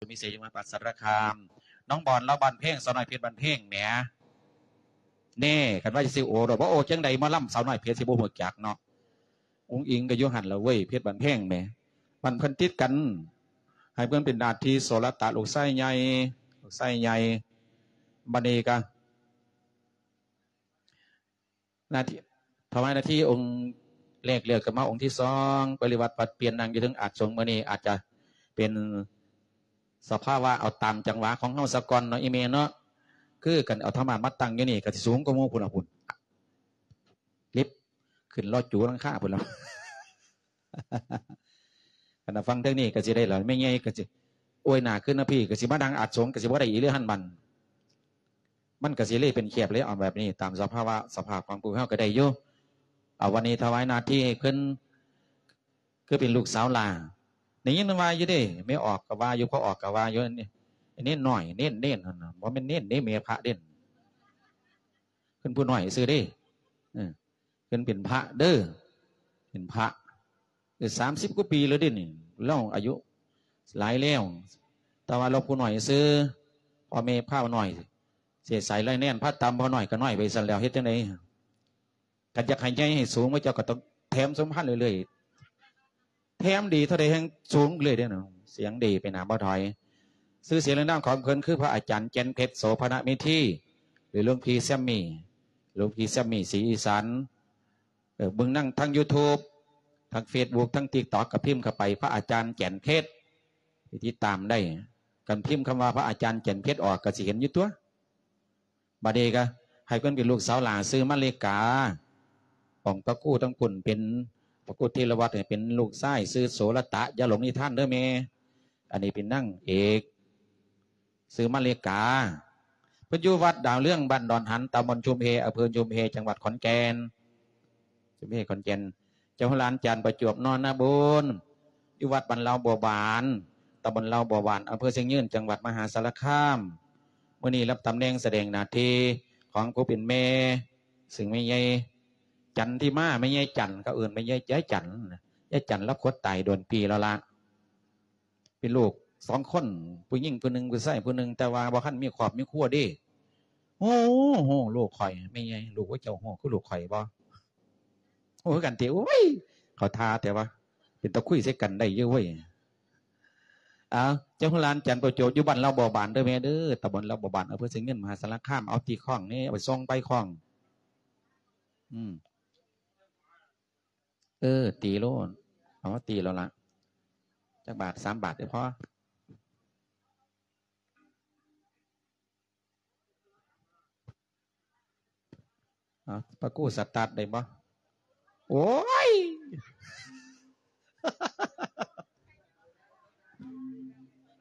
ມີໄຊ ຈັງຫວັດມະຫາສາລະຄາມ. ນ້ອງບອນລາວບ້ານແພງ ສາວນ້ອຍເພັດບ້ານແພງແໝ. ແນ່ ຄັນວ່າຊິໂອ້ໂລດ ບໍ່ໂອ້ຈັ່ງໃດ ໝໍລຳສາວນ້ອຍເພັດຊິບໍ່ຮູ້ຈັກເນາະ. ອຸ້ງອິງກໍຢູ່ຫັ້ນລະເວີຍ ເພັດບ້ານແພງແໝ. ບ້ານເພິ່ນຕິດກັນ ໃຫ້ເພິ່ນເປັນໜ້າທີ່ ໂສລະຕະ ລູກຊາຍໃຫຍ່ ລູກຊາຍໃຫຍ່. ບັດນີ້ກະ ໜ້າທີ່ ຖວາຍໜ້າທີ່ອົງແລກແລ້ວ ກໍມາອົງທີສອງ ປະລິວາດປັດປ່ຽນ ນັ່ງຢູ່ເທິງອາດສົງ. ມື້ນີ້ອາດຈະເປັນສະພາວະ ເອົາຕາມຈັງຫວະຂອງເຮົາສາກ່ອນເນາະ ອີ່ແມ່ເນາະ. ຄືກັນເອົາທຳມະມາຕັ້ງຢູ່ນີ້ ກໍຊິສູງກວ່າໝູ່ພຸ້ນລະ ພຸ້ນ ລິບຂຶ້ນລໍຈູຫຼັງຄາພຸ້ນລະ. ຄັນວ່າຟັງເທິງນີ້ກໍຊິໄດ້ລະ ແມ່ໃຫຍ່ກໍຊິ ໂອ້ຍ ໜ້າຂຶ້ນນະພີ່ ກໍຊິມານັ່ງອາດສົງ ກໍຊິບໍ່ໄດ້ອີກເລີຍຫັ້ນບັດ. ມັນກໍຊິເລີຍເປັນແຄບເລີຍ ເອົາແບບນີ້ ຕາມສະພາວະ ສະພາບຂອງພວກເຮົາກໍໄດ້ຢູ່. ເອົາ ວັນນີ້ຖວາຍໜ້າທີ່ໃຫ້ເພິ່ນ ຄືເປັນລູກສາວຫຼ້າ. ໄດ້ຍິນວ່າຢູ່ເດ້ ແມ່ອອກກໍວ່າຢູ່ ພໍ່ອອກກໍວ່າຢູ່. ເນນນ້ອຍ ເນນ ເນນ ຫັ້ນນະ ບໍ່ແມ່ນເນນເດ້ ແມ່ພະເດ້ ເພິ່ນຜູ້ນ້ອຍຊື່ເດ້. ເອີ ເພິ່ນເປັນພະເດີ ເປັນພະ ເອີ ສາມສິບກວ່າປີແລ້ວເດ້ນີ້. ລາວອາຍຸຫຼາຍແລ້ວ ແຕ່ວ່າລາວຜູ້ນ້ອຍຊື່ ພໍ່ແມ່ພານ້ອຍ ເສຍສາຍໄລແນນ ພາຕຳພໍ່ນ້ອຍກໍນ້ອຍໄປຊັ້ນແລ້ວ ເຮັດຈັ່ງໃດ? ຄັນຢາກໃຫ້ໃຫຍ່ໃຫ້ສູງ ພວກເຈົ້າກໍຕ້ອງແຖມສົມພັນເລື້ອຍໆ. ແຖມດີເທົ່າໃດແຮ່ງສູງເລື້ອຍເດ້ເນາະ. ສຽງດີໄປໜ້າບໍ່ຖອຍ. ຊື່ສຽງເລື່ອງນາມຂອງເພິ່ນຄື ພະອາຈານ ແກ່ນເພັດ ໂສພະນະເມທີ ຫຼື ຫຼວງພີ່ແຊມມີ ຫຼວງພີ່ແຊມມີ ສີອີສານ. ເອີ ເບິ່ງນຳທາງ YouTube ທາງ Facebook ທາງ TikTok ກໍພິມເຂົ້າໄປ ພະອາຈານ ແກ່ນເພັດ ໄປຕິດຕາມໄດ້. ຄັນພິມຄຳວ່າ ພະອາຈານ ແກ່ນເພັດ ອອກ ກໍຊິເຫັນຢູ່ຕົວະ. ບາດນີ້ກໍໃຫ້ເພິ່ນເປັນລູກສາວຫຼ້າ ຊື່ມາລິກາ. ຂອງພະຄູທັງພຸ້ນເປັນ ພະຄູທີລະວັດ ເປັນລູກຊາຍ ຊື່ໂສລະຕະ. ຢ່າຫຼົງນິທານເດີແມ່. ອັນນີ້ເປັນນາງເອກ ຊື່ມາລິກາ. ເພິ່ນຢູ່ວັດດາວເຮືອງ ບ້ານດອນຫັນ ຕຳບົນຊຸມເຮ ອຳເພີຊຸມເຮ ຈັງຫວັດຂອນແກ່ນ. ຊຸມເຮ ຂອນແກ່ນ. ເຈົ້າໂຮລານ ຈານປະຈວບ ນອນນະບຸນ ຢູ່ວັດບ້ານລາວບົວບານ ຕຳບົນລາວບົວບານ ອຳເພີຊຽງຍືນ ຈັງຫວັດມະຫາສາລະຄາມ. ມື້ນີ້ຮັບຕຳແໜ່ງສະແດງໜ້າທີ່ຂອງຜູ້ເປັນແມ່ ຊຶ່ງແມ່ໃຫຍ່ຈັນທິມາ ແມ່ໃຫຍ່ຈັນ ເຂົາເອີ້ນແມ່ໃຫຍ່ ຍາຍຈັນ ຍາຍຈັນລາວຄວດຕາຍໂດນປີແລ້ວລະ. ເປັນລູກສອງຄົນ ຜູ້ຍິງຜູ້ໜຶ່ງ ຜູ້ຊາຍຜູ້ໜຶ່ງ ແຕ່ວ່າບໍ່ທັນມີຄອບມີຄົວເດ້. ໂອ້ໂຫ ລູກຂ້ອຍ ແມ່ໃຫຍ່ ລູກເຈົ້າຮູ້ຄືລູກຂ້ອຍບໍ່? ຮູ້ຄືກັນຕິ. ໂອ້ຍ ເຂົາທ່າແຕ່ວ່າ ເປັນຕາຄຸຍໃສ່ກັນໄດ້ຢູ່ເວີຍ. ເອົາ ເຈົ້າໂຮລານ ຈັນປະໂຈບ ຢູ່ບ້ານລາວບົວບານເດີແມ່ເດີ ຕຳບົນລາວບົວບານ ອຳເພີຊຽງຍືນ ມະຫາສາລະຄາມ. ເອົາຕີຄ້ອງນີ້ ເອົາໄປສ່ອງໃບຄ້ອງ. ອືມ ເອີ ຕີໂລດ ເອົາມາຕີໂລດລະ ຈັກບາດ? ສາມບາດເດີພໍ. ເອົາ ປາກູສະຕາດໄດ້ບໍ່? ໂອ້ຍ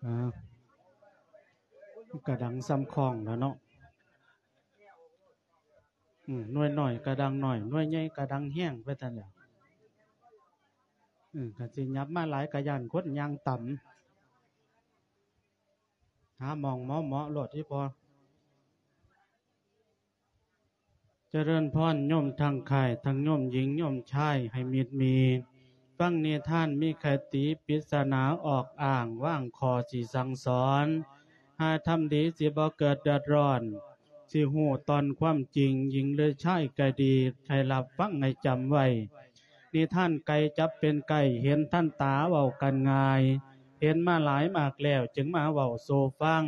ອ່າ ມັນກະດັງສ່ຳຄ້ອງລະເນາະ. ອືມ ໜ່ວຍນ້ອຍກະດັງໜ້ອຍ ໜ່ວຍໃຫຍ່ກະດັງແຮງ ໄປຊັ້ນແຫຼະ. ອືມ ຄັນຊິຫຍັບມາຫຼາຍກະຢ້ານຄົນຍ່າງຕຳ. ຫາໝ່ອງເໝາະໆໂລດ ອີ່ພໍ່. ຈະເລີນພອນ ໂຍມທັງຄ້າຍ ທັງໂຍມຍິງ ໂຍມຊາຍ ໃຫ້ມິດມີ ຟັງນິທານມີຄະຕິ ປິດສະໜາອອກອ້າງ ວາງຂໍ້ຊິສັ່ງສອນ ຫາທຳດີ ຊິບໍ່ເກີດເດືອດຮ້ອນ ຊິຮູ້ຕອນຄວາມຈິງ ຍິງຫຼືຊາຍກະດີ ໃຫ້ຮັບຟັງໃຫ້ຈຳໄວ້. ນິທານໄກ່ຈັບເປັນໄກ່ ເຫັນທັນຕາເວົ້າກັນງ່າຍ ເຫັນມາຫຼາຍມາກແລ້ວ ຈຶ່ງມາເວົ້າສູ່ຟັງ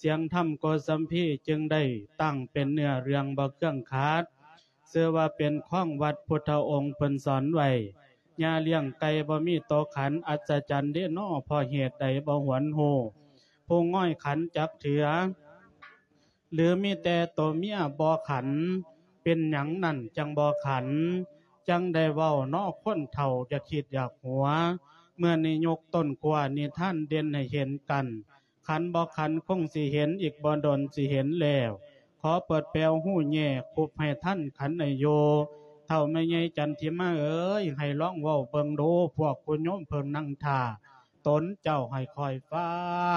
ສຽງທຳໂກສັມພີ ຈຶ່ງໄດ້ຕັ້ງເປັນເນື້ອເລື່ອງບໍ່ເຄືອງຂາດ ຊື່ວ່າເປັນຂອງວັດ ພຸດທະອົງເພິ່ນສອນໄວ້ ຍ່າລ້ຽງໄກ່ບໍ່ມີໂຕຂັນ ອັດສະຈັນເດນໍ ເພາະເຫດໃດບໍ່ຫວນຮູ້ ຜູ້ງອຍຂັນຈັກເທື່ອ ຫຼືມີແຕ່ໂຕເມຍບໍ່ຂັນ ເປັນຫຍັງນັ້ນຈັ່ງບໍ່ຂັນ ຈັ່ງໄດ້ເວົ້າເນາະຄົນເຖົ້າ ຢ່າຄິດຢາກຫົວ ເມື່ອນີ້ຍົກຕົ້ນຂົ້ວນິທານເດັ່ນໃຫ້ເຫັນກັນ ຂັນບໍ່ຂັນຄົງຊິເຫັນ ອີກບໍ່ດົນຊິເຫັນແລ້ວ ຂໍເປີດແປວຮູແຍກ ຄຸບໃຫ້ທັນຂັນໃຫ້ຢູ່ ເຖົ້າແມ່ໃຫຍ່ຈັນທິມາເອີຍ ໃຫ້ລອງເວົ້າເບິ່ງດູ ພວກຄຸນໂຍມເພິ່ນນັ່ງຖ້າ ຕົນເຈົ້າໃຫ້ຄອຍຟັ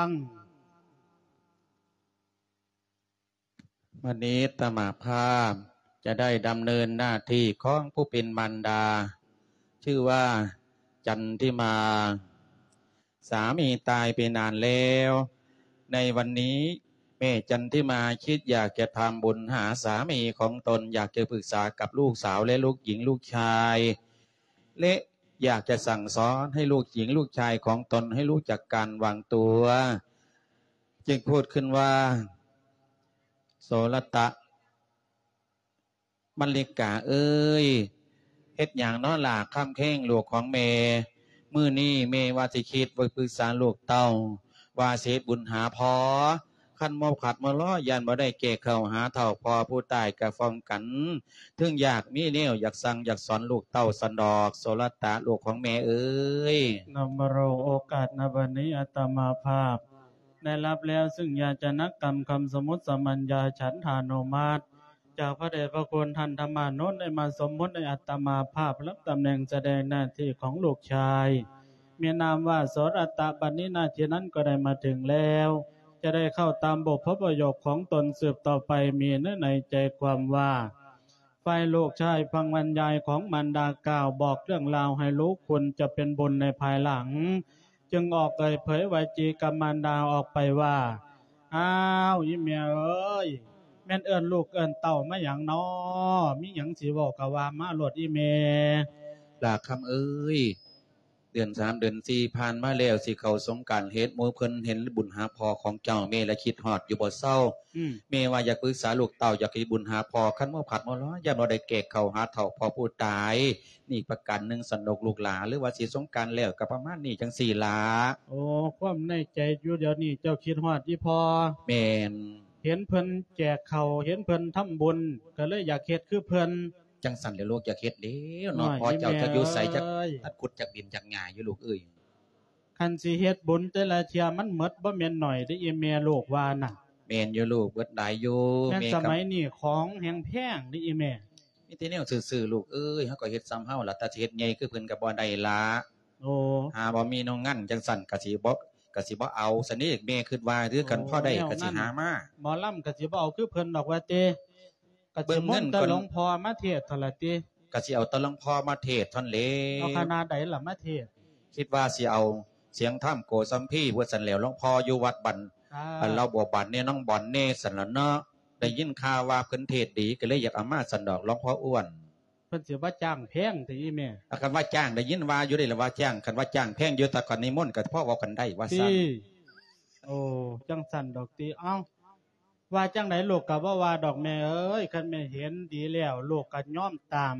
ງ. ວັນນີ້ອາດຕະມາພາບຈະໄດ້ດຳເນີນໜ້າທີ່ຂອງຜູ້ເປັນມານດາ ຊື່ວ່າ ຈັນທິມາ สามีตายไปนานแล้ว ในวันนี้แม่จันทิมาคิดอยากจะทำบุญหาสามีของตน อยากจะปรึกษากับลูกสาวและลูกหญิงลูกชาย และอยากจะสั่งสอนให้ลูกหญิงลูกชายของตนให้รู้จักการวางตัว จึงพูดขึ้นว่า โสรตะ มัลลิกาเอ๋ย เฮ็ดหยังน้อหล่า ค่ำแค้งลูกของแม่ มื้อนี้แม่ว่าสิคิดไว้ปรึกษาลูกเต้า ว่าสิเฮ็ดบุญหาพ่อ คันบ่ขัดบ่ลอ ย่านบ่ได้แก่ข้าวหาเฒ่า พ่อผู้ตายก็ฟ้องกัน ถึงอยากมีแนวอยากสั่งอยากสอนลูกเต้าซั้นดอก โสรตะลูกของแม่เอ๋ย นำรงโอกาสณบัดนี้อาตมาภาพ ได้รับแล้วซึ่งยาจนกรรมคำสมมุติสามัญญาฉันทานุมัติ จากพระเดชพระคุณท่านธรรมานุนได้มาสมมุติให้อาตมาภาพรับตำแหน่งแสดงหน้าที่ของลูกชาย มีนามว่าโสรตะ บัดนี้หน้าที่นั้นก็ได้มาถึงแล้ว จะได้เข้าตามบุพประโยคของตนสืบต่อไป มีเนื้อในใจความว่า ฝ่ายลูกชายฟังบรรยายของมารดากล่าวบอกเรื่องราวให้รู้คุณจะเป็นบุญในภายหลัง จึงออกเอ่ยเผยวาจีกับมารดาออกไปว่า อ้าว อีแม่เอ๋ย แม่นเอิ้นลูกเอิ้นเต้ามาหยังน้อ มีหยังสิเว้าก็ว่ามาโลดอีแม่ หล่าคำเอ๋ย เดือนสามเดือนสี่ผ่านมาแล้ว สิเข้าสงกรานต์ เฮ็ดหมู่เพิ่นเห็นบุญหาพ่อของเจ้า แม่ละคิดฮอดอยู่บ่เซา อืม แม่ว่าอยากปรึกษาลูกเต้า อยากเฮ็ดบุญหาพ่อ คันบ่ขัดบ่ลอ ย่านบ่ได้แก่ข้าวหาเฒ่า พ่อผู้ตาย นี่ประการหนึ่งซั้นดอกลูกหล่า หรือว่าสิสงกรานต์แล้วก็ประมาณนี้จั่งซี้ล่ะ โอ้ ความในใจอยู่เดี๋ยวนี้เจ้าคิดฮอดอีพ่อ แม่น เห็นเพิ่นแจกข้าว เห็นเพิ่นทำบุญ ก็เลยอยากเฮ็ดคือเพิ่น จั่งซั้นแหละลูก อยากเฮ็ดแล้วเนาะ น้อย พ่อเจ้า อีแม่ จักอยู่ไส จัก เอ้ย ตัดขุดจักดินจักหญ้าอยู่ลูกเอ้ย คันสิเฮ็ดบุญแต่ละเทื่อมันหมดบ่แม่นน้อยเด้อีแม่ ลูกว่าน่ะ แม่นอยู่ลูก เบิดหลายอยู่ แม่น แม่ สมัยนี้ของแฮงแพงเด้อีแม่ มีแต่แนวซื่อๆ ลูกเอ้ย เฮาก็เฮ็ดส่ำเฮาล่ะ แต่สิเฮ็ดใหญ่คือเพิ่นก็บ่ได้ล่ะ โอ้ หาบ่มีน้องงันจั่งซั้นก็สิบ่ ก็สิบ่เอาซั้นเด้ แม่คิดว่า หรือคัน โอ้ พอได้ แนว ก็สิหามา หมอลำก็สิบ่เอาคือเพิ่นดอกว่าติ ก็สิ เบิ่งเงิน มนต์แต่ ก่อน หลวงพ่อมาเทศน์เท่านั้นล่ะติ ก็สิเอาแต่หลวงพ่อมาเทศน์เท่านั้นแหละ เอาคณะใดล่ะมาเทศน์ คิดว่าสิเอาเสียงธรรมโกสัมพีว่าซั่นแหล้ว หลวงพ่ออยู่วัดบ้าน อ่า อันลาวบัวบานแหน่ หนองบอนแหน่ ซั่นล่ะเนาะ ได้ยินข่าวว่าเพิ่นเทศน์ดี ก็เลยอยากเอามาซั่นดอก หลวงพ่ออ้วน เพิ่นสิบ่จ้างแพงติอีแม่ อ่ะ คันว่าจ้าง ได้ยินว่าอยู่เด้ล่ะว่าจ้าง คันว่าจ้างแพงอยู่ ถ้าคันนิมนต์ก็พอเว้ากันได้ว่าซั่น ติ โอ้ จั่งซั้นดอกติ เอ้า ว่าจั่งใดลูกก็บ่ว่าดอกแม่เอ๋ย คันแม่เห็นดีแล้ว ลูกก็ยอมตาม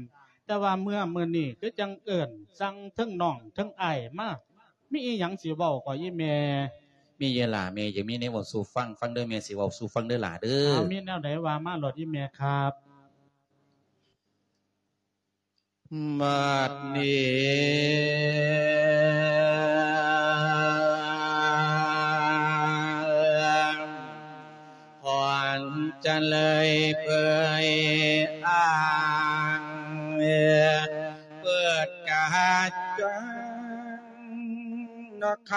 แต่ว่าเมื่อมื้อนี้คือจั่งเอิ้นสั่งเทิงน้องเทิงอ้ายมา มีอีหยังสิเว้าก็อีแม่ มีอยู่หล่า แม่อยากมีแนวเว้าสู่ฟัง ฟังเด้อ แม่สิเว้าสู่ฟังเด้อหล่าเด้อ เอา มีแนวใดว่ามาโลดอีแม่ครับ บัดนี้ ขอนจะเลยเผยอ้าง เปิดกาจัง นค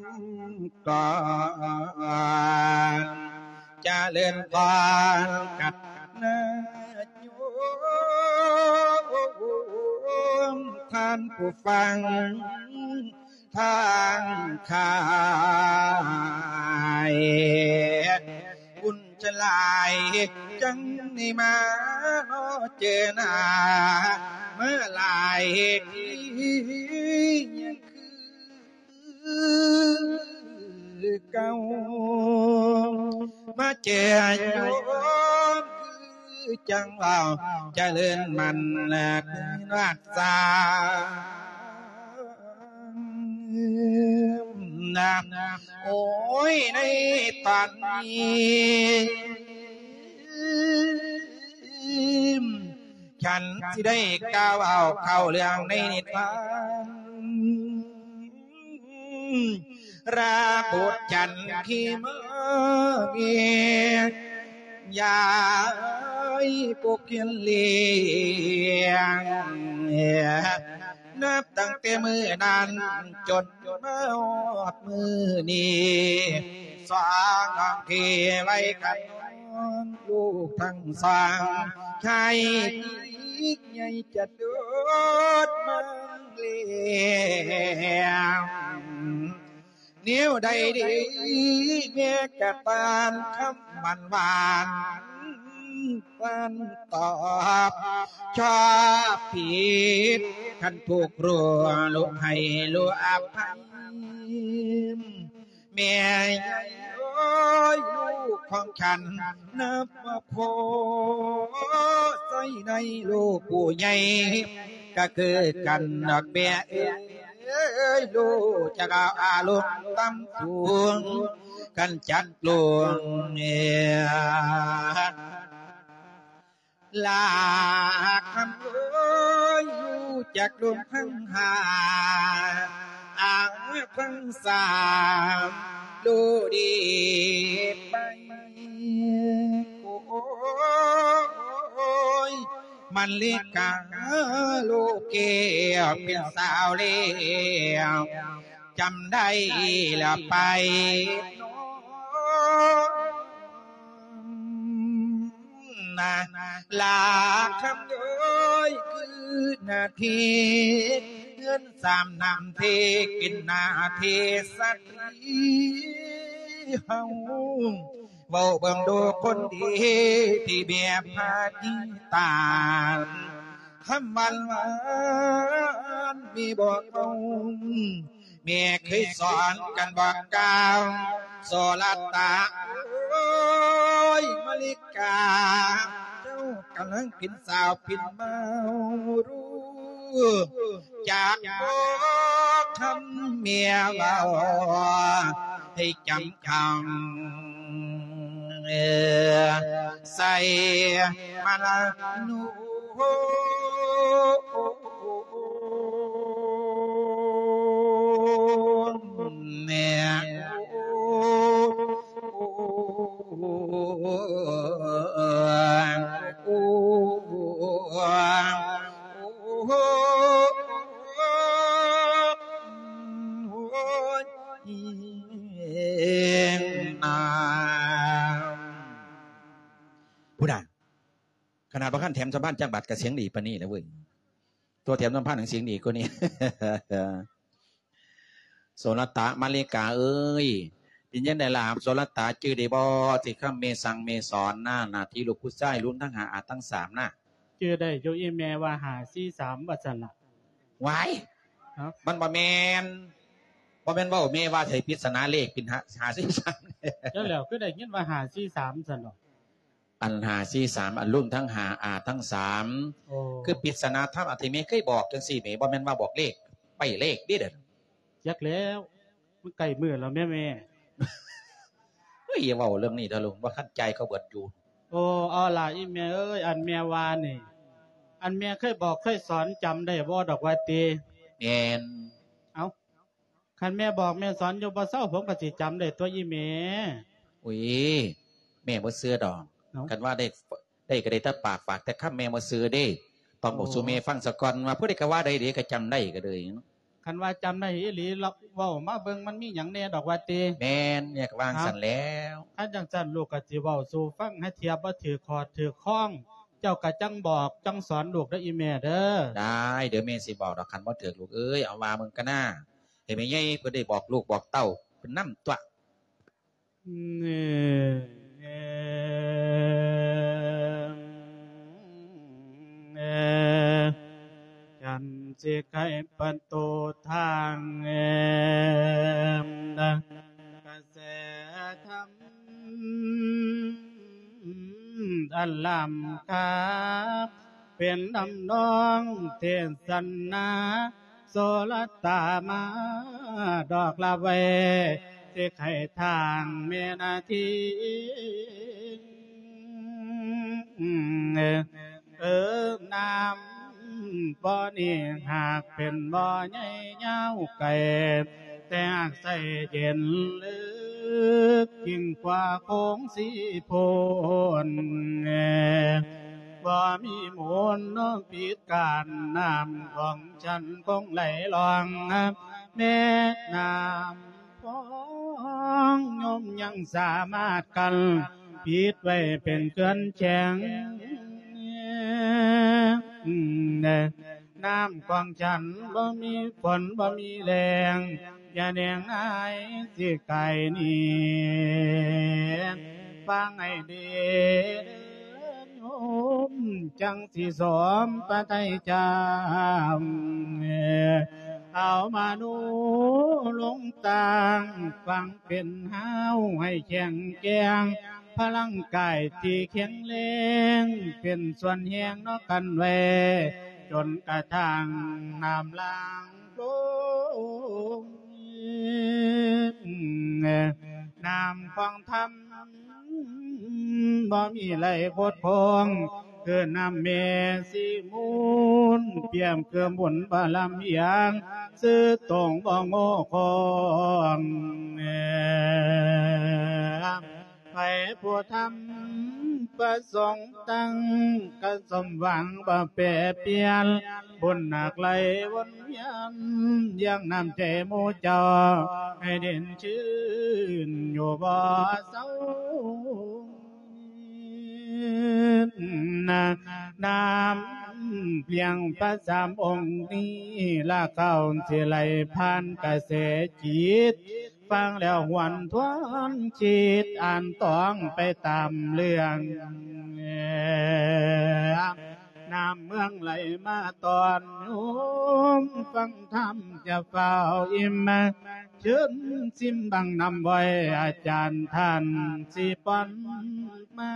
ำก่อน เจริญพรกัดนาโยม ท่านผู้ฟังทางขาย บุญฉลายจังได้มาเนาะเจอหน้า มาหลายที คือเก่า มาเจอโยมคือจังเว้า เจริญมันและคืนวัดสานะ โอ้ย ในตอนนี้ ฉันสิได้กล่าวเอาเข้าเรื่องในนิทาน ราบุตรจันทร์ที่มาเมีย ยายปกเขียนเลี้ยง นับตั้งแต่มื้อนั้นจนมาฮอดมื้อนี้ สองน้องที่ไว้กันลูกทั้งสอง ชายหญิงใหญ่จะโดดมาเลี้ยง ແນວໃດດີແມ່ກະຕານຄຳຫວານຫວານ ເພິ່ນຕອບຊອບຜິດ ຄັນຖືກຮູ້ລູກໃຫ້ລູກອະໄພ ແມ່ເອີຍ ລູກຂອງສັນນັບວ່າພໍໃຊ້ໄດ້ ລູກຜູ້ໃຫຍ່ກະຄືກັນດອກແມ່ເອີຍ ລູກຈະເອົາອາລົມຕ່ຳສູງ ຄັນຈັກລົງເອີຍ ລາຄຳເອີຍ ຮູ້ຈັກລົມທັງຫ້າ ອາທັງສາມ ໂລດີໄປ ໂອ້ຍ ມະລິກາ ໂລແກ້ວເປັນສາວແລ້ວ ຈຳໄດ້ລະໄປ ນາ ລາຄຳເອີຍ ຄືນາທີ ເຮືອນສາມນ້ຳທີ່ກິນນາທີສະຕີເຮົາ ເວົ້າເບິ່ງດູຄົນດີ ທີ່ແມ່ພາຕິຕານ ຄຳຫວານຫວານມີບໍ່ເອົາ ແມ່ເຄີຍສອນກັນບອກກ່າວ ໂສລະຕະ ໂອ້ຍ ມະລິກາ ເຈົ້າກຳລັງເປັນສາວເປັນບ່າວ ຮູ້ຈັກບໍ່ຄຳແມ່ເວົ້າ ໃຫ້ຈຳຄຳ ໃສ່ມາລະນູ ແມ່ ພຸ້ນນະ ຂະໜາດບໍ່ທັນແຖມສຳພັນຈັກບາດກະສຽງດີປານນີ້ແລ້ວເວີຍ ຕົວແຖມສຳພັນຫຍັງສຽງດີກວ່ານີ້ ໂສລະຕະມະລິກາເອີຍ ເປັນຈັ່ງໃດລະ ໂສລະຕະຈື່ໄດ້ບໍ່ ທີ່ຄຳແມ່ສັ່ງແມ່ສອນນະ ໜ້າທີ່ລູກຜູ້ຊາຍ ລວມທັງຫ້າອາທັງສາມນະ? ຈື່ໄດ້ຢູ່ອີ່ແມ່ວ່າຫ້າສີ່ສາມວ່າຊັ້ນລະ. ຫວາຍ ຮະ? ມັນບໍ່ແມ່ນ ບໍ່ແມ່ນເວົ້າ ແມ່ວ່າໃສ່ປິດສະໜາເລກເປັນຫ້າ ຫ້າສີ່ສາມ ຈັ່ງແລ້ວ ຄືໄດ້ຍິນວ່າຫ້າສີ່ສາມຊັ້ນດອກ. ອັນຫ້າສີ່ສາມ ອັນລວມທັງຫ້າອາທັງສາມ ໂອ້ ຄືປິດສະໜາທຳ ອັນທີ່ແມ່ເຄີຍບອກຈັ່ງຊີ້ແໝ່ ບໍ່ແມ່ນວ່າບອກເລກ ໄປ້ເລກເດ້ເດີ. ຈັກແລ້ວ ມັນໃກ້ມື້ແລ້ວແມ່ ແມ່. ເຮີ້ຍ ຢ່າເວົ້າເລື່ອງນີ້ເດີລູກ ບໍ່ທັນຈ່າຍເຂົາເບິດຢູ່. ໂອ້ ເອົາລະອີ່ແມ່ເອີຍ ອັນແມ່ວ່ານີ້ ອັນແມ່ເຄີຍບອກເຄີຍສອນຈຳໄດ້ບໍ່ດອກວ່າຕິ? ແມ່ນ. ເອົ້າ ຄັນແມ່ບອກແມ່ສອນຢູ່ບໍ່ເຊົາ ຜົມກໍຊິຈຳໄດ້ຕົວະອີ່ແມ່. ໂອ້ຍ ແມ່ບໍ່ເຊື່ອດອກ. ເອົ້າ ຄັນວ່າໄດ້ ໄດ້ກໍໄດ້ແຕ່ປາກ ຝາກແຕ່ຄຳ ແມ່ບໍ່ເຊື່ອເດ້. ຕ້ອງບອກສູ່ແມ່ຟັງສາກ່ອນວ່າ ຜູ້ໃດກໍວ່າໄດ້ເດ້ ກໍຈຳໄດ້ກໍເລີຍ. ຄັນວ່າຈຳໄດ້ອີ່ຫຼີ ເວົ້າມາເບິ່ງ ມັນມີຫຍັງແດ່ດອກວ່າຕິ? ແມ່ນ ແມ່ກໍວ່າຈັ່ງຊັ້ນແລ້ວ. ຄັນຈັ່ງຊັ້ນ ລູກກໍຊິເວົ້າສູ່ຟັງ ຫາເທື່ອບໍ່ຖືກຂອດຖືກຄອງ ເຈົ້າກໍຈັ່ງບອກ ຈັ່ງສອນລູກເດີອີ່ແມ່ເດີ. ໄດ້ ດຽວແມ່ຊິບອກດອກ ຄັນບໍ່ຖືກລູກເອີຍ. ເອົາວ່າເບິ່ງກະນາ ໃຫ້ແມ່ໃຫຍ່ເພິ່ນໄດ້ບອກລູກບອກເຕົ້າເພິ່ນນຳຕົວະ. ຈັນຊິໄຂປະຕູທາງ ກະແສທຳອັນລ້ຳຄ່າ ເປັນທຳນອງເທສະນາ ໂສລະຕາມາດອກລາໄວ້ ຊິໄຂທາງແມ່ນາທີ ເອີ ນ້ຳບໍ່ນີ້ຫາກເປັນບໍ່ໃຫຍ່ຍາວໄກ ແຕ່ຫາກໃສເຢັນເລິກຍິ່ງກວ່າໂຂງສີໂພນ ບໍ່ມີມູນເນາະ ປິດ ການນ້ຳຂອງສັນຄົງໄຫຼລ່ອງ ແມ່ນ້ຳພອງຍົມຍັງສາມາດກັ້ນປິດໄວ້ເປັນເຂື່ອນແຂງ ນ້ຳຂອງສັນບໍ່ມີຝົນບໍ່ມີແລ້ງ ຢ່າແນງນາຍຊິກາຍໜີ ຟັງໃຫ້ດີເດີໂຍມ ຈັ່ງຊິສມປະໄຕຈຳ ເອົາມະໂນລົງຕັ້ງ ຟັງເປັນຮາວໃຫ້ແຂງແກ່ງ ພະລັງກາຍທີ່ແຂງແຮງ ເປັນສ່ວນແຮງເນາະກັນແວ ຈົນກະທັ່ງນ້ຳຫຼັງລົງ ນ້ຳຂອງທຳບໍ່ມີໄຫຼບົດພົງ ຄືນ້ຳແມ່ສີມູນ ປຽບຄືບຸນບາລະມີຫຍັງ ຊື່ຕົງບໍ່ໂງ່ຄອງ ໃຜຜູ້ທຳປະສົງຕັ້ງ ກະສົມຫວັງບໍ່ແປປ່ຽນ ບຸນໜັກໄຫຼວົນວຽນ ຢ່າງນ້ຳໃຈໝູ່ເຈົ້າ ໃຫ້ເດັ່ນຊື່ນຢູ່ບໍ່ເຊົາ. ນ້ຳລ້ຽງພະສາມອົງນີ້ ລາກເຂົາຊິໄຫຼຜ່ານກະແສຈິດ ຟັງແລ້ວຫວນທວນຄິດ ອ່ານຕອງໄປຕາມເລື່ອງ ນ້ຳເມືອງໄຫຼມາຕອນໂຍມ ຟັງທຳຈະຟ້າວອີ່ມ ເຊີນຊິມບັງນ້ຳໄວ້ ອາຈານທ່ານຊິປ້ອນມາ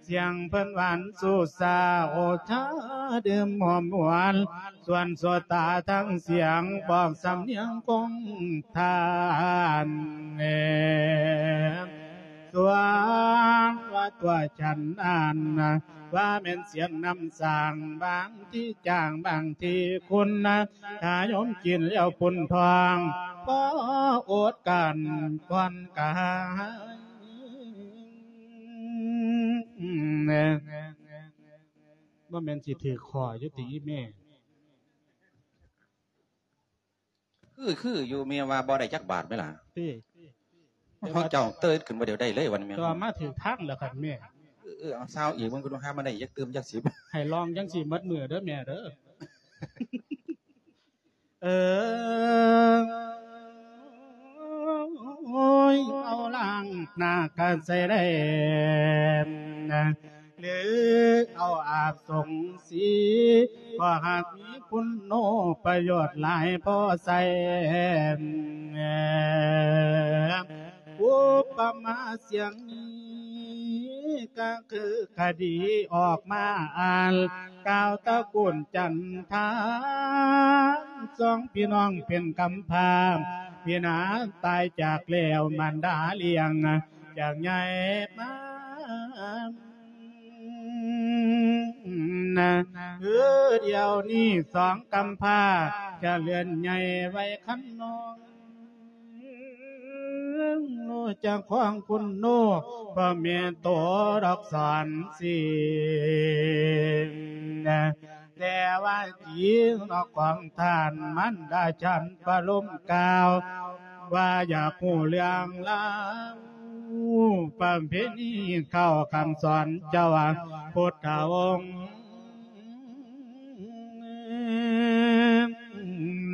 ສຽງເພິ່ນຫວານຊູຊາ ໂອຊາດື່ມຫອມຫວານ ສ່ວນໂສຕາທັງສຽງ ບອກສຳນຽງຄົງທ່ານ ສ່ວນວ່າຕົວສັນນັ້ນ ວ່າແມ່ນສຽງນ້ຳສ້າງ ບາງທີຈາງ ບາງທີຂຸ່ນ ຖ້າໂຍມກິນແລ້ວປຸ້ນທ້ອງ ພໍອົດກັ້ນກ່ອນກາຍ ບໍ່ແມ່ນຊິຖືກຂໍ້ຢູ່ຕິອີ່ແມ່? ຄື ຄືຢູ່ ແມ່ວ່າບໍ່ໄດ້ຈັກບາດແມ່ນລະ ຕິ ເຮົາເຈົ້າເຕີນຂຶ້ນບໍ່ໄດ້ເລີຍວັນແມ່ ແຕ່ວ່າມາຖືກທາງແລ້ວຄັນແມ່ ເອີ ເອີ ເອົາຊາວອີກ ເບິ່ງ ເພິ່ນຫາມາໄດ້ຈັກຕື່ມຈັກສິບ ໃຫ້ລອງຈັ່ງຊີ້ໝົດມື້ເດີແມ່ເດີ ເອີ ໂອ້ຍ ເອົາລ້າງໜ້າກະໃສ່ໄດ້ ຫຼືເອົາອາບສົງສີ ກໍຫາກມີຄຸນໂນປະໂຫຍດຫຼາຍພໍໃຊ້ ອຸປະມາສຽງນີ້ ກະຄືຄະດີອອກມາອ່ານ ກ່າວຕະກູນຈັນທາ ສອງພີ່ນ້ອງເປັນກຳພ້າ ພີ່ນາງຕາຍຈາກແລ້ວ ມານດາລ້ຽງຈາກໃຫຍ່ມາ ເອີ ດຽວນີ້ສອງກຳພ້າ ຈະເລື່ອນໃຫຍ່ໄວ້ຄັນນ້ອງ ໂນຈະຄອງຄຸນໂນ ພໍ່ແມ່ໂຕດອກສອນສີ ແຕ່ວ່າຈີນອກຂອງທ່ານ ມັນດາສັນປະລົມກ່າວ ວ່າຢາກຮູ້ເລື່ອງລາວ ປະເພນີເຂົ້າຄຳສອນເຈົ້າພຸດທະອົງ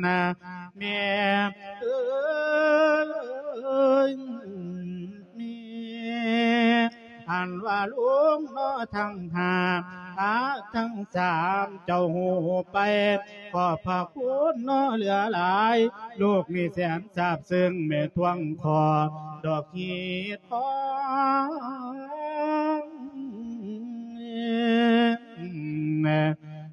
ນະແມ່ເອີຍ ແມ່ ອັນວ່າລຸງເນາະທັງຫ້າ ອາ ທັງສາມ ເຈົ້າຮູ້ໄປ ຂອບພະຄຸນເນາະເຫຼືອຫຼາຍ ລູກນີ້ແສນຊາບຊຶ້ງ ແມ່ທວງຂໍດອກຮີດທອງ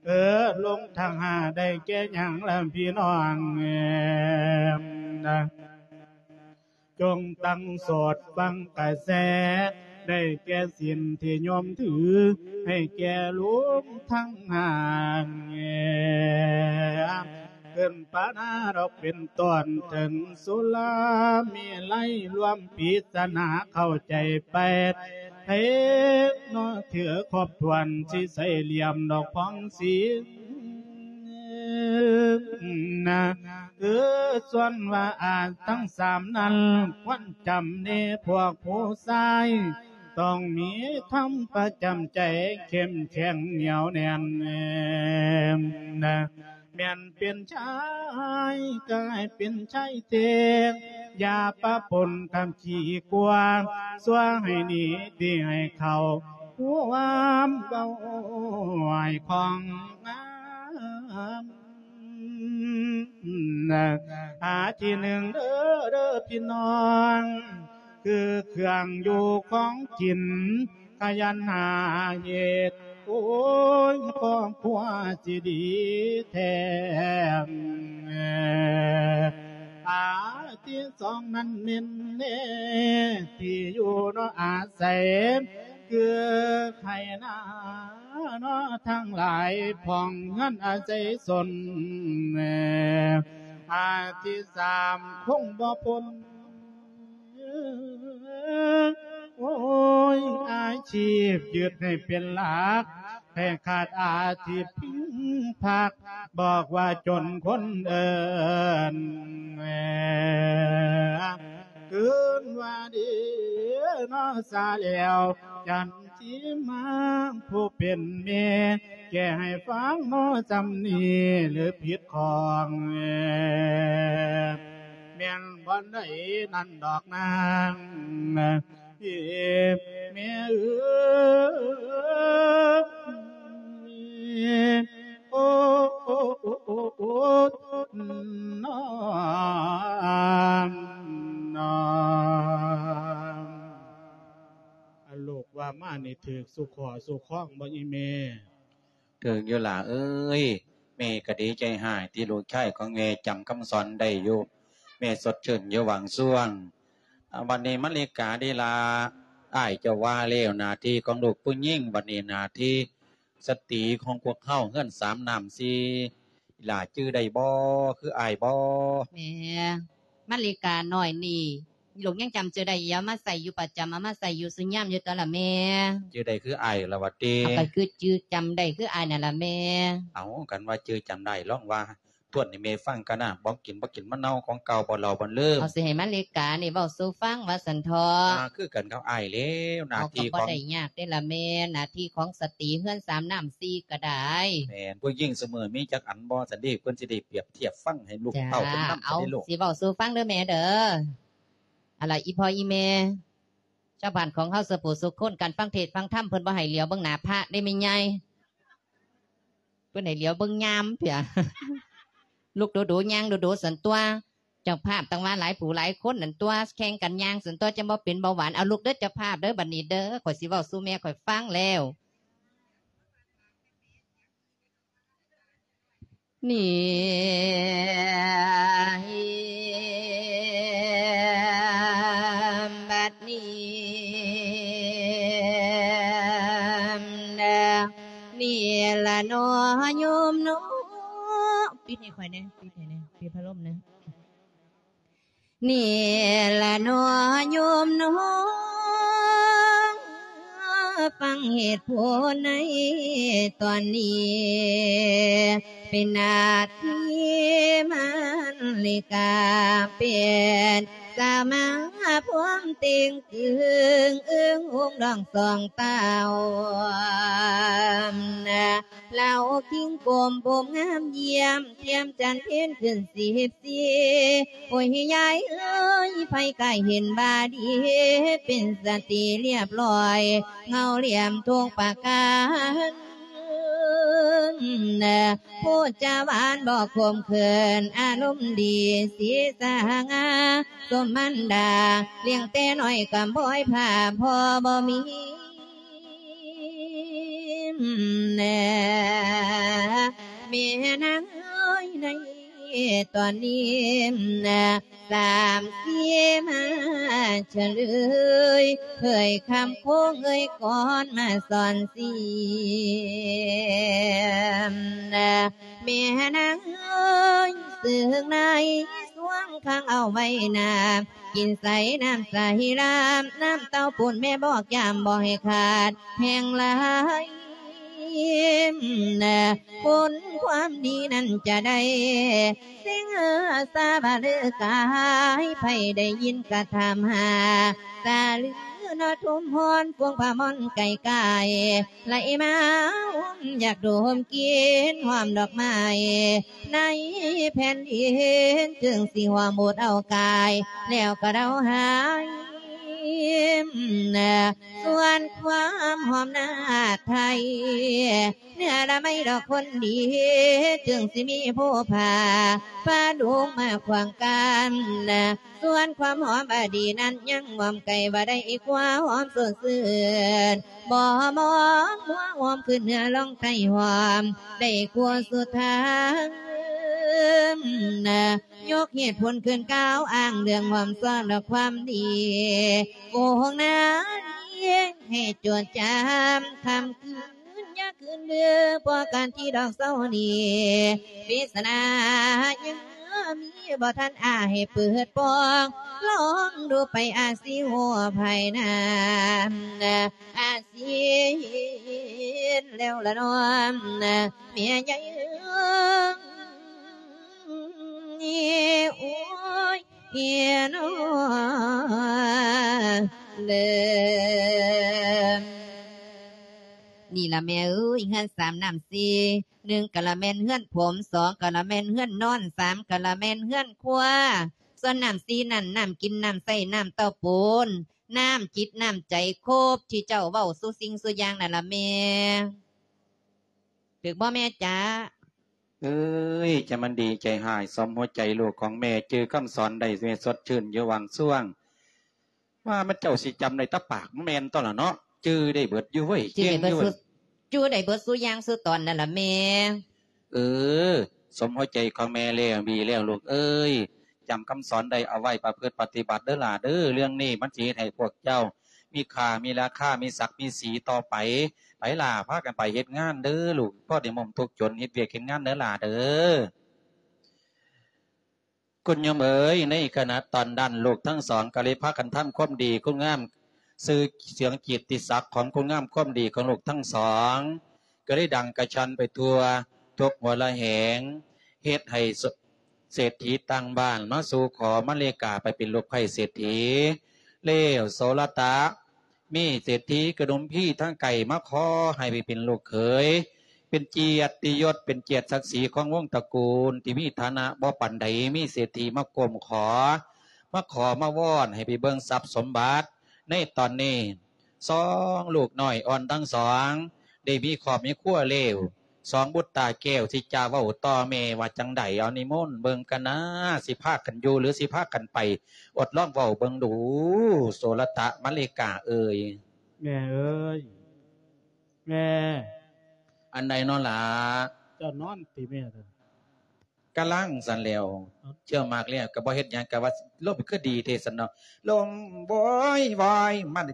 ເອີ ລົງທັງຫ້າໄດ້ແກ່ຫຍັງລະພີ່ນ້ອງ ເອີ ນະ ຈົ່ງຕັ້ງສອດຟັງກະແສ ໄດ້ແກ່ສິນທີ່ໂຍມຖື ໃຫ້ແກ່ລຸງທັງຫ້າ ຂຶ້ນປານາດອກເປັນຕົ້ນ ເຖິງສຸລາເມໄລລວມ ປິດສະໜາເຂົ້າໃຈແປດ ໃຜເນາະຖືຄົບຖ້ວນ ຊິໃສ່ຫຼ່ຽມດອກພອງສີນະ ເອີ ສ່ວນວ່າອາດທັງສາມນັ້ນ ຄວນຈຳເນ ພວກຜູ້ຊາຍ ຕ້ອງມີທຳປະຈຳໃຈ ເຂັ້ມແຂງໜຽວແໜ້ນນະ ແມ່ນເປັນຊາຍກໍໃຫ້ເປັນຊາຍແທ້ ຢ່າປະປົນກັບຂີ້ກວາງ ຊົ່ວໃຫ້ໜີ ດີໃຫ້ເຂົ້າ ຄວາມເວົ້າອ້ອຍຂອງງາມ. ອັນທີໜຶ່ງເດີ ເດີພີ່ນ້ອງ ຄືເຄື່ອງຢູ່ຂອງກິນ ຂະຫຍັນຫາເຮັດ ໂອ້ຍ ຄອບຄົວຊິດີແທ້. ອັນທີສອງນັ້ນແມ່ນແນ່ ທີ່ຢູ່ເນາະອາໄສ ຄືໄຮ່ນາເນາະທັງຫຼາຍ ພ້ອມເຮືອນອາໄສຊົນ. ອັນທີສາມຄົງບໍ່ພົ້ນ ໂອ້ຍ ອາຊີບຍຶດໃຫ້ເປັນຫຼັກ ໃຫ້ຂາດອາຊີບພິງພັກ ບອກວ່າຈົນຄົນເອີ້ນ ຄືນວ່າດີເນາະ ສາແລ້ວ ຈັນຊິມາຜູ້ເປັນແມ່ ແກ້ໃຫ້ຟັງເນາະ ສ່ຳນີ້ຫຼືຜິດຂອງ ແມ່ນບ່ອນໃດນັ້ນດອກນາງ ເອີ ແມ່ເອີຍ ໂອ້ ໂອ້ ໂອ້ ໂອ້ ໂອ້ ນ້ອງ ນ້ອງ ອັນລູກວ່າມານີ້ຖືກສູ່ຂໍ້ສູ່ຄອງບໍ່ອີ່ແມ່? ຖືກຢູ່ຫຼ້າເອີຍ ແມ່ກໍດີໃຈຮ້າຍທີ່ລູກຊາຍຂອງແມ່ຈຳຄຳສອນໄດ້ຢູ່ ແມ່ສົດຊື່ນຢູ່ບາງຊ່ວງ. ອາ ບັດນີ້ມະລິກາເດລາ ອ້າຍເຈົ້າວ່າແລ້ວ ໜ້າທີ່ຂອງລູກຜູ້ຍິງ ບັດນີ້ໜ້າທີ່ສະຕີຂອງພວກເຮົາ ເຮືອນສາມນ້ຳສີ່ ອີ່ຫຼ້າຈື່ໄດ້ບໍ່ ຄືອ້າຍບໍ່? ແມ່ ມະລິການ້ອຍນີ້ ລູກຍັງຈຳຊື່ໄດ້ຢູ່ ເອົາມາໃຊ້ຢູ່ປະຈຳ ເອົາມາໃຊ້ຢູ່ຊຸຍາມຢູ່ຕົວະລະແມ່. ຈື່ໄດ້ຄືອ້າຍລະຫວາຕິ? ເອົາ ກໍຄືຈື່ຈຳໄດ້ຄືອ້າຍນັ້ນລະແມ່. ເອົາ ຄັນວ່າຈື່ຈຳໄດ້ ລອງວ່າທວນໃຫ້ແມ່ຟັງກະນະ ບໍ່ກິນບໍ່ກິນມະເນົ່າຂອງເກົ່າ ບໍ່ເລົ່າບໍ່ລືມ. ເອົາ ຊິໃຫ້ມະລິການີ້ເວົ້າສູ່ຟັງວ່າຊັ້ນເຖາະ. ອ່າ ຄືກັນກັບອ້າຍແລ້ວ ໜ້າທີ່ຂອງ ເອົາ ກໍບໍ່ໄດ້ຍາກເດ້ລະແມ່ ໜ້າທີ່ຂອງສະຕີເຮືອນສາມນ້ຳສີ່ກໍໄດ້. ແມ່ນ ຜູ້ຍິງຊຸມື້ມີຈັກອັນບໍ່ ຊັ້ນເດ ເພິ່ນຊິໄດ້ປຽບທຽບຟັງໃຫ້ລູກເຕົ້າເພິ່ນນຳ ເອົາ ຊັ້ນເດລູກ. ຊິເວົ້າສູ່ຟັງເດີແມ່ເດີ. ອັນລະ ອີ່ພໍ່ອີ່ແມ່ ຊາວບ້ານຂອງເຮົາສູ່ຜູ້ສູ່ຄົນ ການຟັງເທດຟັງທຳເພິ່ນບໍ່ໃຫ້ຫຼຽວເບິ່ງໜ້າພະເດ້ແມ່ໃຫຍ່ ເພິ່ນໃຫ້ຫຼຽວເບິ່ງຍາມເພຍ. ລຸກດູໆ ຍ່າງດູໆ ຊັ້ນຕົວະ ເຈົ້າພາບຕັ້ງວ່າຫຼາຍຜູ້ຫຼາຍຄົນນັ້ນຕົວະ ແຂ່ງກັນຍ່າງຊັ້ນຕົວະ ຈັ່ງບໍ່ເປັນເບົາຫວານ. ເອົາ ລຸກເດີເຈົ້າພາບເດີ ບັດນີ້ເດີ ຂ້ອຍຊິເວົ້າສູ່ແມ່ຂ້ອຍຟັງແລ້ວ. ນີ້ ບັດນີ້ ນີ້ລະເນາະໂຍມເນາະ ປິດໃຫ້ຂ້ອຍແດ່ ປິດໃຫ້ແດ່ ປິດພັດລົມແດ່. ນີ້ລະເນາະໂຍມເນາະ ຟັງເຫດຜົນໃນຕອນນີ້ ເປັນໜ້າທີ່ມາລິກາ ເປັນສາວມາພວມເຕັງຕຶງ ອຶ້ງຫົງດອງສອງເຕົ້າ. ລາວຄິງກົມຜົມງາມຢ້ຽມ ທຽມຈັນເພັນຂຶ້ນສິບສີ່ ໂອ້ຍຍາຍເອີຍ ໃຜກະເຫັນວ່າດີ ເປັນສະຕີລຽບລ້ອຍ ເງົາຫຼຽມທຸກປະການ ພູດຈາຫວານບໍ່ຂົມເຂີນ ອາລົມດີສີສະຫະຫງາ ສົມມັນດາ ລ້ຽງແຕ່ນ້ອຍກຳພ້ອຍພາພໍ່ບໍ່ມີ ແມ່ນາງເອີຍ ໃນຕອນນີ້ ສາມສີ່ມາສະເລີຍ ເຜີຍຄຳໂຄ້ງເອີຍກ່ອນມາສອນສຽມ ແມ່ນາງເອີຍ ເຊິ່ງໃນຊ່ວງຂັງເອົາໄວ້ນາ ກິນໃສນ້ຳໃສລາມ ນ້ຳເຕົ້າປູນແມ່ບອກຢາມບໍ່ໃຫ້ຂາດແຫ່ງຫຼາຍ ມ บุญความดีนั้นจะได้ สิงหาสาบาลือกาย ไผได้ยินกะถามหา สาลือเนาะทุ่มฮ้อน ปวงผ้าม่อนไก่กาย ไหลมาอุ้มอยากดมกลิ่นหอมดอกไม้ ในแผ่นดิน จึงสิหอมโอดเอากาย แล้วก็เดาหาย ส่วนความหอมนาฏไทย เนื้อละไม้ดอกคนดี จึงสิมีผู้พา พาดวงมาขวางกัน ส่วนความหอมอดีนั้นยังหอมไกลว่าได้กว่าหอมสดชื่น บ่มองมัวหอมขึ้นเหนือลองไทยหอม ได้กว่าสุดทาง ยกเหตุผลขึ้นกล่าวอ้างเรื่องหอมซ้อนและความดี โกหกนาเลี้ยงให้จดจำ ค่ำคืนอย่าคืนเดือ เพราะการที่ดอกเศร้านี้ ปริศนายังมีบ่ทันอ้าให้เปิดปอง ลองดูไปอาจสิฮู้ภายหน้า อาจสิเห็นแล้วละน้อม เมียใหญ่เอิ้น โอ้ย เฮียน้อ เด้อ นี่ล่ะแม่เอ้ย เฮือนสามน้ำสี่ หนึ่งกะละแม่นเฮือนผม สองกะละแม่นเฮือนนอน สามกะละแม่นเฮือนครัว ส่วนน้ำสี่นั่น น้ำกิน น้ำใช้ น้ำเต้าปูน น้ำจิต น้ำใจ ครบที่เจ้าเว้าสู่สิ่งสู่อย่างนั่นล่ะแม่ ถืกบ่แม่จ๊ะ? เอ้ย จะมันดีใจหาย สมหัวใจลูกของแม่ จื่อคำสอนได้ แม่สดชื่นอยู่หว่างช่วง ว่ามันเจ้าสิจำได้แตะปาก แม่นตั๊วล่ะเนาะ จื่อได้เบิดอยู่เว้ย จื่อได้เบิด เก่งอยู่เว้ย สุ จื่อได้เบิดสู่อย่างสู่ตอนนั่นล่ะแม่ เออ สมหัวใจของแม่แล้ว ดีแล้วลูกเอ้ย จำคำสอนได้เอาไว้ประพฤติปฏิบัติเด้อหล่าเด้อ เรื่องนี้มันสิเฮ็ดให้พวกเจ้ามีค่า มีราคา มีศักดิ์ มีศรีต่อไป ไปหล่า พากันไปเฮ็ดงานเด้อลูก พอได้มมทุกข์จน เฮ็ดเวียกเฮ็ดงานเด้อหล่าเด้อ คุณโยมเอ๋ย ในขณะตอนนั้นลูกทั้งสองก็เลยพากันทำความดีคุณงาม ชื่อเสียงกิตติศักดิ์ของคุณงามความดีของลูกทั้งสอง ก็เลยดังกระชอนไปทั่วทุกหัวระแหง เฮ็ดให้เศรษฐีต่างบ้านมาสู่ขอมาเลกาไปเป็นลูกใคร่เศรษฐี แล้วโสรตะ มีเศรษฐีกระดุมพีทางไกลมาขอให้ไปเป็นลูกเขย เป็นเกียรติยศ เป็นเกียรติศักดิ์ศรีของวงศ์ตระกูล ที่มีฐานะบ่ปานใด มีเศรษฐีมาก้มขอ มาขอมาวอนให้ไปเบิ่งทรัพย์สมบัติ ในตอนนี้ สองลูกน้อยอ่อนทั้งสอง ได้มีครอบมีครัวแล้ว สองบุตรตาแก้วสิจะเว้าต่อแม่ว่าจั่งใด เอานิมนต์เบิ่งกันนะ สิพากันอยู่หรือสิพากันไป อดลองเว้าเบิ่งดู โสรตะ มะเลกาเอ่ย แม่เอ๋ย แม่ อันใดน้อหล่า เจ้านอนติแม่ กำลังสั่นแล้ว เอ้า เชื่อมากแล้ว ก็บ่เฮ็ดหยัง ก็ว่าลมคือดีแท้ซั่นเนาะ ลมโวยวาย มัน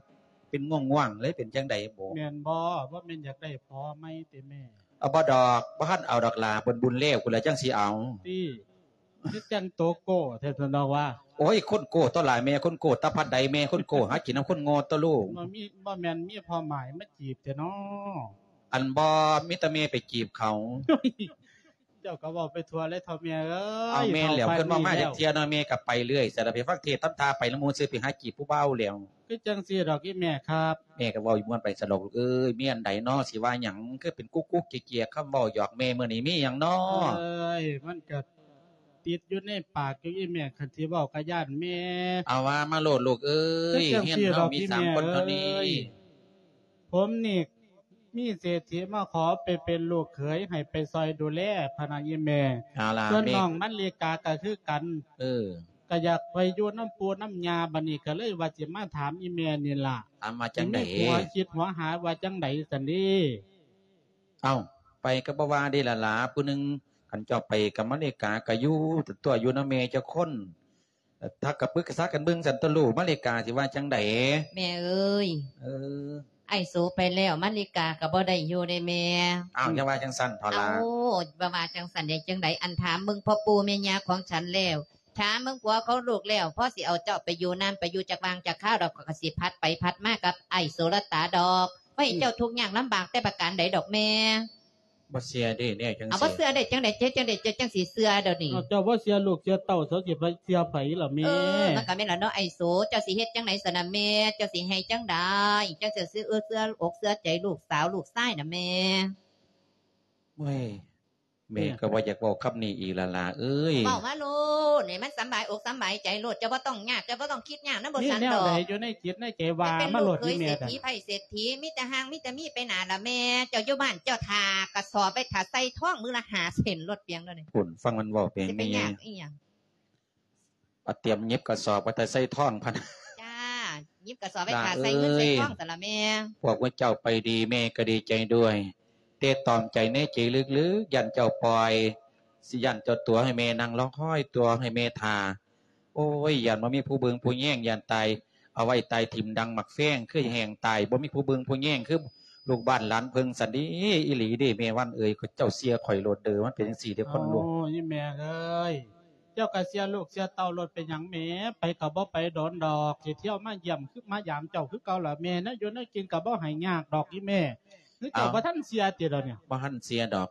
เป็นง่วงๆ เลย เป็นจั่งใดบ่ แม่นบ่ บ่แม่นอยากได้ผัวใหม่ติแม่ เอาบ่ดอก บ่ทันเอาดอกหล่า เพิ่นบุญแล้ว พุ้นล่ะจั่งสิเอา ติ คือจั่งโตโก้แท้ซั่นดอกว่า โอ้ย คนโก้ตั๊วหล่า แม่คนโก้ ตาพัดใด แม่คนโก้ หากินนำคนโง่ตั๊วลูก บ่มี บ่แม่นมีพ่อหมายมาจีบแท้น้อ อันบ่ มีแต่แม่ไปจีบเขา เจ้าก็เว้าไปทั่วเลยเฒ่าแม่เอ้ย เอาแม่นแล้ว เฒ่าปานนี้ เพิ่นบ่มาจักเทื่อเนาะ แม่ก็ไปเรื่อย สารพัดฟังเทศน์ทำท่าไปนำหมู่ซื่อ ไปหาจีบผู้บ่าวแล้ว คือจั่งซี้ดอกอีแม่ครับ แม่ก็เว้าอยู่ม่วนไปซั่นดอกลูกเอ้ย มีอันใดน้อ สิว่าหยัง คือเป็นกุ๊กๆ เกียกๆ คำเว้าหยอกแม่มื้อนี้ มีหยังน้อ เอ้ย มันก็ติดอยู่ในปากอยู่อีแม่ คันสิเว้าก็ย้านแม่ เอาว่ามาโลดลูกเอ้ย คือจั่งซี้ดอก เฮือนเฮามีสามคนเท่านี้ อีแม่เอ้ย ผมนี่ มีเศรษฐีมาขอไปเป็นลูกเขยให้ไปซอยดูแลพะนะอีแม่ เอาล่ะ ส่วน แม่ น้องมะลิกาก็คือกัน เออ ก็อยากไปอยู่นำปู่นำย่า บัดนี้ก็เลยว่าสิมาถามอีแม่นี่ล่ะ ถามว่าจั่งใด สิมีผัวคิดหัวหาว่าจั่งใดซั่นเด้ เอ้า ไปก็บ่ว่าเด้ล่ะหล่า ผู้หนึ่ง คันเจ้าไปกับมะลิกาก็อยู่ตั๊ว อยู่นำแม่จักคน ถ้าก็ปรึกษากันเบิ่งซั่นตั๊วลูก มะลิกาสิว่าจั่งใด แม่เอ๋ย เออ อ้ายโสไปแล้ว มะลิกาก็บ่ได้อยู่เด้แม่ อ้าว อย่าว่าจั่งซั่นเถาะหล่า เอ้า บ่ว่าจั่งซั่นได้จั่งใด อันถามเบิ่งพ่อปู่แม่ย่าของฉันแล้ว ถามเบิ่งผัวของลูกแล้ว พอสิเอาเจ้าไปอยู่นาน ไปอยู่จักว่างจักคราวดอก ข้อยก็สิผัดไปผัดมากับอ้ายโสรตาดอก ບໍ່ໃຫ້ເຈົ້າທຸກຍາກລຳບາກແຕ່ປະການໃດດອກແມ່. ບໍ່ເຊື່ອເດ້ແນວຈັ່ງຊີ້. ເອົາ ບໍ່ເຊື່ອໄດ້ຈັ່ງໃດ? ເຮັດຈັ່ງໃດເຈົ້າຈັ່ງຊິເຊື່ອດຽວນີ້? ເອົາ ເຈົ້າບໍ່ເຊື່ອລູກເຊື່ອເຕົ້າ ເຈົ້າຊິໄປເຊື່ອໃຜລະແມ່? ເອີ ມັນກໍແມ່ນລະເນາະອ້າຍໂສ. ເຈົ້າຊິເຮັດຈັ່ງໃດຊັ້ນນະແມ່? ເຈົ້າຊິໃຫ້ຈັ່ງໃດ ຈັ່ງຊິເຊື່ອ ເອີ ເຊື່ອອົກເຊື່ອໃຈລູກສາວລູກຊາຍນະແມ່? ໂອ້ຍ ແມ່ກໍບໍ່ຢາກເວົ້າຄຳນີ້ອີກລະຫຼ້າເອີຍ. ເວົ້າມາໂລດ ໃຫ້ມັນສຳບາຍອົກສຳບາຍໃຈໂລດ. ເຈົ້າບໍ່ຕ້ອງຍາກ ເຈົ້າບໍ່ຕ້ອງຄິດຍາກນຳບໍ່ສັນດອກ. ມີແນວໃດຢູ່ໃນຈິດໃນໃຈວ່າມາໂລດ ອີແມ່. ເປັນລູກເຂີຍເສດຖີ ໃຜເສດຖີ ມີແຕ່ຮ່າງມີແຕ່ມີໄປໜ້າລະແມ່. ເຈົ້າຢູ່ບ້ານເຈົ້າຖ້າກະສອບໄວ້ຖ້າໃສ່ທອງມື້ລະຫ້າເສັ້ນໂລດ ປຽງໂລດນີ້. ພຸ້ນ ຟັງມັນເວົ້າແປງແມ່. ຊິໄປຍາກອີ່ຫຍັງ? ອາ ຕຽມຫຍິບກະສອບໄວ້ຖ້າໃສ່ທອງພຸ້ນ. ຈ້າ ຫຍິບກະສອບໄວ້ຖ້າໃສ່ເງິນໃສ່ທອງຊັ້ນລະແມ່. ພວກໝູ່ເຈົ້າໄປດີ ແມ່ກໍດີໃຈດ້ວຍ ແຕ່ຕອມໃຈໃນໃຈເລິກໆ ຢ້ານເຈົ້າປ່ອຍ ຊິຢ້ານເຈົ້າຕົວໃຫ້ແມ່ນັ່ງລໍຄອຍ ຕົວໃຫ້ແມ່ຖ້າ. ໂອ້ຍ ຢ້ານບໍ່ມີຜູ້ເບິ່ງຜູ້ແຍງ ຢ້ານຕາຍ ເອົາໄວ້ຕາຍຖິ້ມດັ່ງໝາກແຟງ ຄືແຫ້ງຕາຍ ບໍ່ມີຜູ້ເບິ່ງຜູ້ແຍງ ຄືລູກບ້ານຫຼານເພິ່ງຊັ້ນເດ. ອີ່ຫຼີເດແມ່ວັນເອີຍ ເຈົ້າເຊື່ອຂ້ອຍໂລດເດີ ມັນເປັນຈັ່ງຊີ້ເດຄົນລູກ. ໂອ້ຍ ແມ່ເອີຍ ເຈົ້າກໍເຊື່ອລູກເຊື່ອເຕົ້າໂລດ ເປັນຫຍັງແມ່? ໄປກໍບໍ່ໄປດົນດອກ ຊິທ່ຽວມາຢ້ຽມຄືມາຢາມເຈົ້າຄືເກົ່າລະແມ່. ແນວຢູ່ແນວກິນກໍບໍ່ໃຫ້ຍາກດອກອີ່ແມ່. ຄືເຈົ້າ ເອົ້າ ບໍ່ທັນເຊື່ອຕິດຽວນີ້? ບໍ່ທັນເຊື່ອດອກ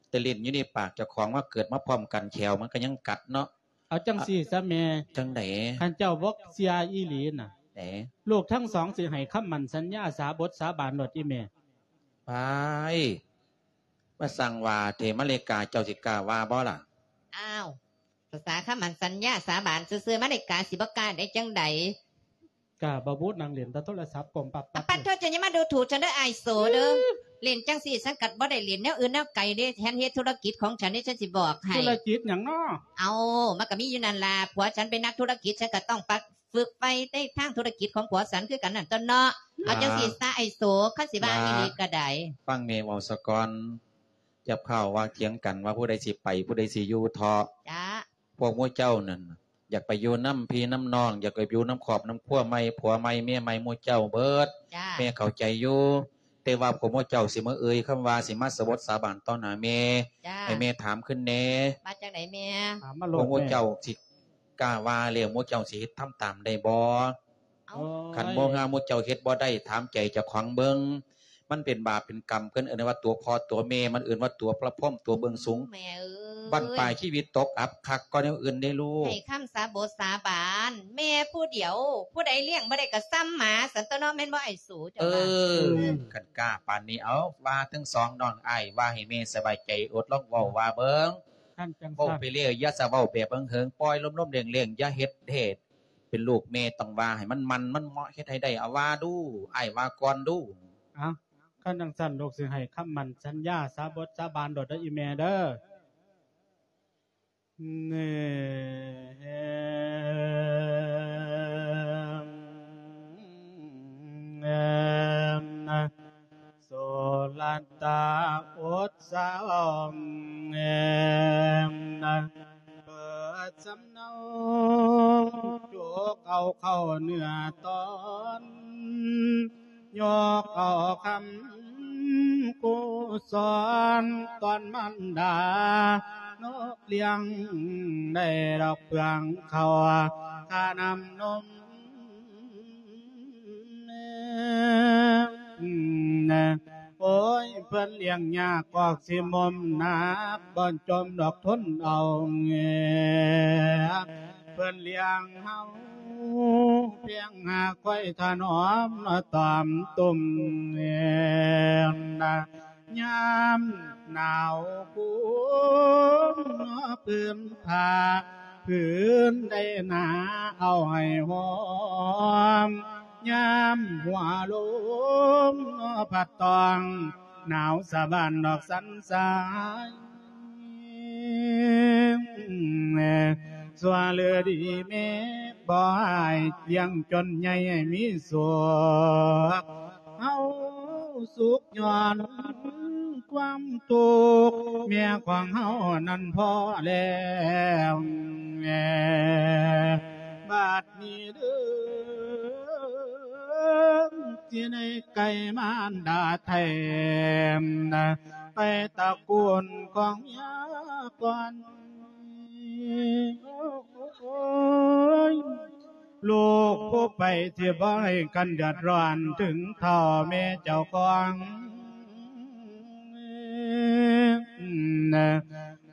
ແຕ່ຫຼິ້ນຢູ່ໃນປາກເຈົ້າຂອງ ມາເກີດມາພ້ອມກັນ ແຂ້ວມັນກໍຍັງກັດເນາະ. ເອົາຈັ່ງຊີ້ຊະແມ່. ຈັ່ງໃດ? ຄັນເຈົ້າບໍ່ເຊື່ອອີ່ຫຼີນະ ເອີ ລູກທັງສອງຊິໃຫ້ຄຳໝັ້ນສັນຍາສາບົດສາບານໂລດອີ່ແມ່. ປາຍ ມາສ້າງວ່າແທ້ ມະເລກາ ເຈົ້າຊິກ້າວ່າບໍ່ລະ? ອ້າວ ພາສາຄຳໝັ້ນສັນຍາສາບານຊື່ໆ ມະເລກາຊິບໍ່ກ້າໄດ້ຈັ່ງໃດ? ກ້າບໍ່ບຸ ນັ່ງຫຼິ້ນແຕ່ໂທລະສັບ ກົ້ມປັບປັບ. ປາດໂທ ເຈົ້າຢ່າມາດູຖູກ ເຈົ້າເດີ ອ້າຍໂສເດີ. ເອີ ຫຼິ້ນຈັ່ງຊີ້ ສັນກໍບໍ່ໄດ້ຫຼິ້ນແນວອື່ນແນວໄກເດ້. ແທນເຮັດທຸລະກິດຂອງສັນເດ້ ສັນຊິບອກໃຫ້. ທຸລະກິດຫຍັງເນາະ? ເອົາ ມັນກໍມີຢູ່ນັ້ນລະ ຜົວສັນເປັນນັກທຸລະກິດ ສັນກໍຕ້ອງປັກ ຝຶກໄຟໃນທາງທຸລະກິດຂອງຜົວສັນຄືກັນນັ້ນຕົວເນາະ. ເອົາ ອ່າ ຈັ່ງຊີ້ຊະ ອ້າຍໂສ ຄັນຊິວ່າ ອ່າ ອີ່ຫຼີກໍໄດ້. ຟັງແມ່ເວົ້າສາກ່ອນ ຢ່າຟ້າວວ່າຖຽງກັນວ່າຜູ້ໃດຊິໄປ ຜູ້ໃດຊິຢູ່ເທາະ. ຈ້າ. ພວກໝູ່ເຈົ້ານັ້ນ ຢາກໄປຢູ່ນຳພີ່ນຳນ້ອງ ຢາກໄປຢູ່ນຳຄອບນຳຄົວໃໝ່ ຜົວໃໝ່ເມຍໃໝ່ ໝູ່ເຈົ້າເບິດ. ຈ້າ. ແມ່ເຂົ້າໃຈຢູ່ ແຕ່ວ່າພວກໝູ່ເຈົ້າຊິມາເອີ່ຍຄຳວ່າ ຊິມາສາບົດສາບານຕໍ່ໜ້າແມ່. ຈ້າ. ໃຫ້ແມ່ຖາມຄືນແດ່. ວ່າຈັ່ງໃດແມ່? ຖາມມາໂລດ. ພວກໝູ່ເຈົ້າຊິ ກ້າວ່າແລ້ວ ໝູ່ເຈົ້າຊິເຮັດທຳຕາມໄດ້ບໍ່? ເອົ້າ ໂອ້ຍ ຄັນບໍ່ ຫາໝູ່ເຈົ້າເຮັດບໍ່ໄດ້ ຖາມໃຈເຈົ້າຂອງເບິ່ງ ມັນເປັນບາບເປັນກຳ ເພິ່ນເອີ້ນວ່າຕົວພໍ່ຕົວແມ່ ມັນເອີ້ນວ່າຕົວພະພົມ ຕົວເບື້ອງສູງ. ແມ່ເອີຍ ບັ້ນປາຍຊີວິດຕົກອັບຄັກກວ່າແນວອື່ນເດ້ລູກ. ໃຫ້ຄຳສາບົດສາບານ ແມ່ຜູ້ດຽວ ຜູ້ໃດລ້ຽງບໍ່ໄດ້ກໍສ່ຳໝາຊັ້ນຕົວເນາະ ແມ່ນບໍ່ອ້າຍໂສ ເຈົ້າວ່າ? ເອີ ຄັນກ້າປານນີ້ ເອົາ ວ່າທັງສອງນ້ອງອ້າຍ ວ່າໃຫ້ແມ່ສະບາຍໃຈ ອົດລອງເວົ້າວ່າເບິ່ງ. ຄັນຈັ່ງຊັ້ນ ເວົ້າໄປແລ້ວ ຢ່າສະເວົ້າແບບເຫິງໆ ປ່ອຍລົມໆແລ້ງໆ ຢ່າເຮັດເດ. ເປັນລູກແມ່ຕ້ອງວ່າໃຫ້ມັນໝັ້ນມັນເໝາະ ເຮັດໃຫ້ໄດ້. ເອົາ ວ່າດູ ອ້າຍວ່າກ່ອນດູ. ເອົ້າ ຄັນຈັ່ງຊັ້ນ ລູກຊິໃຫ້ຄຳໝັ້ນສັນຍາສາບົດສາບານໂລດເດີອີ່ແມ່ເດີ. ໂສລະຕາອົດສາວ ເປີດສຳເນົາ ໂຈກເອົາເຂົ້າເນື້ອຕອນ ຍົກເອົາຄຳກູສອນ ຕອນມັນດານົກລ້ຽງ ໄດ້ດອກເຟືອງເຂົ້າ ຄ່ານ້ຳນົມ. ໂອ້ຍ ເພິ່ນລ້ຽງຍາກອອກຊິໝົມໜັກ ບໍ່ຈົ່ມດອກທົນເອົາ. ເພິ່ນລ້ຽງເຮົາພຽງຫາກຄອຍຖະໜອມ ຕອມຕຸ່ມ. ຍາມໜາວກຸ້ມ ນອກພື້ນຜ້າ ພື້ນໄດ້ໜາເອົາໃຫ້ຫອມ ຍາມຫົວລົມພັດຕອງ ໜາວສະບານດອກສັນສາຍ. ຊົ່ວຫຼືດີແມ່ບໍ່ອາຍ ລ້ຽງຈົນໃຫຍ່ໃຫ້ມີສຸກ ເຮົາສຸກຍ້ອນຄວາມທຸກ ເມຍຂອງເຮົານັ້ນພໍແລ້ວ. ບາດນີ້ເດີ ຊິໄດ້ໄກ່ມານດາແທ້ ໄກ່ຕະກູນຂອງເມຍກ່ອນ. ໂອ້ຍ ລູກຜູ້ໄປ ຊິບໍ່ໃຫ້ກັນເດືອດຮ້ອນເຖິງເຖົ້າແມ່ເຈົ້າຂອງ.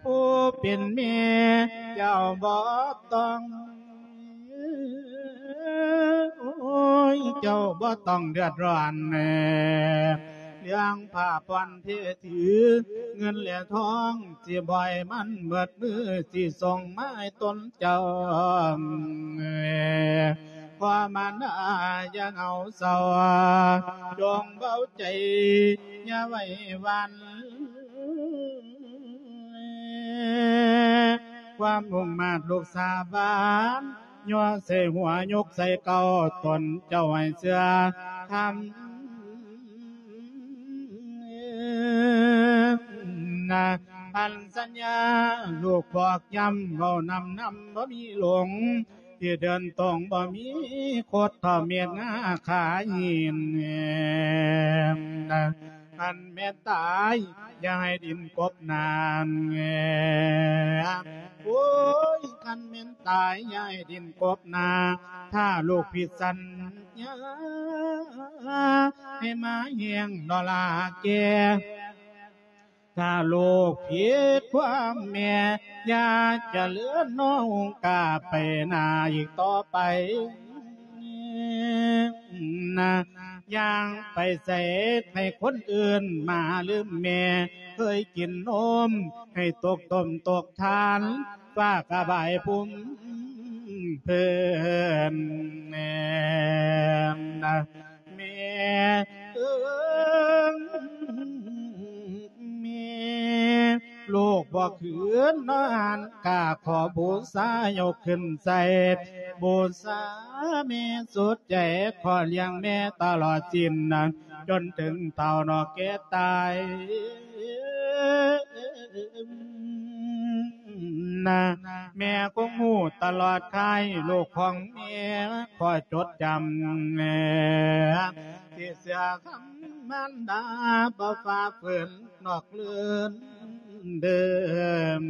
ຜູ້ເປັນແມ່ເຈົ້າບໍ່ຕ້ອງ ໂອ້ຍ ເຈົ້າບໍ່ຕ້ອງເດືອດຮ້ອນ ເລື່ອງຜ້າຜ່ອນເພ ຖືເງິນແລະທອງ ຊິບໍ່ໃຫ້ມັນເໝິດມື ຊິສົ່ງມາໃຫ້ຕົນເຈົ້າ. ພໍ່ມານາຢ່າເຫງົາເສົ້າ ຈົ່ງເບົາໃຈຢ່າໄຫວ້ຫວັ່ນ ຄວາມມຸ່ງມາດລູກສາບານ ຍໍໃສ່ຫົວຍົກໃສ່ເກົ້າ ຕົນເຈົ້າໃຫ້ເຊື່ອທຳ ອັນສັນຍາລູກບອກຢ້ຳ ເວົ້ານຳນຳບໍ່ມີຫຼົງ ທີ່ເດີນຕົງບໍ່ມີຄົດ ເທົ່າເມັດງາຂາຫີນ. ຄັນແມ່ນຕາຍຢ່າໃຫ້ດິນກົບໜ້າ ໂອ້ຍ ຄັນແມ່ນຕາຍຢ່າໃຫ້ດິນກົບໜ້າ ຖ້າລູກຜິດສັນຍາ ໃຫ້ມາແຮງນອລາແກ່ ຖ້າລູກຜິດຄວາມແມ່ ຢ່າຈະເລີນນອງກາໄປໜ້າອີກຕໍ່ໄປນະ. ຍ່າງໄປໃສໃຫ້ຄົນອື່ນມາລືມແມ່ ເຄີຍກິນນົມໃຫ້ຕົກຕົ້ມຕົກທານ ຟ້າກະບາຍພຸ້ມເພິ່ນ. ແມ່ເອີຍ ແມ່ ລູກບໍ່ຄືນນອນກາ ຂໍບູຊາຍົກຂຶ້ນໃສ່ ບູຊາແມ່ສຸດໃຈ ຂໍລ້ຽງແມ່ຕະຫຼອດຊີນ ຈົນເຖິງເຖົ້ານອກແກ່ຕາຍ. ນະ ແມ່ຄົງຮູ້ຕະຫຼອດຄ້າຍ ລູກຂອງແມ່ຂໍຈົດຈຳ ທີ່ເຊື່ອຄຳມານດາ ບໍ່ຝ່າຝືນນອກເລື່ອນເດີມ.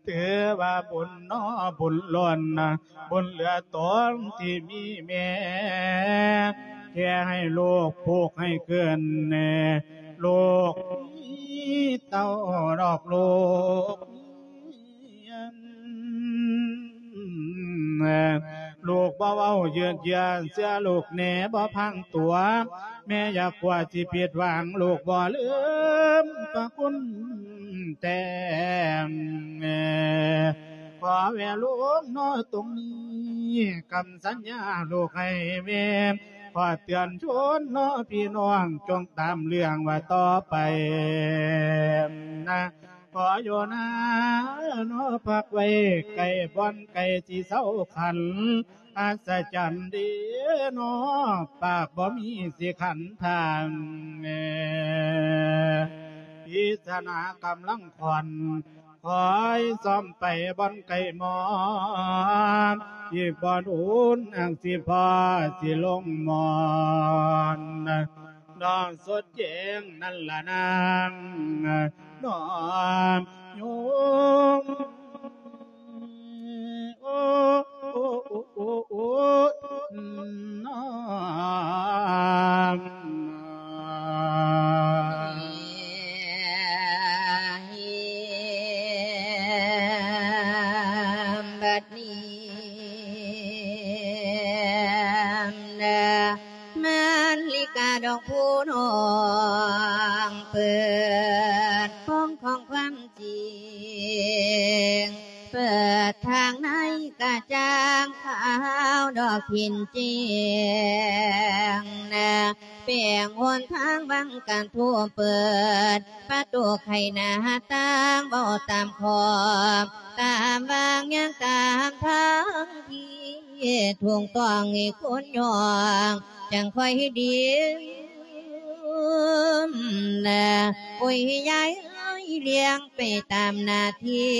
ຖືວ່າບຸນນໍບຸນລ້ນ ບຸນເຫຼືອຕົນທີ່ມີແມ່ ແຄ່ໃຫ້ລູກຜູກໃຫ້ເກີນ ລູກມີເຕົ້າດອກລູກ ລູກບໍ່ເວົ້າເຍືອດເຢືອ ເຊື່ອລູກແນ່ບໍ່ພັງຕົວ ແມ່ຢ່າກົວຊິຜິດຫວັງ ລູກບໍ່ລືມພະຄຸນແຕ່ ຂໍແວ່ລູກນໍຕົງນີ້ ຄຳສັນຍາລູກໃຫ້ແມ່ ຂໍເຕືອນຊົນນໍພີ່ນ້ອງ ຈົ່ງຕາມເລື່ອງວ່າຕໍ່ໄປນະ. ຂໍຢູ່ນານໍພັກໄວ້ໃກ້ບ່ອນໃກ້ຊິເຊົາຂັນ ອັດສະຈັນເດນໍ ປາກບໍ່ມີຊິຂັນທາງ ພິສນາກຳລັງຂອນ ຄອຍຊອມໄປບ່ອນໃກ້ໝອນ ອີກບໍ່ດົນອັງຊິພໍຊິລົງໝອນ ນ້ອງສົດແຈ້ງນັ້ນລະນາງ ນ້ອງໂຍມ ໂອ້ ໂອ້ ໂອ້ ໂອ້ ນ້ອງ ບັດນີ້ ນາລິກາດອກຜູ້ນ້ອງ ເປີດໂປງຂອງຄວາມຈິງ ເປີດທາງໃນກະຈ່າງຂາວດອກພິນແຈ້ງ ແປງຫົນທາງວັງກັນທຸບ ເປີດປະຕູໄຂໜ້າຕ່າງ ເວົ້າຕາມຂອບຕາມວາງ ຍ່າງຕາມທາງທີ່ຖືກຕ້ອງ ໃຫ້ຄົນຍ່ອງຈັ່ງຄ່ອຍດີ ໂອ້ຍ ຍາຍເອີຍ ລ້ຽງໄປຕາມໜ້າທີ່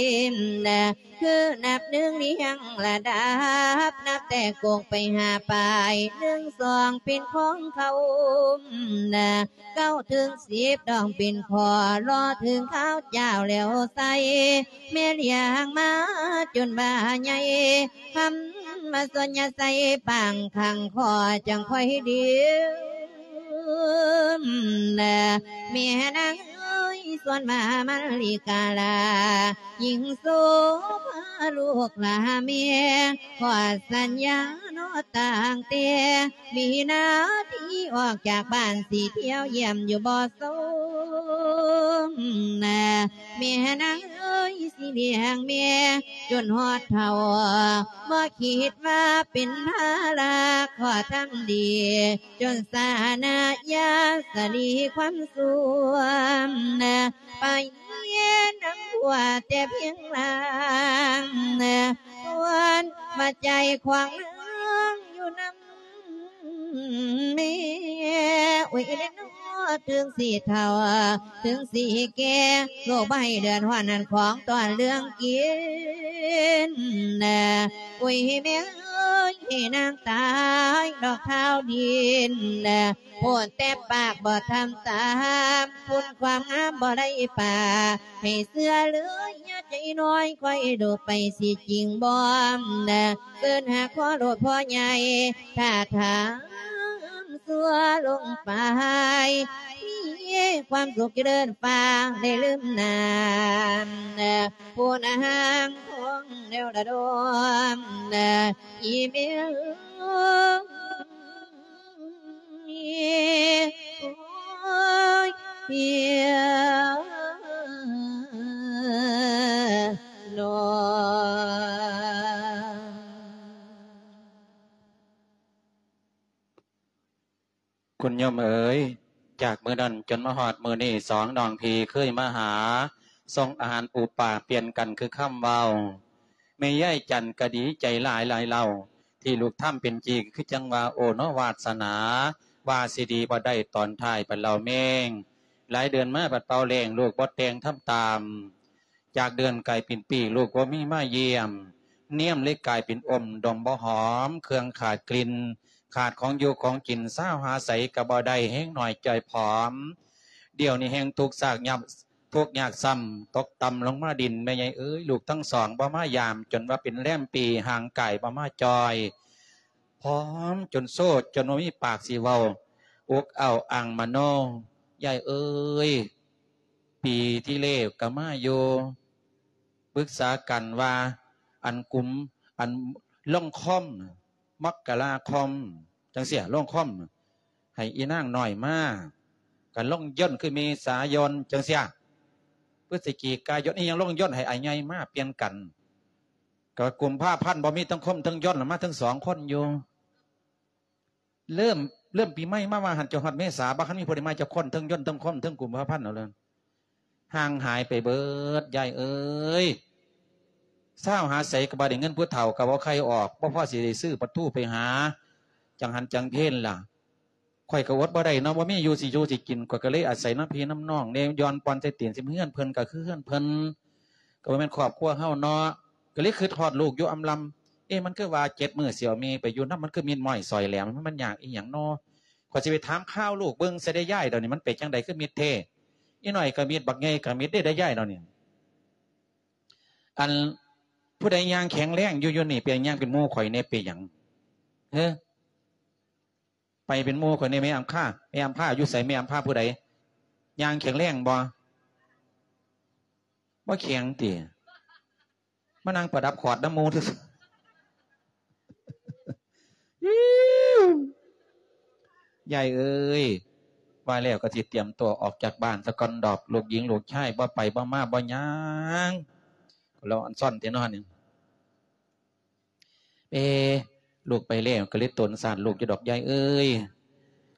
ນະ ຄືນັບໜຶ່ງລຽງລະດັບ ນັບແຕ່ກົກໄປຫາປາຍ ໜຶ່ງ ສອງ ເປັນຂອງເຂົານະ ເກົ້າ ເຖິງ ສິບ ຕ້ອງເປັນຂໍ້ ລໍເຖິງຄາວເຈົ້າແລ້ວໃສ່ ແມ່ລ້ຽງມາຈົນວ່າໃຫຍ່ ຄຳວ່າສ່ວນຢ່າໃສ່ປາງຂ້າງຄໍ ຈັ່ງຄ່ອຍດື່ມນະ ແມ່ນາງເອີຍ ສ່ວນວ່າມະລິກາລາ ຍິ່ງໂສພາລູກຫຼ້າແມ່ ຂໍສັນຍາເນາະຕັ້ງແຕ່ ວິນາທີອອກຈາກບ້ານ ຊິທ່ຽວຢ້ຽມຢູ່ບໍ່ຊົມນະ ແມ່ນາງເອີຍ ຊິລ້ຽງແມ່ຈົນຮອດເຖົ້າ ບໍ່ຄິດວ່າເປັນພາລະ ຂໍທຳດີ ຈົນສານະຍາສະລີຄວາມສ່ວມນະ ໄປນຳຜົວແຕ່ພຽງລ່າງນະ ສ່ວນວ່າໃຈຂວາງນາງຢູ່ນຳແມ່ ໂອ້ຍເນາະ ເຖິງຊິເຖົ້າ ເຖິງຊິແກ່ ໂລກບໍ່ໃຫ້ເດືອດຮ້ອນ ນັ້ນຂອງຕ້ອນເລື່ອງກິນນະ ໂອ້ຍແມ່ເອີຍ ໃຫ້ນາງຕາຍດອກທ້າວດິນນະ ໂພດແຕ່ປາກບໍ່ທຳຕາມ ຄຸນຄວາມງາມບໍ່ໄດ້ປາ ໃຫ້ເຊື່ອເລີຍ ຢ່າໃຈນ້ອຍ ຄ່ອຍດູໄປ ຊິຈິງບໍ່ນະ ເອີ້ນຫາຂໍໂລດພໍ່ໃຫຍ່ ຖ້າຖາມຊົ່ວລົງໄປ ມີຄວາມສຸກຈະເລີນຟ້າ ໄດ້ລືມນາມນະ ຜູ້ນາງທອງແນວລະດົມນະ ອີແມ່ເອີຍ ໂອ້ຍ ເພຍເນາະ. ຄຸນໂຍມເອີຍ ຈາກມື້ນັ້ນຈົນມາຮອດມື້ນີ້ ສອງນ້ອງພີ່ເຄີຍມາຫາ ສົ່ງອາຫານປູປາປ່ຽນກັນຄືຄຳເວົ້າ. ແມ່ຍາຍຈັນກະດີໃຈຫຼາຍຫຼາຍເລົ່າ ທີ່ລູກທຳເປັນຈີ່ ຄືຈັ່ງວ່າ ໂອ້ເນາະ ວາດສະໜາ ວ່າຊິດີບໍ່ໄດ້ ຕອນທ້າຍບັດເລົ່າແມງ ຫຼາຍເດືອນມາບັດເປົ່າແລ້ງ ລູກບໍ່ແຕ່ງທຳຕາມ ຈາກເດືອນກາຍເປັນປີ ລູກບໍ່ມີມາຢ້ຽມ ນຽມເລີຍກາຍເປັນອົມ ດົມບໍ່ຫອມ ເຄື່ອງຂາດກິ່ນ ຂາດຂອງຢູ່ຂອງກິນ ຊາວຫາໃສກໍບໍ່ໄດ້ ແຮງໜ້ອຍຈ່ອຍຜອມ ດຽວນີ້ແຮງທຸກຊາກຍາກ ທຸກຍາກຊ້ຳ ຕົກຕ່ຳລົງມາດິນ ແມ່ໃຫຍ່ເອີຍ ລູກທັງສອງບໍ່ມາຢາມ ຈົນວ່າເປັນແລມປີ ຮ່າງກາຍບໍ່ມາຈ່ອຍ ຜອມຈົນໂຊ ຈົນບໍ່ມີປາກຊິເວົ້າ ອົກອ້າວອ້າງມະໂນ ຍາຍເອີຍ ປີທີ່ແລ້ວກໍມາຢູ່ ປຶກສາກັນວ່າ ອັນກຸມ ອັນລົງຄອມ ມັກກະລາຄອມ ຈັ່ງຊີ້ ລົງຄອມ ໃຫ້ອີນາງນ້ອຍມາ ກໍລົງຍົນ ຄືເມສາຍົນ ຈັ່ງຊີ້ ພຶດສະຈິກາຍົນ ອີຫຍັງລົງຍົນ ໃຫ້ອ້າຍໃຫຍ່ມາ ປ່ຽນກັນ ກໍກຸມພາພັນ ບໍ່ມີທັງຄົມທັງຍົນ ມາທັງສອງຄົນຢູ່. ເລີ່ມ ເລີ່ມປີໃໝ່ມາວ່າຫັ້ນ ຈົນຮອດເມສາ ບໍ່ທັນມີຜູ້ໃດມາຈັກຄົນ ເທິງຍົນ ເທິງຄົມ ເທິງກຸມພາພັນ ເອົາເລີຍ ຫ່າງຫາຍໄປເບີດ ຍາຍເອີຍ ຊາວຫາໃສກໍບໍ່ໄດ້ເງິນ ຜູ້ເຖົ້າກໍບໍ່ໃຄ່ອອກ ບໍ່ພໍຊິໄດ້ຊື້ປາທູໄປຫາ ຈັ່ງຫັນຈັ່ງເພນລະ ຂ້ອຍກໍອົດບໍ່ໄດ້ເນາະ ບໍ່ມີຢູ່ຊິຢູ່ຊິກິນ ຂ້ອຍກໍເລີຍອາໄສນຳພີ່ນຳນ້ອງແດ່ ຢ່ອນປ່ອນໃສ່ຕີນ ຊິເຮືອນເພິ່ນກໍຄືເຮືອນເພິ່ນ ກໍບໍ່ແມ່ນຄອບຄົວເຮົາເນາະ ກໍເລີຍຄິດຮອດລູກຢູ່ອຳລຳ ເອະ ມັນຄືວ່າເຈັດມື້ຊິເອົາແມ່ໄປຢູ່ນຳ ມັນຄືມິດມ້ອຍສອຍແຫຼມ ມັນຍາກອີ່ຫຍັງເນາະ ຂ້ອຍຊິໄປຖາມຂ່າວລູກເບິ່ງຊະເດ້ຍາຍ ດຽວນີ້ມັນເປັນຈັ່ງໃດ ຄືມິດແທ້ ອີນ້ອຍກໍມິດ ບັກໃຫຍ່ກໍມິດເດ້ ໄດ້ຍາຍດຽວນີ້ ອັນ ຜູ້ໃດຍ່າງແຂງແຮງຢູ່ ຢູ່ນີ້ ໄປຍ່າງເປັນໝູ່ຂ້ອຍແດ່ ເປັນຫຍັງ ເອີ ໄປເປັນໝູ່ຂ້ອຍແດ່ ແມ່ອຳຄາ ແມ່ອຳພາຢູ່ໃສ ແມ່ອຳພາຜູ້ໃດ ຍ່າງແຂງແຮງບໍ່ ບໍ່ແຂງຕິ ມານັ່ງປະດັບຂອດນຳໝູ່ຊື່ ຍາຍເອີຍ ວ່າແລ້ວກໍຊິຕຽມຕົວອອກຈາກບ້ານສາກ່ອນດອກ ລູກຍິງລູກຊາຍບໍ່ໄປບໍ່ມາບໍ່ຫຍັງ ລາວອັນຊອນແທ້ເນາະນີ້ ເອ ລູກໄປແລ້ວກໍເລີຍຕົນສານລູກຢູ່ດອກ ຍາຍເອີຍ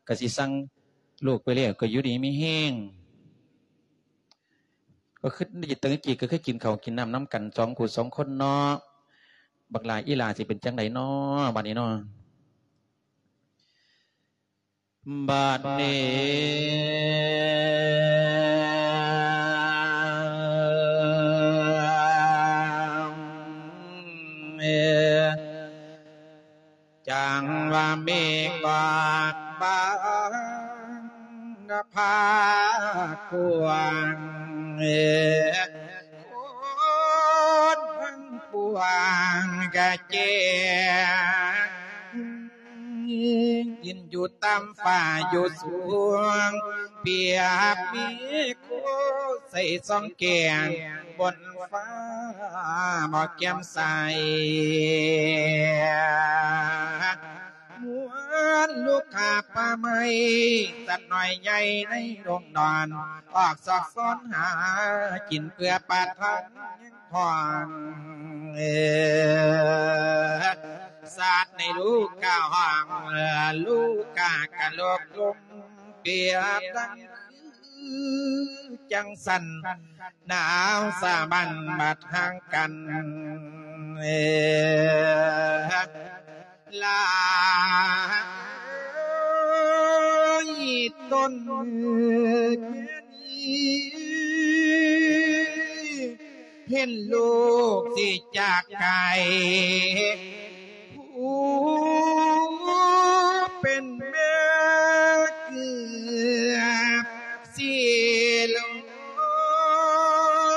ກໍຊິສັ່ງລູກໄປແລ້ວກໍຢູ່ດີມີແຮງ ກໍຄື ຕັ້ງແຕ່ກີ້ກໍຄືກິນເຂົ້າກິນນ້ຳນຳກັນສອງຄູ່ສອງຄົນເນາະ ບັກຫຼ້າອີ່ຫຼ້າຊິເປັນຈັ່ງໃດເນາະ ບັດນີ້ເນາະ ບັດນີ້ ຈັ່ງວ່າເມກອອກບາງນະພາກກວ້າງ ຄົນທັງປວງກະແຈ້ງ ດິນຢູ່ຕ່ຳຟ້າຢູ່ສູງ ປຽບມີໂຄໃສ່ສ່ອງແກ້ງ ບົນຟ້າບໍ່ແຈ່ມໃສ ເໝືອນລູກຄ້າປ່າໄມ້ ສັດນ້ອຍໃຫຍ່ໃນໂຮງນອນ ອອກຊອກຊອນຫາກິນເພື່ອປະທັງທ້ອງ ເອີ ສັດໃນລູກກະຮ້ອງ ເອີ ລູກກະກະໂລກລົມ ປຽບດັ່ງຄືຈັ່ງຊັ້ນ ໜາວສາບັນບັດຫ່າງກັນ ເອີ ຫຼາຍຕົນແມ່ນີ້ ເຫັນລູກຊິຈາກໄກ ຜູ້ເປັນແມ່ເກືອບຊິລົ້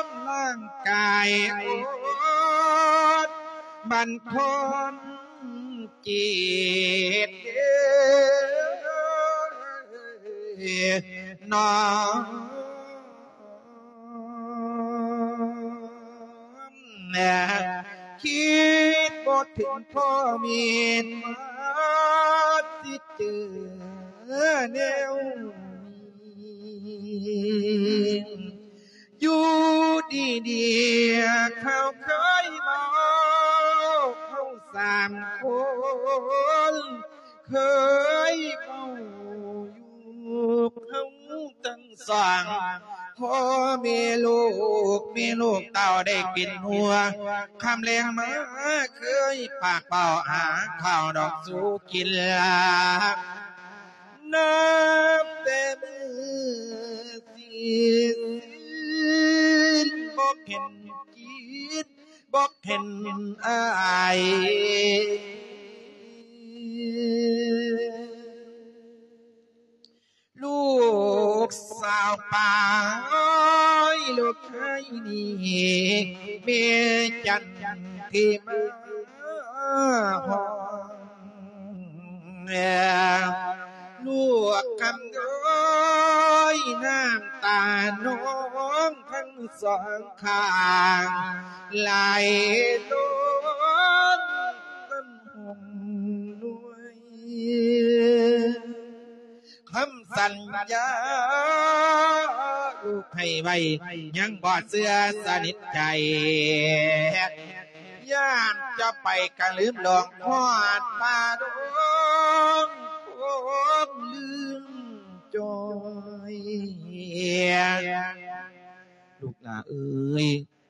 ມ ຮ່າງກາຍອ່ອນບັນທອນເຈັບເດີ ນ້ອງ ຄິດບໍ່ເຖິງພໍ່ແມ່ນວ່າຊິເຈີແນວນີ້ ຢູ່ດີໆ ເຂົາເຄີຍເວົ້າ ເຮົາສາມຄົນເຄີຍເວົ້າຢູ່ ເຮົາທັງ ສອງ ພໍ່ແມ່ລູກ ແມ່ລູກເຕົ້າໄດ້ເປັນຫົວ ຄ່ຳແລງມາເຄີຍປາກເວົ້າຫາເຂົ້າດອກສູ່ກິນ ນັບແຕ່ມື້ສິ້ນ ບໍ່ເຫັນກິນ ບໍ່ເຫັນອາຍ ລູກສາວປາຍລູກໄທນີ້ ແມ່ຈັນທີ່ມາຮ້ອງ ລູກຄຳນ້ອຍ ນ້ຳຕານ້ອງທັງສອງຂ້າງ ໄຫຼລົງເປັນຫົ່ງນ້ອຍ ຄຳສັນຍາລູກໃຫ້ໄວ້ ຍັງບໍ່ເຊື່ອສະໜິດໃຈ ຢ້ານຈະໄປກະລືມຫຼອງ ຮອດປ່າດົງຄົງລືມຈ່ອຍ. ລູກຫຼ້າເອີຍ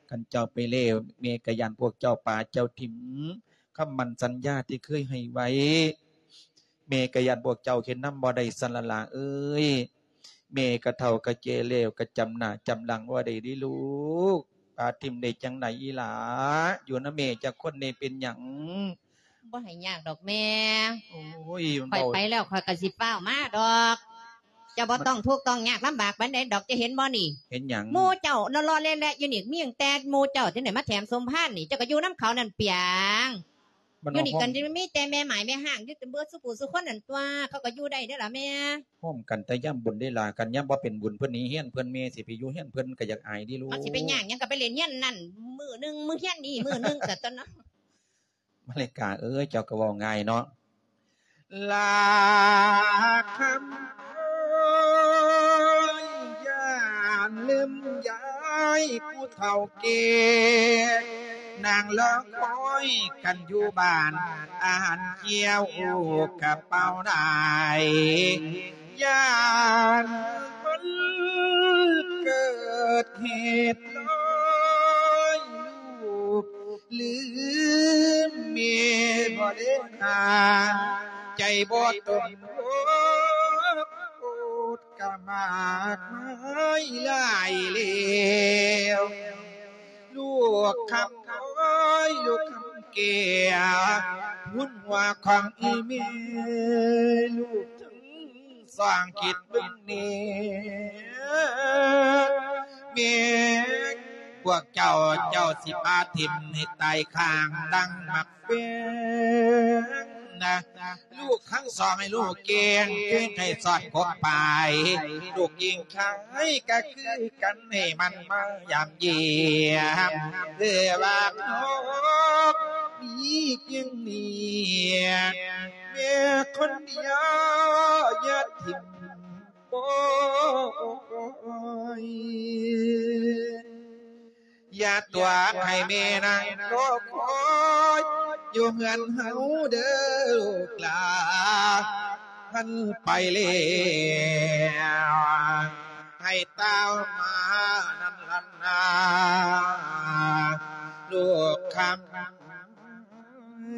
ຄັນເຈົ້າໄປແລ້ວ ແມ່ກະຢ້ານພວກເຈົ້າປະເຈົ້າຖິ້ມ ຄຳໝັ້ນສັນຍາທີ່ເຄີຍໃຫ້ໄວ້ ແມ່ກະຢ້ານພວກເຈົ້າເຮັດນຳບໍ່ໄດ້ຊັ້ນລະຫຼ້າເອີຍ ແມ່ກະເຖົ້າກະແກ່ແລ້ວ ກະຈຳໜ້າຈຳຫຼັງບໍ່ໄດ້ເດ້ລູກ ປະຖິ້ມໄດ້ຈັ່ງໃດອີ່ຫຼ້າ ຢູ່ນຳແມ່ຈັກຄົນແດ່ ເປັນຫຍັງ? ບໍ່ໃຫ້ຍາກດອກແມ່ ໂອ້ຍ ຂ້ອຍໄປແລ້ວ ຂ້ອຍກະຊິຟ້າວມາດອກ ເຈົ້າບໍ່ຕ້ອງທຸກຕ້ອງຍາກລຳບາກປານໃດດອກ ເຈົ້າເຫັນບໍ່ນີ້? ເຫັນຫຍັງ? ໝູ່ເຈົ້າເນາະ ເລາະແລະຢູ່ນີ້ ມີຕັ້ງແຕ່ໝູ່ເຈົ້າ ຈັ່ງໃດມາແຖມສົມພານນີ້ ເຈົ້າກະຢູ່ນຳເຂົານັ້ນປຽງ ຢູ່ນີ້ກະມີແຕ່ແມ່ໝ້າຍແມ່ຮ້າງ ຢູ່ເບິດສູ່ຜູ້ສູ່ຄົນນັ້ນຕົວະ ເຂົາກະຢູ່ໄດ້ເດ້ລະແມ່ ໂຮມກັນແຕ່ຍາມບຸນເດ້ລະ ຄັນຍາມບໍ່ເປັນບຸນ ເພິ່ນໜີເຮືອນເພິ່ນ ແມ່ຊິໄປຢູ່ເຮືອນເພິ່ນກະຢາກອາຍເດ້ລູກ ມັນຊິໄປຍາກຫຍັງ ກະໄປຫຼິ້ນເຮືອນນັ້ນ ມື້ໜຶ່ງມື້ເຮືອນນີ້ມື້ໜຶ່ງ ສະຕົນເນາະ. ມາລິກາເອີຍ ເຈົ້າກະເວົ້າງ່າຍເນາະ ຫຼ້າຄຳເອີຍ ຢ່າລືມຢາຍຜູ້ເຖົ້າແກ່ ນາງລອຄອຍກັນຢູ່ບ້ານ ອາຫານກ່ຽວກະເປົ່າໄດ້ ຢ້ານມັນເກີດເຫດຮ້າຍ ລູກ ລືມແມ່ບໍ່ໄດ້ຫາ ໃຈບໍ່ຕົນໂລກໂກດກະມາກມາຍຫຼາຍແລ້ວ ລູກຄຳນ້ອຍ ລູກຄຳແກ້ວ ຮຸນຫົວຂອງອີ່ແມ່ ລູກທັງສອງຄິດເບິ່ງແດ່ ແມ່ພວກເຈົ້າ ເຈົ້າຊິພາຖິ້ມໃຫ້ຕາຍຂ້າງດັ່ງໝາກ ເປັນນະ ລູກທັງສອງໃຫ້ລູກແກງ ຄືໃຫ້ສອດກົບປາຍ ລູກກິງຂາຍກະຄືກັນ ໃຫ້ມັນມາຢາມຢ້ຽມ ເພື່ອວ່າເຮົາມີພຽງນີ້ ແມ່ຄົນດຽວຢ່າຖິ້ມ ໂອ້ຍ ຢ່າຕົວະໃຫ້ແມ່ນັ່ງລໍຄອຍ ຢູ່ເຮືອນເຮົາເດີລູກຫຼານ ມັນໄປແລ້ວ ໃຫ້ຕາມມານັ້ນລະນາ ລູກຄຳ. ອ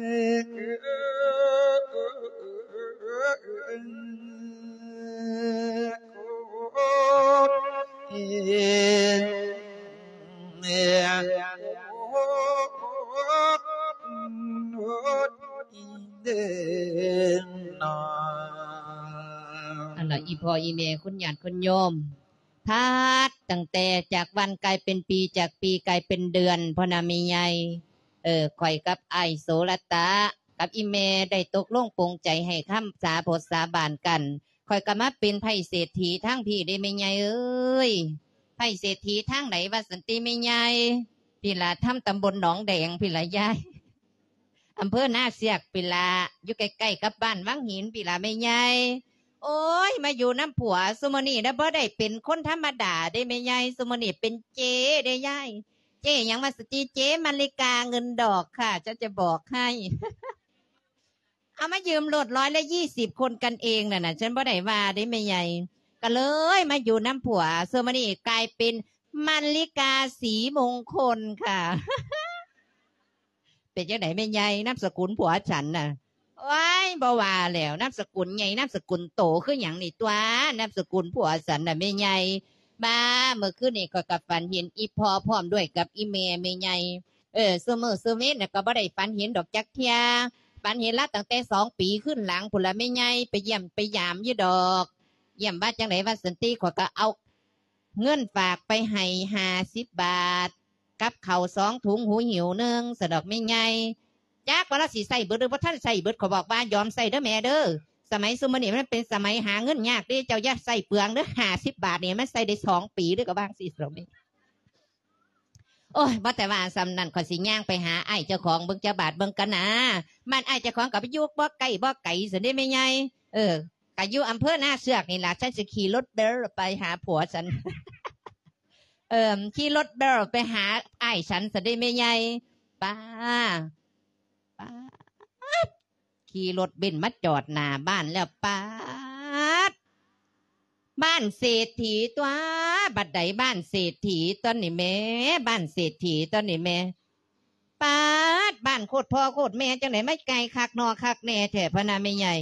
ັນລະ ອີ່ພໍ່ອີ່ແມ່ ຄຸນຍາດຄຸນໂຍມ ພັດຕັ້ງແຕ່ຈາກວັນກາຍເປັນປີ ຈາກປີກາຍເປັນເດືອນ ພໍ່ນະແມ່ໃຫຍ່. ເອີ ຂ້ອຍກັບອ້າຍໂສລະຕະ ກັບອີ່ແມ່ໄດ້ຕົກລົງປົງໃຈໃຫ້ຄຳສາບົດສາບານກັນ. ຂ້ອຍກໍມາເປັນໄພ້ເສດຖີທາງພີ້ເດ້ແມ່ໃຫຍ່ເອີຍ. ໄພ້ເສດຖີທາງໃດວ່າຊັ້ນຕິແມ່ໃຫຍ່? ພີ້ລະ ທຳຕຳບົນໜອງແດງພີ້ລະຍາຍ. ອຳເພີນາເຊືອກພີ້ລະ ຢູ່ໃກ້ໆກັບບ້ານວັງຫີນພີ້ລະແມ່ໃຫຍ່. ໂອ້ຍ ມາຢູ່ນຳຜົວຊຸມື້ນີ້ນະ ບໍ່ໄດ້ເປັນຄົນທຳມະດາເດ້ແມ່ໃຫຍ່ ຊຸມື້ນີ້ເປັນເຈ້ເດ້ຍາຍ. ເຈ້ຫຍັງວ່າຊັ້ນຕິ? ເຈ້ມາລິກາເງິນດອກຄ່ະ ຈະ ຈະບອກໃຫ້. ເອົາມາຢືມລົດຮ້ອຍລະຊາວ ຄົນກັນເອງນັ້ນນະ ສັນບໍ່ໄດ້ວ່າເດ້ແມ່ໃຫຍ່. ກໍເລີຍມາຢູ່ນຳຜົວ ເຊິ່ງມື້ນີ້ກາຍເປັນມາລິກາສີມົງຄົນຄ່ະ. ເປັນຈັ່ງໃດແມ່ໃຫຍ່ ນາມສະກຸນຜົວສັນນະ? ໂອ້ຍ ບໍ່ວ່າແລ້ວ ນາມສະກຸນໃຫຍ່ ນາມສະກຸນໂຕຄືຫຍັງນີ້ຕົວະ ນາມສະກຸນຜົວສັນນະແມ່ໃຫຍ່. ບາ ເມື່ອຄືນນີ້ຂ້ອຍກໍຝັນເຫັນອີ່ພໍ່ພ້ອມດ້ວຍກັບອີ່ແມ່ແມ່ໃຫຍ່. ເອີ ຊຸມື້ຊຸເວັນນະກໍບໍ່ໄດ້ຝັນເຫັນດອກຈັກເທື່ອ. ຝັນເຫັນລາວຕັ້ງແຕ່ສອງປີຄືນຫຼັງພຸ້ນລະແມ່ໃຫຍ່ ໄປຢ້ຽມໄປຢາມຢູ່ດອກ. ຢ້ຽມວ່າຈັ່ງໃດວ່າຊັ້ນຕິ ຂ້ອຍກໍເອົາເງິນຝາກໄປໃຫ້ຫ້າສິບບາດ ກັບເຂົ້າສອງຖົງ ຫູຫິ້ວໜຶ່ງ ຊັ້ນດອກແມ່ໃຫຍ່. ຈັກວ່າລາວຊິໃຊ້ເບິດ ຫຼື ບໍ່ທັນໃຊ້ເບິດ ຂ້ອຍບອກວ່າຍອມໃຊ້ເດີແມ່ເດີ. ສະໄໝຊຸມື້ນີ້ມັນເປັນສະໄໝຫາເງິນຍາກເດ້ ເຈົ້າຢ່າໃຊ້ເປືອງເດີ ຫ້າສິບບາດນີ້ມັນໃຊ້ໄດ້ສອງປີເດີ ກໍວ່າຈັ່ງຊີ້ດອກແມ່. ໂອ້ຍ ບໍ່ແຕ່ວ່າສ່ຳນັ້ນ ຂ້ອຍຊິຍ່າງໄປຫາອ້າຍເຈົ້າຂອງເບິ່ງຈັກບາດເບິ່ງກັນນາ. ບ້ານອ້າຍເຈົ້າຂອງກໍຢູ່ບໍ່ໄກບໍ່ໄກຊັ້ນເດ້ແມ່ໃຫຍ່. ເອີ ກໍຢູ່ອຳເພີນາເຊືອກນີ້ລະ ສັນຊິຂີ່ລົດເບນໄປຫາຜົວສັນ. ເອີ ຂີ່ລົດເບນໄປຫາອ້າຍສັນຊັ້ນເດ້ແມ່ໃຫຍ່. ປ້າ ປ້າດ ຂີ່ລົດເບນມາຈອດໜ້າບ້ານແລ້ວ ປາດ ບ້ານເສດຖີຕົວະ ບັດໃດບ້ານເສດຖີຕົວະນີ້ແມ່ ບ້ານເສດຖີຕົວະນີ້ແມ່. ປາດ ບ້ານໂຄດພໍ່ໂຄດແມ່ ຈັ່ງໃດມາໃກ້ຄັກນໍຄັກແນ່ແທ້ ພະນະແມ່ໃຫຍ່.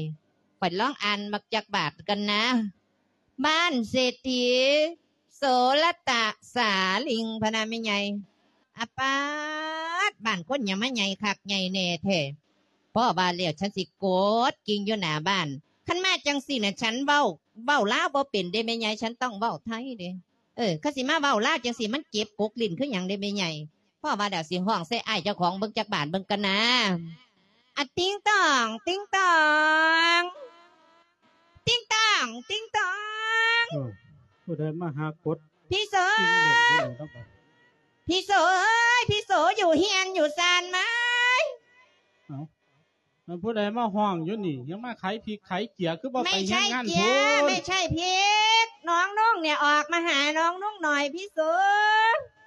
ຂ້ອຍລອງອ່ານເບິ່ງຈັກບາດກັນນາ. ບ້ານເສດຖີ ໂສລະຕະສາລິງ ພະນະແມ່ໃຫຍ່. ອາປາດ ບ້ານຄົນຫຍັງມາໃຫຍ່ຄັກໃຫຍ່ແນ່ແທ້. ພໍວ່າແລ້ວ ສັນຊິກົດກິ່ງຢູ່ໜ້າບ້ານ. ຄັນມາຈັ່ງຊີ້ນະ ສັນເວົ້າ ເວົ້າລາວບໍ່ເປັນເດ້ແມ່ໃຫຍ່ ສັນຕ້ອງເວົ້າໄທເດ້. ເອີ ຄັນຊິມາເວົ້າລາວຈັ່ງຊີ້ ມັນເຈັບກົກຫຼິ້ນຄືຫຍັງເດ້ແມ່ໃຫຍ່. ພໍວ່າແລ້ວ ຊິຮ້ອງໃສ່ອ້າຍເຈົ້າຂອງເບິ່ງຈັກບາດເບິ່ງກັນນາ. ອະ ຕິງຕອງ ຕິງຕອງ ຕິງຕອງ ຕິງຕອງ. ເອີ ຜູ້ໃດມາຫາກົດ ພີ່ໂສ ພີ່ໂສເອີຍ ພີ່ໂສຢູ່ເຮືອນຢູ່ຊານໄໝ? ເອົ້າ ມັນຜູ້ໃດມາຮ້ອງຢູ່ນີ້? ຍັງມາຂາຍພິກຂາຍເກືອ ຄືບໍ່ໄປເຮັດງານພຸ້ນ? ໄມ່ໃຊ່ເກືອ ໄມ່ໃຊ່ພິກ ນ້ອງນຸ່ງເນຍ ອອກມາຫານ້ອງນຸ່ງໜ້ອຍ ພີ່ໂສ.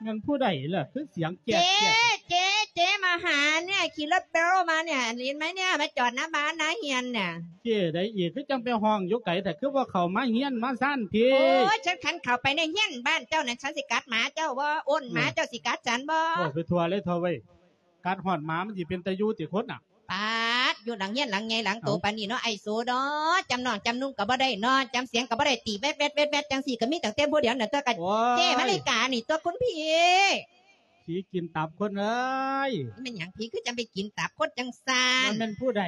ແມ່ນຜູ້ໃດລະ ຄືສຽງແຈກໆ? ເຈ້ ເຈ້ ເຈ້ມາຫາເນຍ ຂີ່ລົດເບນມາເນຍ ເຫັນໄໝເນຍ ມາຈອດໜ້າບ້ານໜ້າເຮືອນເນຍ. ເຈ້ໃດອີກ ຄືຈັ່ງໄປຮ້ອງຢູ່ໄກແທ້ ຄືບໍ່ເຂົ້າມາເຮືອນມາຊານພີ້? ໂອ້ຍ ຄັນເຂົ້າໄປໃນເຮືອນບ້ານເຈົ້ານັ້ນ ສັນຊິກັດໝາເຈົ້າບໍ່? ໂອ້ນ ໝາເຈົ້າຊິກັດສັນບໍ່? ເວົ້າໄປທົ່ວເລີຍເຖົ້າເວີຍ. ກັດຮອດໝາມັນຊິເປັນຕາຢູ່ຕິຄົນນະ? ປາດ ຢູ່ຫຼັງເຮືອນຫຼັງໃຫຍ່ຫຼັງໂຕປານນີ້ເນາະ ອ້າຍໂສເນາະ. ຈຳນ້ອງຈຳນຸ່ງກໍບໍ່ໄດ້ເນາະ ຈຳສຽງກໍບໍ່ໄດ້ ຕີແວັດໆໆໆ ຈັ່ງຊີ້ກໍມີຕັ້ງແຕ່ຜູ້ດຽວນັ້ນຕົວະ. ໂອ້ຍ ເຈ້ມາລິການີ້ຕົວະ ຄຸນພີ່. ຜີກິນຕັບຄົນເອີຍ. ແມ່ນຫຍັງຜີຄືຈັ່ງໄປກິນຕັບຄົນຈັ່ງຊັ້ນ? ມັນແມ່ນຜູ້ໃດ?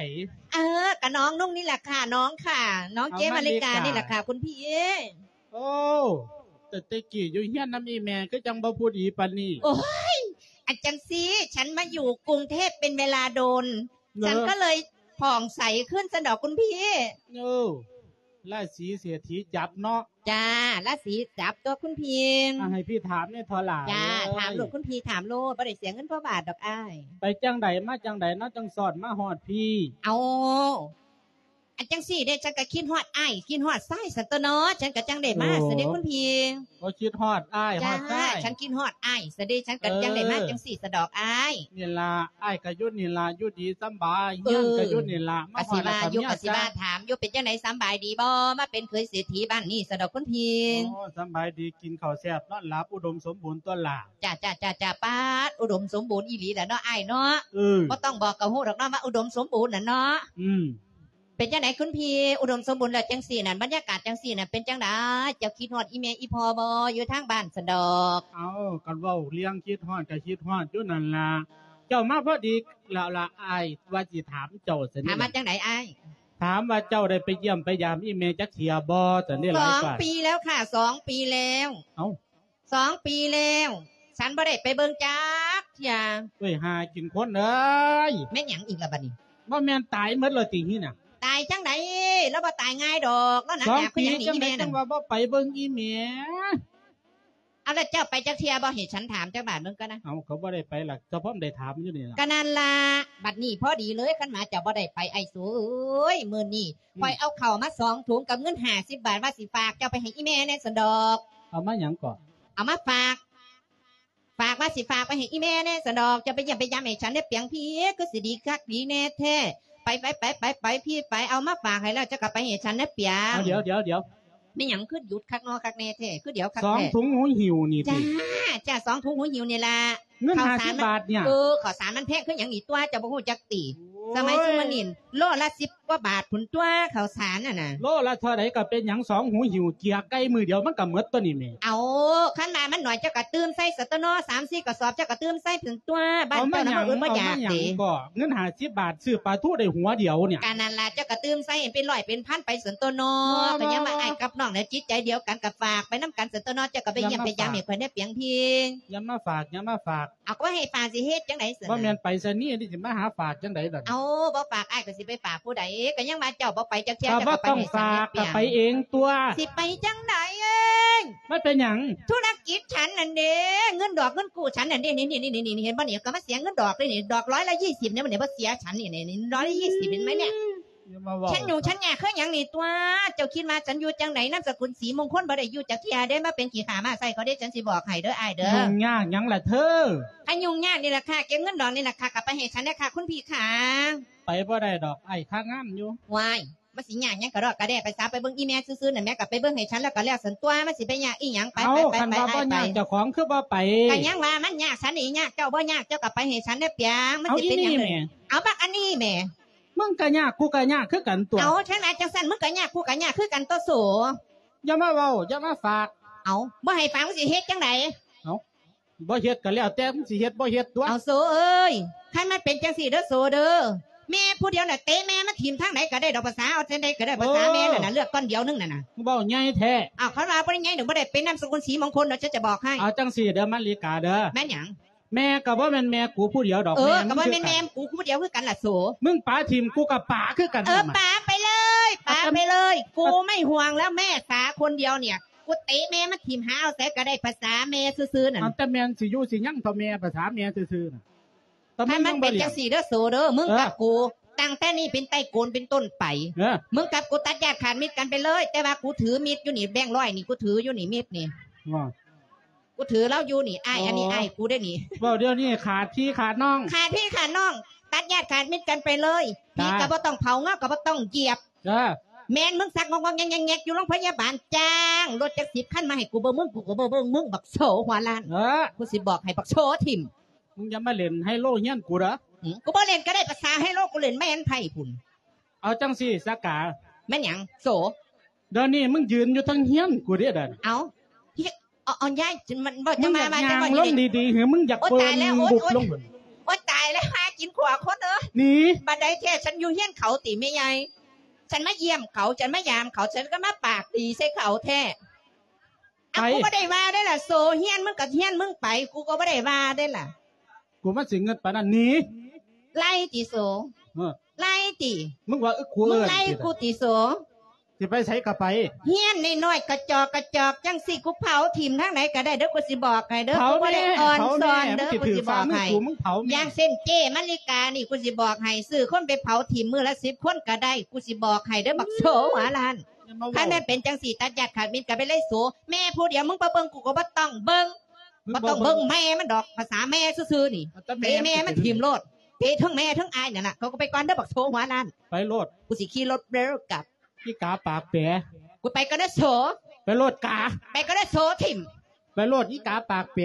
ເອີ ກະນ້ອງນຸ່ງນີ້ແຫຼະຄ່ະ ນ້ອງຄ່ະ ນ້ອງເຈມາລິການີ້ແຫຼະຄ່ະ ຄຸນພີ. ໂອ້ ແຕ່ແຕ່ກີ້ຢູ່ເຮືອນນຳອີ່ແມ່ຄືຈັ່ງບໍ່ຜູ້ດີປານນີ້. ໂອ້ຍ ອັນຈັ່ງຊີ້ ສັນມາຢູ່ກຸງເທບເປັນເວລາດົນ ສັນກໍເລີຍຜ່ອງໃສຂຶ້ນຊັ້ນດອກຄຸນພີ. ໂອ້ ລາສີເສດຖີຈັບເນາະ. ຈ້າ ລາສີຈັບຕົວະຄຸນພີ. ອ່າ ໃຫ້ພີ່ຖາມແດ່ເທາະຫຼ້າ. ຈ້າ ເອີຍ ຖາມໂລດຄຸນພີ ຖາມໂລດ ບໍ່ໄດ້ເສຍເງິນພອບາດດອກອ້າຍ. ໄປຈັ່ງໃດມາຈັ່ງໃດເນາະ ຈັ່ງຊອດມາຮອດພີ້? ເອົາ ອັນຈັ່ງຊີ້ເດ້ ສັນກໍຄິດຮອດອ້າຍ ຄິດຮອດຊາຍຊັ້ນຕົວະເນາະ ສັນກໍຈັ່ງໄດ້ມາຊັ້ນເດ້ຄຸນພີ. ໂອ້ ຄິດຮອດອ້າຍຮອດຊາຍ. ສັນຄິດຮອດອ້າຍຊັ້ນເດ້ ສັນກໍຈັ່ງໄດ້ມາຈັ່ງຊີ້ຊັ້ນດອກອ້າຍ. ນີ້ລະ ອ້າຍກໍຢູ່ນີ້ລະ ຢູ່ດີສຳບາຍ ເຮືອນກໍຢູ່ນີ້ລະ ມາຮອດແລ້ວກໍມີອາການ. ກໍຊິວ່າຢູ່ ກໍຊິວ່າຖາມຢູ່ ເປັນຈັ່ງໃດສຳບາຍດີບໍ່ ມາເປັນເຂີຍເສດຖີບ້ານນີ້ຊັ້ນດອກຄຸນພີ. ໂອ້ ສຳບາຍດີ ກິນເຂົ້າແຊບນອນຫຼັບ ອຸດົມສົມບູນຕົວະຫຼ້າ. ຈ້າ ຈ້າ ຈ້າ ຈ້າ ປາດ ອຸດົມສົມບູນອີ່ຫຼີລະເນາະອ້າຍເນາະ. ເອີ ບໍ່ຕ້ອງບອກກໍຮູ້ດອກເນາະວ່າອຸດົມສົມບູນນະເນາະ. ອືມ ເປັນຈັ່ງໃດຄຸນພີ ອຸດົມສົມບູນແລ້ວຈັ່ງຊີ້ນັ້ນ ບັນຍາກາດຈັ່ງຊີ້ນັ້ນ ເປັນຈັ່ງໃດ ເຈົ້າຄິດຮອດອີ່ແມ່ອີ່ພໍ່ບໍ່ ຢູ່ທາງບ້ານຊັ້ນດອກ? ເອົ້າ ຄັນເວົ້າເລື່ອງຄິດຮອດກໍຄິດຮອດຢູ່ນັ້ນລະ ເຈົ້າມາພໍດີແລ້ວລະ ອ້າຍວ່າຊິຖາມເຈົ້າຊັ້ນ. ຖາມວ່າຈັ່ງໃດອ້າຍ? ຖາມວ່າເຈົ້າໄດ້ໄປຢ້ຽມໄປຢາມອີ່ແມ່ຈັກເທື່ອບໍ່ຊັ້ນເດ້. ສອງປີແລ້ວຄ່ະ ສອງປີແລ້ວ. ເອົ້າ ສອງປີແລ້ວ ສັນບໍ່ໄດ້ໄປເບິ່ງຈັກເທື່ອ. ເອີຍ ຫາກິນຄົນເອີຍ ແມ່ນຫຍັງອີກລະບາດນີ້? ບໍ່ແມ່ນຕາຍໝົດແລ້ວຕິຫັ້ນນະ? ຕາຍຈັ່ງໃດ ລາວບໍ່ຕາຍງ່າຍດອກ ລາວໜັກໜາຄືຫຍັງນີ້ອີ່ແມ່ນັ້ນ. ສອງປີຈັ່ງໃດຈັ່ງວ່າບໍ່ໄປເບິ່ງອີ່ແມ່? ເອົາ ແລ້ວເຈົ້າໄປຈັກເທື່ອບໍ່ ໃຫ້ສັນຖາມຈັກບາດເບິ່ງກ່ອນນະ. ເອົາ ກໍບໍ່ໄດ້ໄປລະ ສະພອບໄດ້ຖາມຢູ່ນີ້ລະ. ກໍນັ້ນລະ ບາດນີ້ພໍດີເລີຍ ຄັນວ່າເຈົ້າບໍ່ໄດ້ໄປ ອ້າຍໂສເອີຍ ມື້ນີ້ ອືມ ຂ້ອຍເອົາເຂົ້າມາສອງຖົງກັບເງິນຫ້າສິບບາດ ວ່າຊິຝາກເຈົ້າໄປໃຫ້ອີ່ແມ່ແດ່ຊັ້ນດອກ. ເອົາມາຫຍັງເກາະ? ເອົາມາຝາກ ຝາກວ່າຊິຝາກໄປໃຫ້ອີ່ແມ່ແດ່ຊັ້ນດອກ ເຈົ້າໄປຢ້ຽມໄປຢາມໃຫ້ສັນແດ່ປຽງພີ້ ຄືຊິດີຄັກດີແນ່ແທ້. ໄປ ໄປ ໄປ ໄປ ໄປ ພີ້ໄປ ເອົາມາຝາກໃຫ້ແລ້ວ ເຈົ້າກໍໄປໃຫ້ສັນແດ່ປຽງ. ເອົາ ດຽວ ດຽວ ດຽວ ແມ່ນຫຍັງຄືຢຸດຄັກນໍຄັກແນ່ແທ້ ຄືດຽວຄັກແທ້? ສອງຖົງຫູຫິ້ວນີ້ຕິ? ຈ້າ ຈ້າ ສອງຖົງຫູຫິ້ວນີ້ລະ. ເງິນຫ້າສິບບາດນີ້? ເອີ ເຂົ້າສານມັນແພງຄືຫຍັງນີ້ຕົວະ ເຈົ້າບໍ່ຮູ້ຈັກຕິ? ໂອ້ຍ ສະໄໝຊຸມມື້ນີ້ ໂລລະສິບກວ່າບາດພຸ້ນຕົວະ ເຂົ້າສານຫັ້ນນະ. ໂລລະເທົ່າໃດກໍເປັນຫຍັງ ສອງຫູຫິ້ວເຈ້ຍໄກ່ມື້ດຽວມັນກໍໝົດຕົວະນີ້ແມ່. ເອົາ ຄັນວ່າມັນໜ້ອຍເຈົ້າກໍຕື່ມໃສ່ຊັ້ນຕົວະເນາະ ສາມສີ່ກະສອບ ເຈົ້າກໍຕື່ມໃສ່ພຸ້ນຕົວະ ບ້ານເຈົ້ານະ ເອົາມາຫຍັງ ບໍ່ອຶດບໍ່ຢາກຕິ? ເອົາມາຫຍັງກໍ ເງິນຫ້າສິບບາດຊື້ປາທູໄດ້ຫົວດຽວນີ້. ກະນັ້ນລະ ເຈົ້າກໍຕື່ມໃສ່ເປັນຮ້ອຍເປັນພັນໄປຊັ້ນຕົວະເນາະ. ກໍຍັງວ່າອ້າຍກັບນ້ອງນະ ຈິດໃຈດຽວກັນ ກໍຝາກໄປນຳກັນຊັ້ນຕົວະເນາະ ເຈົ້າກໍໄປຢ້ຽມໄປຢາມໃຫ້ຂ້ອຍແດ່ປຽງພີ້. ຢ່າມາຝາກ ຢ່າມາຝາກ ເອົາ ກໍໃຫ້ຝາກຊິເຮັດຈັ່ງໃດຊັ້ນ? ບໍ່ແມ່ນໄປຊະນີ້ ຊິມາຫາຝາກຈັ່ງໃດດອກ? ເອົາ ບໍ່ຝາກອ້າຍກໍຊິໄປຝາກຜູ້ໃດ? ກໍຍັງວ່າເຈົ້າບໍ່ໄປຈັກເທື່ອ ກໍບໍ່ຕ້ອງຝາກ ກໍໄປເອງຕົວະ. ຊິໄປຈັ່ງໃດ? ມັນເປັນຫຍັງ? ທຸລະກິດສັນນັ້ນເດ້ ເງິນດອກເງິນກູ້ສັນນັ້ນເດ້ ນີ້ໆໆ ເຫັນບໍ່ນີ້? ກໍມາເສຍເງິນດອກເດ້ນີ້ ດອກຮ້ອຍລະຊາວນີ້ ມັນບໍ່ເສຍສັນນີ້ ນີ້ ນີ້ ຮ້ອຍລະຊາວ ເຫັນໄໝນີ້? ຢ່າມາເວົ້າ ສັນຫຍຸ້ງສັນຍາກຄືຫຍັງນີ້ຕົວະ? ເຈົ້າຄິດວ່າສັນຢູ່ຈັ່ງໃດ? ນາມສະກຸນສີມຸງຄຸນບໍ່ໄດ້ຢູ່ຈັກເທື່ອເດ້ ມາເປັນຂີ້ຂ້າມ້າໃສ່ເຂົາເດ້ ສັນຊິບອກໃຫ້ເດີອ້າຍເດີ. ຫຍຸ້ງຍາກຫຍັງລະເທີ? ຄັນຫຍຸ້ງຍາກນີ້ລະຄ່າ ເກັບເງິນດອກນີ້ລະຄ່າ ກໍໄປໃຫ້ສັນແດ່ຄ່າ ຄຸນພີ່ຂາ. ໄປບໍ່ໄດ້ດອກ ອ້າຍຄາງານຢູ່. ວ້າຍ ມັນຊິຍາກຫຍັງກະດອກກະແດ່ ໄປສາ ໄປເບິ່ງອີ່ແມ່ຊື່ໆ ນັ້ນແມ່ ກໍໄປເບິ່ງໃຫ້ສັນແລ້ວກໍແລ້ວສັນຕົວະ ມັນຊິໄປຍາກອີ່ຫຍັງ? ໄປ ໄປ ໄປ ໄປ. ຄັນວ່າບໍ່ຍາກ ເຈົ້າຂອງຄືບໍ່ໄປ? ກໍຍັງວ່າມັນຍາກ ສັນນີ້ຍາກ ເຈົ້າບໍ່ຍາກ ເຈົ້າກໍໄປໃຫ້ສັນແດ່ປຽງ. ມັນຊິເປັນຫຍັງ? ເອົາ ອີ່ນີ້ແໝ່ ເອົາບັກອັນນີ້ແໝ່. ມຶງກໍຍາກ ກູກໍຍາກຄືກັນຕົວະ. ເອົາ ຄັນວ່າຈັ່ງຊັ້ນ ມຶງກໍຍາກ ກູກໍຍາກຄືກັນຕົວະໂສ. ຢ່າມາເວົ້າ ຢ່າມາຝາກ. ເອົາ ບໍ່ໃຫ້ຝາກ ມຶງຊິເຮັດຈັ່ງໃດ? ເອົາ ບໍ່ເຮັດກໍແລ້ວແຕ່ ມຶງຊິເຮັດບໍ່ເຮັດຕົວະ. ເອົາໂສເອີຍ ຄັນມັນເປັນຈັ່ງຊີ້ເດີໂສເດີ ແມ່ຜູ້ດຽວນະ ເຕະແມ່ມັນຖິ້ມທາງໃດກໍໄດ້ດອກ ພາສາເອົາຈັ່ງໃດກໍໄດ້ ພາສາແມ່ນັ້ນນະ ເລືອກກ້ອນດຽວໜຶ່ງນັ້ນນະ. ເວົ້າໃຫຍ່ແທ້. ເອົາ ຄັນວ່າບໍ່ໄດ້ໃຫຍ່ ບໍ່ໄດ້ເປັນນາມສະກຸນສີມົງຄົນດອກ ຈະ ຈະບອກໃຫ້. ເອົາຈັ່ງຊີ້ເດີມາລິກາເດີ ແມ່ນຫຍັງ? ແມ່ກໍບໍ່ແມ່ນແມ່ກູຜູ້ດຽວດອກ. ເອີ ກໍບໍ່ແມ່ນແມ່ກູຜູ້ດຽວຄືກັນລະໂສ. ມຶງປະຖິ້ມ ກູກໍປະຄືກັນ. ເອີ ປະໄປເລີຍ ປະໄປເລີຍ ກູໄມ່ຫ່ວງແລ້ວ ແມ່ສາຄົນດຽວນີ້ ກູເຕະແມ່ມັນຖິ້ມຫາເອົາໃສກໍໄດ້ ພາສາແມ່ຊື່ໆ ນັ້ນ. ເອົາ ແຕ່ແມ່ນຊິຢູ່ຊິຍັງເທົ່າແມ່ ພາສາແມ່ຊື່ໆ ນັ້ນ. ຄັນມັນເປັນຈັ່ງຊີ້ເດີໂສເດີ ມຶງກັບກູ ຕັ້ງແຕ່ນີ້ເປັນຕົ້ນໄປ ມຶງກັບກູຕັດຍາດຂາດມິດກັນໄປເລີຍ. ແຕ່ວ່າກູຖືມິດຢູ່ນີ້ ແບງຮ້ອຍນີ້ ກູຖືຢູ່ນີ້ ມິດນີ້ ກູຖືລາວຢູ່ນີ້ ອ້າຍ ອັນນີ້ອ້າຍກູເດ້ນີ້. ເວົ້າດຽວນີ້ຂາດພີ່ຂາດນ້ອງ ຂາດພີ່ຂາດນ້ອງ ຕັດຍາດຂາດມິດກັນໄປເລີຍ. ຜີກໍບໍ່ຕ້ອງເຜົາ ງາກໍບໍ່ຕ້ອງຢຽບ. ແມ່ນມຶງຊັກງອກໆແງກໆຢູ່ໂຮງພະຍາບານ ຈ້າງລົດຈັກສິບຄັນມາໃຫ້ກູເບິ່ງ ມຶງ ກູກໍບໍ່ເບິ່ງ ມຶງບັກໂສຫົວລ້ານ. ກູຊິບອກໃຫ້ບັກໂສຖິ້ມ. ມຶງຢ່າມາຫຼິ້ນໄຮໂລເຮືອນກູເດີ. ກູບໍ່ຫຼິ້ນກໍໄດ້ ພາສາໄຮໂລກູຫຼິ້ນແມ່ນໄຜພຸ້ນ. ເອົາຈັ່ງຊີ້ສາກາ. ແມ່ນຫຍັງໂສ? ດຽວນີ້ມຶງຢືນຢູ່ເທິງເຮືອນກູເດ້ດຽວນີ້. ເອົາ ເອົາ ຍາຍ ມັນເວົ້າ ຈັ່ງມາ ມາ ຈັ່ງມາ ຈັ່ງມາ ລົງດີໆ ເຮີ ມຶງຢາກ ໂອ້ຍ ເປີ່ງ ຕາຍແລ້ວ ໂອ້ຍ ບຸບ ໂອ້ຍ ລົງ ໂອ້ຍ ຕາຍແລ້ວ ຫາກິນຂົວຄົນເອີຍ ໜີ ບັດໃດແທ້ ສັນຢູ່ເຮືອນເຂົາຕິແມ່ໃຫຍ່ ສັນມາຢ້ຽມເຂົາ ສັນມາຢາມເຂົາ ສັນກໍມາປາກດີໃສ່ເຂົາແທ້ ເອົາ ໄປ ກູບໍ່ໄດ້ວ່າເດ້ລະ ໂສ ເຮືອນມຶງກໍເຮືອນມຶງໄປ ກູກໍບໍ່ໄດ້ວ່າເດ້ລະ ກູມັນຊິເງິດປານນັ້ນ ໜີ ໄລ່ຕິໂສ ເອີ ໄລ່ຕິ ມຶງວ່າ ເອີ ກູ ມຶງໄລ່ ເອີ້ນ ກູຕິໂສ ຊິໄປໃສກໍໄປ ເຮືອນນ້ອຍໆ ກະຈອກກະຈອກຈັ່ງຊີ້ ກູເຜົາຖິ້ມທາງໃດກໍໄດ້ເດີ ກູຊິບອກໃຫ້ເດີ ເຜົາ ກູບໍ່ໄດ້ ແນ່ ອ່ອນ ເຜົາ ແນ່ ຊອນເດີ ກູຊິບອກໃຫ້ ມັນຊິຖືກຟ້າມືກູ ມຶງເຜົາແນ່ ຢ່າງເຊັ່ນເຈ້ມະລິການີ້ ກູຊິບອກໃຫ້ ຊື້ຄົນໄປເຜົາຖິ້ມມື້ລະສິບຄົນກໍໄດ້ ກູຊິບອກໃຫ້ເດີ ບັກໂສຫົວລ້ານ ຢ່າມາເວົ້າ ຄັນແມ່ນເປັນຈັ່ງຊີ້ ຕັດຍາດຂາດມິດກໍໄປເລີຍໂສ ແມ່ຜູ້ດຽວ ມຶງບໍ່ເບິ່ງ ກູກໍບໍ່ຕ້ອງເບິ່ງ ມຶງ ບໍ່ຕ້ອງເບິ່ງ ບໍ່ເບິ່ງ ແມ່ມັນດອກ ພາສາແມ່ຊື່ໆ ນີ້ ເອົາແຕ່ແມ່ ເຕະແມ່ມັນຖິ້ມໂລດ ເຕະເທິງແມ່ເທິງອ້າຍນັ້ນລະ ເຂົາກໍໄປກ່ອນເດີ ບັກໂສຫົວລ້ານ ໄປໂລດ ກູຊິຂີ່ລົດເດີກັບ ອີກາປາກແປ ກູໄປກ່ອນເດີໂສ ໄປໂລດກາ ໄປກ່ອນເດີໂສ ຖິ້ມ ໄປໂລດ ອີກາປາກແປ.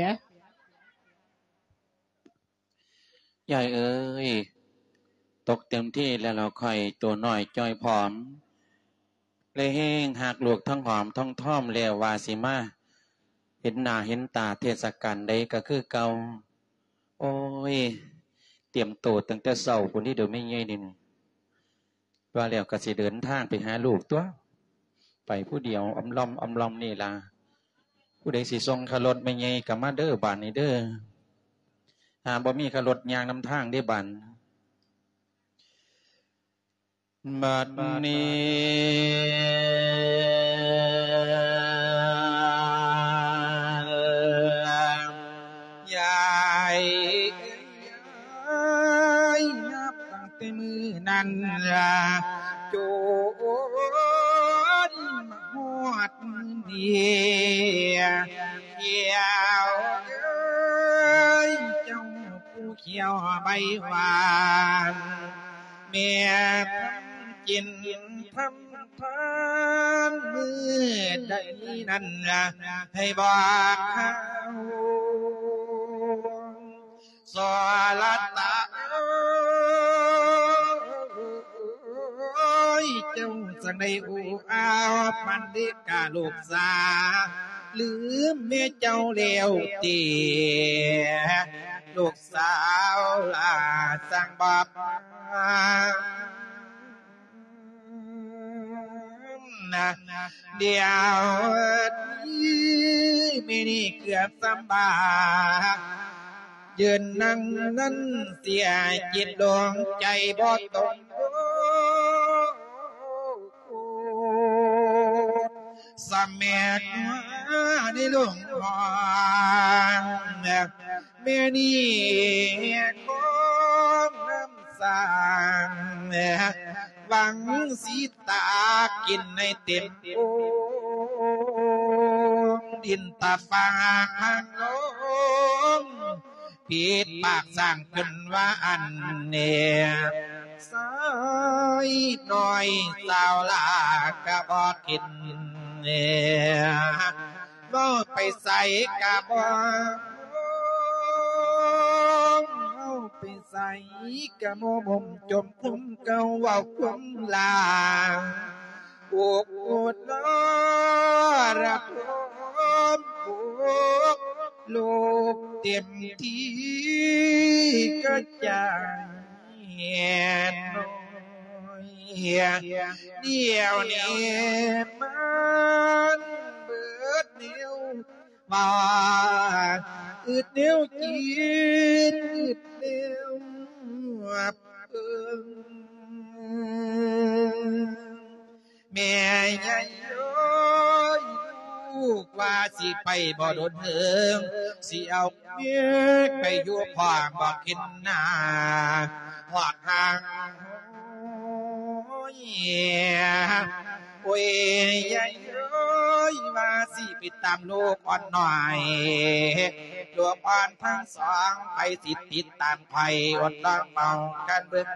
ຍາຍເອີຍ ຕົກເຕັມທີ່ແລ້ວລະຂ້ອຍ ໂຕນ້ອຍຈ່ອຍຜອມ ແລະແຮງຮັກລູກທັງຫອມທັງທອມ ແລ້ວວ່າຊິມາເຫັນໜ້າເຫັນຕາເທດສະການໃດກໍຄືເກົ່າ. ໂອ້ຍ ຕຽມໂຕຕັ້ງແຕ່ເຊົ້າພຸ້ນເດີແມ່ໃຫຍ່ນີ້ ວ່າແລ້ວກໍຊິເດີນທາງໄປຫາລູກຕົວະ ໄປຜູ້ດຽວອຳລອມອຳລອມນີ້ລະ ຜູ້ໃດຊິສົ່ງຄ່າລົດແມ່ໃຫຍ່ກໍມາເດີບາດນີ້ເດີ ຫາບໍ່ມີຄ່າລົດຍ່າງນຳທາງເດ້ບາດ ບາດນີ້ ຍາຍ ຍາຍ ນັບຕັ້ງແຕ່ມື້ນັ້ນລະ ຈົນມາຮອດມື້ນີ້ ແກ້ວເອີຍ ເຈົ້າຜູ້ຂຽວໃບຫວານ ແມ່ທຳກິນທຳທານມື້ໃດນັ້ນລະ ໃຫ້ບອກເຮົາ ສອລະຕາເອີຍ ເຈົ້າຈັ່ງໄດ້ອູອ້າວປັນເດກາລູກສາ ລືມແມ່ເຈົ້າແລ້ວຕິ ລູກສາວຫຼ້າ ຊ່າງບອກມາ ດຽວນີ້ແມ່ນີ້ເກືອບສຳບາຍ ຢືນນັ່ງນັ້ນເສຍຈິດດວງໃຈບໍ່ຕົງ ສະແໝກໃນໂລງຫ້ອງ ແມ່ນີ້ຂອງນ້ຳສ້າງ ຫວັງຊິຕາກກິນໃຫ້ເຕັມໂອ່ງ ດິນຕາຟາງພັງລົງ ຜິດປາກສ້າງຂຶ້ນວ່າອັນແນ່ ຊາຍນ້ອຍສາວຫຼ້າກະບໍ່ກິນ ເວົ້າໄປໃສກະບໍ່ ເວົ້າໄປໃສກະບໍ່ໝົມຈົມຄຸມເກົ່າ ເວົ້າຄວາມລາງ ອົກອົດລໍລະຄົມ ອົກລູກເຕັມທີ່ກະຈາຍນ້ອຍ ດຽວນີ້ມັນເບີດແນວວ່າ ອຶດແນວກິນ ອຶດແນວເບິ່ງ ແມ່ໃຫຍ່ເອີຍ ລູກວ່າຊິໄປບໍ່ດົນເຫິງ ຊິເອົາເມຍໄປຢູ່ພ້ອມບໍ່ກິນໜ້າ ຮອດຮ່າງໂອຍ ໂອ້ຍ ຍາຍເອີຍ ວ່າຊິໄປຕາມລູກອ່ອນນ້ອຍ ລູກອ່ອນທັງສອງ ໃຜຊິຕິດຕາມໃຜ ອົດລອງເວົ້າກັນເບິ່ງ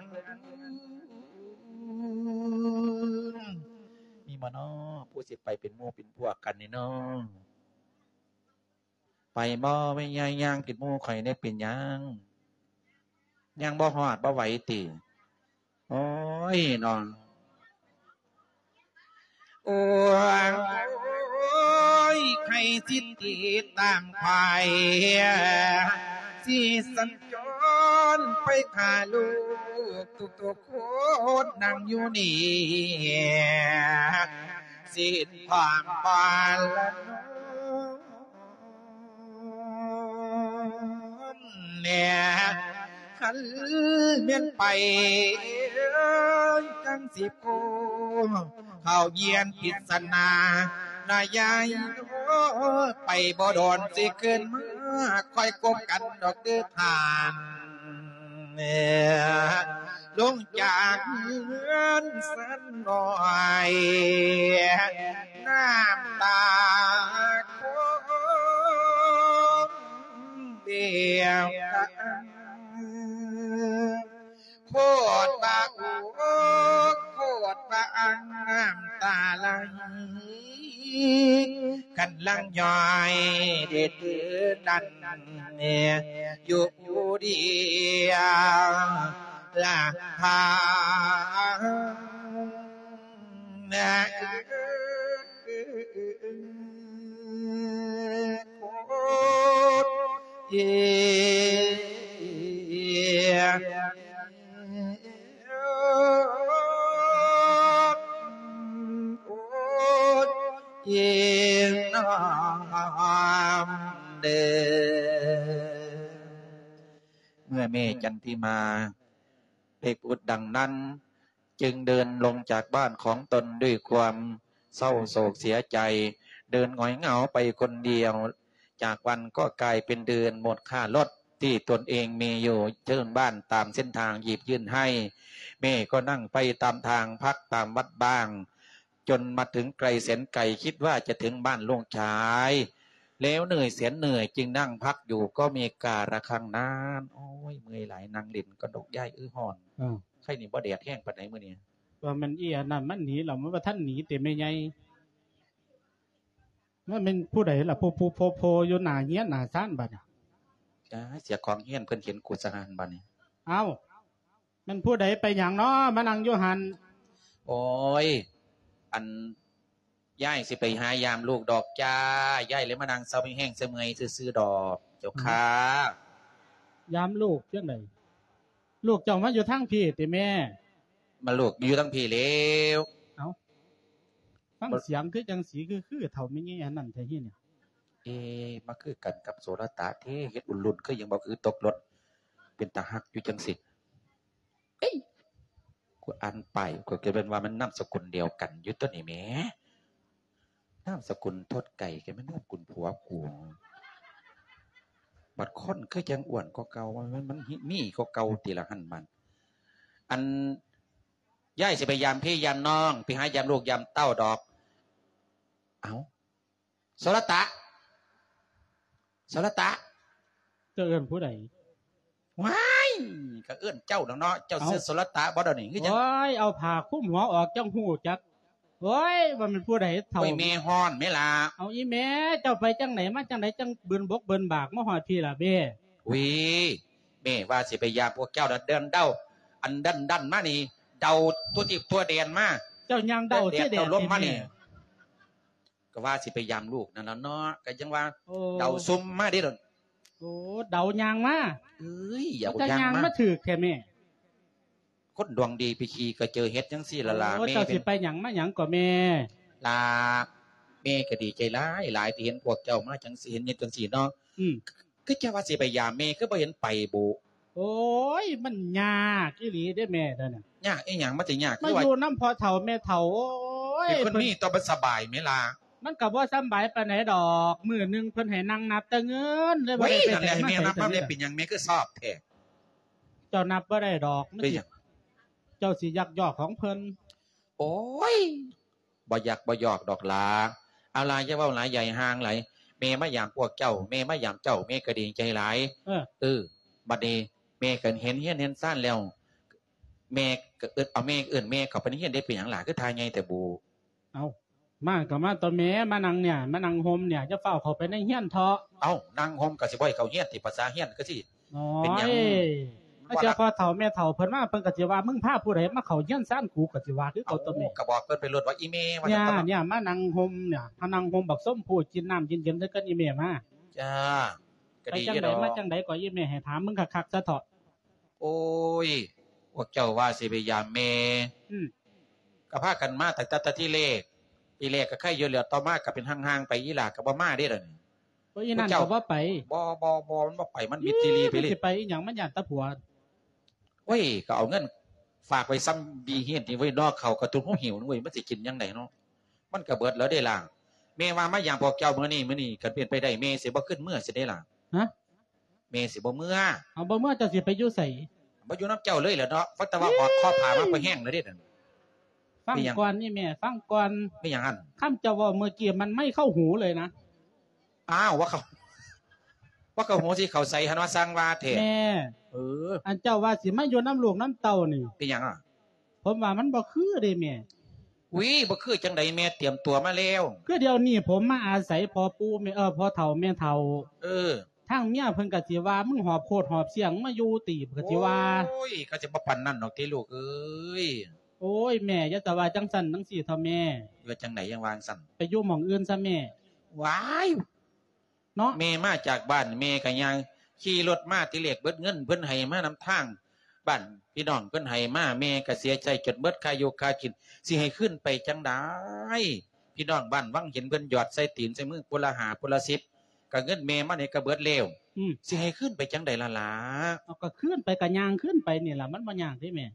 ມີບໍ່ນໍ ຜູ້ຊິໄປເປັນໝູ່ເປັນພວກກັນນີ້ນໍ ໄປບໍ່ແມ່ໃຫຍ່ ຍ່າງຕິດໝູ່ຂ້ອຍແດ່ ເປັນຫຍັງ ຍ່າງບໍ່ຮອດບໍ່ໄຫວຕິ ໂອ້ຍນໍ ໂອ້ຍ ໃຜ ສິດຕິດຕາມໄຂ ຊິສັນຈອນໄປຫາລູກທຸກໆຄົນ ນັ່ງຢູ່ນີ້ ສິ້ນຄວາມບາລະນອມແດ່ ຄັນແມ່ນໄປ ຈັ່ງຊິໂກ ເຂົ້າຮຽນພິດສະໜາ ນາຍາຍໂອ ໄປບໍ່ດົນຊິຄືນມາ ຄ່ອຍພົບກັນດອກເດີທ່ານ ລົງຈາກເຮືອນສັນນ້ອຍ ນ້ຳຕາຄອງແບວກະອັງ ໂຄດວ່າອຸກ ໂຄດວ່າອັ່ງນ້ຳຕາໄຫຼ ກຳລັງຍ້ອຍເດດເດີນດັນ ຢູ່ຜູ້ດຽວລະພາ ໂຄດເອ ໂອດເອນອມເດີ. ເມື່ອແມ່ຈັນທິມາໄດ້ພູດດັ່ງນັ້ນ ຈຶ່ງເດີນລົງຈາກບ້ານຂອງຕົນດ້ວຍຄວາມເສົ້າໂສກເສຍໃຈ, ເດີນຫງອຍເຫງົາໄປຄົນດຽວ. ຈາກວັນກໍກາຍເປັນເດືອນ, ມູນຄ່າລົດທີ່ຕົນເອງມີຢູ່ເທິງບ້ານຕາມເສັ້ນທາງຫຍິບຍື່ນໃຫ້. ແມ່ກໍນັ່ງໄປຕາມທາງພັກຕາມວັດບ້າງ, ຈົນມາເຖິງໄກແສນໄກ, ຄິດວ່າຈະເຖິງບ້ານລູກຊາຍ ແລ້ວເໜື່ອຍແສນເໜື່ອຍ ຈຶ່ງນັ່ງພັກຢູ່ກໍມີກາລະຄັງນານ. ໂອ້ຍ ເມື່ອຍຫຼາຍ, ນັ່ງຫຼິ້ນກ່ອນດອກ ຍາຍເອີຍ ຮ້ອນ. ເອີ ໄຄນີ້ບໍ່ແດດແຮງປານໃດມື້ນີ້. ວ່າແມ່ນອີອັນນັ້ນມັນໜີແລ້ວ, ມັນບໍ່ທັນໜີຕິແມ່ໃຫຍ່? ມັນແມ່ນຜູ້ໃດລະ ໂພໆໆໆ ຢູ່ໜ້າເຮືອນໜ້າຊານບາດນີ້? ຈ້າ ເສຍຂອງເຮືອນເພິ່ນເຫັນກູສະຫານບາດນີ້. ເອົ້າ ແມ່ນຜູ້ໃດໄປຫຍັງເນາະ ມານັ່ງຢູ່ຫັ້ນ? ໂອ້ຍ ອັນ ຍາຍຊິໄປຫາຢາມລູກດອກຈ້າ, ຍາຍເລີຍມານັ່ງເຊົາແຮງເຊົາເມື່ອຍຊື່ໆດອກ ເຈົ້າຄ່າ. ຢາມລູກຈັ່ງໃດ? ລູກເຈົ້າມາຢູ່ທາງພີ້ຕິແມ່? ມາ ລູກຢູ່ທາງພີ້ແລ້ວ. ເອົ້າ ຟັງສຽງຄືຈັ່ງສີຄື ຄືເຖົ້າແມ່ໃຫຍ່ອັນນັ້ນແທ້ເຮນີ້. ເອ ມາຄືກັນກັບໂສລະຕະເທ ເຮັດອຸ່ນລຸ້ນຄືຫຍັງບໍ່ ຄືຕົກລົດ ເປັນຕາຮັກຢູ່ຈັ່ງຊີ້. ເອີຍ ກູອ່ານປ້າຍ ຂ້ອຍກະເປັນວ່າມັນນາມສະກຸນດຽວກັນຢູ່ຕົວນີ້ແໝ. ນາມສະກຸນທົດໄກ່ ກະແມ່ນນາມກຸນຜົວກູ. ບັດຄົນຄືຈັ່ງອ້ວນກວ່າເກົ່າ, ມັນ ມັນມີກວ່າເກົ່າຕິລະຫັ້ນມັນ. ອັນ ຍາຍຊິໄປຢາມພີ່ຢາມນ້ອງ, ໄປຫາຢາມລູກຢາມເຕົ້າດອກ. ເອົ້າ ໂສລະຕະ ໂສລະຕະ. ເຈົ້າເອີ້ນຜູ້ໃດ? ວ້າຍ ກະເອີ້ນເຈົ້າດອກເນາະ. ເຈົ້າຊື່ ເອົ້າ ໂສລະຕະບໍ່ດຽວນີ້ ຄືຈັ່ງ? ໂອ້ຍ ເອົາຜ້າຄຸມຫົວອອກຈັ່ງຮູ້ຈັກ. ໂອ້ຍ ວ່າແມ່ນຜູ້ໃດເຖົ້າ? ໂອ້ຍ ແມ່ຮ້ອນແມ່ລະ. ເອົາ ອີ່ແມ່ ເຈົ້າໄປຈັ່ງໃດມາຈັ່ງໃດ ຈັ່ງບືນບົກບືນບາກມາຮອດພີ້ລະແມ່? ອຸ້ຍ ແມ່ວ່າຊິໄປຢາມພວກເຈົ້າ ດັນເດີນເດົ່າ ອັນດັນໆມານີ້ ເດົ່າທົ່ວທິດທົ່ວແດນມາ. ເຈົ້າຍ່າງເດົ່າ ແດດ ເສຍແດດ ເດົ່າລົມມານີ້ ແທ້ແມ່. ກະວ່າຊິໄປຢາມລູກນັ້ນລະເນາະ ກະຈັ່ງວ່າ ໂອ້ ເດົ່າຊຸ່ມມາເດ້. ໂອ້ ເດົ່າຍ່າງມາ. ເອີຍ ຢ່າ ເຈົ້າຍ່າງມາຖືກແທ້ແມ່. ຄົນດວງດີໄປຂີ່ກະເຈີເຫັດຈັ່ງຊີ້ລະລະແມ່. ເຈົ້າຊິໄປຫຍັງມາຫຍັງກໍແມ່? ລະ ແມ່ກະດີໃຈຫຼາຍໆ ທີ່ເຫັນພວກເຈົ້າມາຈັ່ງຊີ້ ເຫັນເຮັດຈັ່ງຊີ້ເນາະ. ອືມ ຄືເຈົ້າວ່າຊິໄປຢາມແມ່ ຄືບໍ່ເຫັນໄປບຸ? ໂອ້ຍ ມັນຍາກອີ່ຫຼີເດ້ແມ່ ດຽວນີ້. ຍາກອີ່ຫຍັງ? ມັນຊິຍາກ ມາຢູ່ນຳພໍ່ເຖົ້າແມ່ເຖົ້າ. ໂອ້ຍ ເປັນຄົນມີຕໍ່ມັນສະບາຍແມ່ລະ. ມັນກະບໍ່ສະບາຍປານໃດດອກ. ມື້ໜຶ່ງເພິ່ນໃຫ້ນັ່ງນັບແຕ່ເງິນ ເລີຍບໍ່ໄດ້ໄປໃສມາໃສ. ເປັນຫຍັງແມ່ຄືຊອບແທ້? ເຈົ້ານັບບໍ່ໄດ້ດອກ. ເປັນຫຍັງ? ເຈົ້າຊິຍັກຢອກຂອງເພິ່ນ. ໂອ້ຍ ບໍ່ຍັກບໍ່ຢອກດອກຫຼາ. ເອົາຫຼາ ຢ່າເວົ້າຫຼາຍ ຢ່າໃຫ້ຫ່າງຫຼາຍ. ແມ່ມາຢາມພວກເຈົ້າ ແມ່ມາຢາມເຈົ້າ ແມ່ກະດີໃຈຫຼາຍ. ເອີ ເອີ ບັດນີ້ແມ່ກະເຫັນເຮືອນເຫັນຊານແລ້ວ ແມ່ກະເອີ້ນ ເອົາແມ່ ເອີ້ນແມ່ເຂົ້າໄປໃນເຮືອນເດ້. ເປັນຫຍັງຫຼາ ຄືທ່າໃຫຍ່ແທ້ບຸ? ເອົ້າ ມາກະມາຕົວະແມ່ ມານັ່ງນີ້ ມານັ່ງຮົ່ມນີ້ ຢ່າຟ້າວເຂົ້າໄປໃນເຮືອນເຖາະ. ເອົ້າ ນັ່ງຮົ່ມກະຊິບໍ່ໃຫ້ເຂົ້າເຮືອນຕິ? ພາສາເຮືອນກະຊິ ໂອ້ຍ ເປັນຫຍັງ? ມັນ ຖ້າເຈົ້າພໍ່ເຖົ້າແມ່ເຖົ້າເພິ່ນມາ ເພິ່ນກໍຊິວ່າ ມຶງພາຜູ້ໃດມາເຂົ້າເຮືອນຊານກູ ກໍຊິວ່າຄືເກົ່າຕົວນີ້. ກໍບອກເພິ່ນໄປໂລດວ່າ ອີ່ແມ່ວ່າ ເນຍ ຊັ້ນຕົວະ ເນຍ ມານັ່ງຮົ່ມເນຍ ມານັ່ງຮົ່ມບັກຊົມພູ ກິນນ້ຳເຢັນໆ ຊະກ່ອນ ອີ່ແມ່ມາ. ຈ້າ ກໍດີຢູ່ດອກ. ໄປຈັ່ງໃດມາຈັ່ງໃດກໍ ອີ່ແມ່ ໃຫ້ຖາມມຶງຄັກໆ ຊະເຖາະ. ໂອ້ຍ ພວກເຈົ້າວ່າຊິໄປຢາມແມ່ ອືມ ກໍພາກັນມາຕັ້ງແຕ່ ແຕ່ທີແລກ ທີແລກກໍໄຄຢູ່ແລ້ວ ຕໍ່ມາກໍເປັນຫ່າງໆໄປ ອີ່ຫຼ້າກໍບໍ່ມາເດ້ດຽວນີ້. ໂອ້ຍ ອີ່ນັ້ນກໍບໍ່ໄປ. ບໍ່ ບໍ່ ບໍ່ ມັນບໍ່ໄປ ມັນມິດຊີຣີໄປເລີຍ. ມັນຊິໄປອີ່ຫຍັງ ມັນຢ້ານແຕ່ຜົວ. ໂອ້ຍ ກໍເອົາເງິນຝາກໄວ້ຊ່ຳບີເຮດນີ້ເວີຍເນາະ ເຂົ້າກໍຕຸນຫົວຫິວເວີຍ ມັນຊິກິນຈັ່ງໃດເນາະ ມັນກໍເບິດແລ້ວເດ້ຫຼ້າ. ແມ່ວ່າມາຢາມພວກເຈົ້າມື້ນີ້ ມື້ນີ້ ຄັນເປັນໄປໄດ້ ແມ່ຊິບໍ່ຂຶ້ນເມືອຊິເດ້ຫຼ້າ. ຮະ? ແມ່ຊິບໍ່ເມືອ. ເອົາ ບໍ່ເມືອ ເຈົ້າຊິໄປຢູ່ໃສ? ບໍ່ຢູ່ນຳເຈົ້າເລີຍແຫຼະເນາະ ຟັງແຕ່ວ່າຫອດຄໍຜາມາກໍແຮງແລ້ວເດ້ນັ້ນ. ຟັງກ່ອນນີ້ແມ່ ຟັງກ່ອນ. ເປັນຫຍັງຫັ້ນ? ຄຳເຈົ້າເວົ້າເມື່ອກີ້ມັນໄໝ້ເຂົ້າຫູເລີຍນະ. ອ້າວ ວ່າເຂົ້າ ວ່າເຂົ້າຫູຊິເຂົ້າໃສຫັ້ນ ວ່າຊ່າງວ່າແທ້. ແມ່ ເອີ ອັນເຈົ້າວ່າຊິມາຢູ່ນຳລູກນຳເຕົ້ານີ້ ເປັນຫຍັງອະ? ຜົມວ່າມັນບໍ່ຄືເດ້ແມ່. ອຸ້ຍ ບໍ່ຄືຈັ່ງໃດ ແມ່ຕຽມຕົວມາແລ້ວ. ຄືດຽວນີ້ຜົມມາອາໄສພໍ່ປູ່ແມ່ ເອີ ພໍ່ເຖົ້າແມ່ເຖົ້າ. ເອີ ທາງເມຍເພິ່ນກໍຊິວ່າ ມຶງຫອບໂຄດຫອບຊຽງມາຢູ່ຕິ ເພິ່ນກໍຊິວ່າ. ໂອ້ຍ ກໍຊິບໍ່ປານນັ້ນດອກຕິລູກເອີຍ. ໂອ້ຍ ແມ່ຢ່າຈະວ່າຈັ່ງຊັ້ນຈັ່ງຊີ້ເຖາະແມ່. ວ່າຈັ່ງໃດຈັ່ງວ່າຈັ່ງຊັ້ນ? ໄປຢູ່ໝ່ອງອື່ນຊະແມ່. ວ້າຍ ເນາະ ແມ່ມາຈາກບ້ານ ແມ່ກໍຍ່າງຂີ່ລົດມາ ທີແລກເບິດເງິນເພິ່ນໃຫ້ມານຳທາງ ບ້ານພີ່ນ້ອງເພິ່ນໃຫ້ມາ ແມ່ກໍເສຍໃຊ້ຈົນເບິດຄ່າຢູ່ຄ່າກິນ ຊິໃຫ້ຄືນໄປຈັ່ງໃດ? ພີ່ນ້ອງບ້ານວັງເຫັນເພິ່ນຢອດໃສ່ຕີນໃສ່ມື ຜູ້ລະຫ້າ ຜູ້ລະສິບ ກໍເງິນແມ່ມານີ້ກໍເບິດແລ້ວ. ອືມ ຊິໃຫ້ຄືນໄປຈັ່ງໃດລະຫຼ້າ? ເອົາ ກໍຄືນໄປ ກໍຍ່າງຄືນໄປນີ້ລະ ມັນບໍ່ຍາກເດ້ແມ່.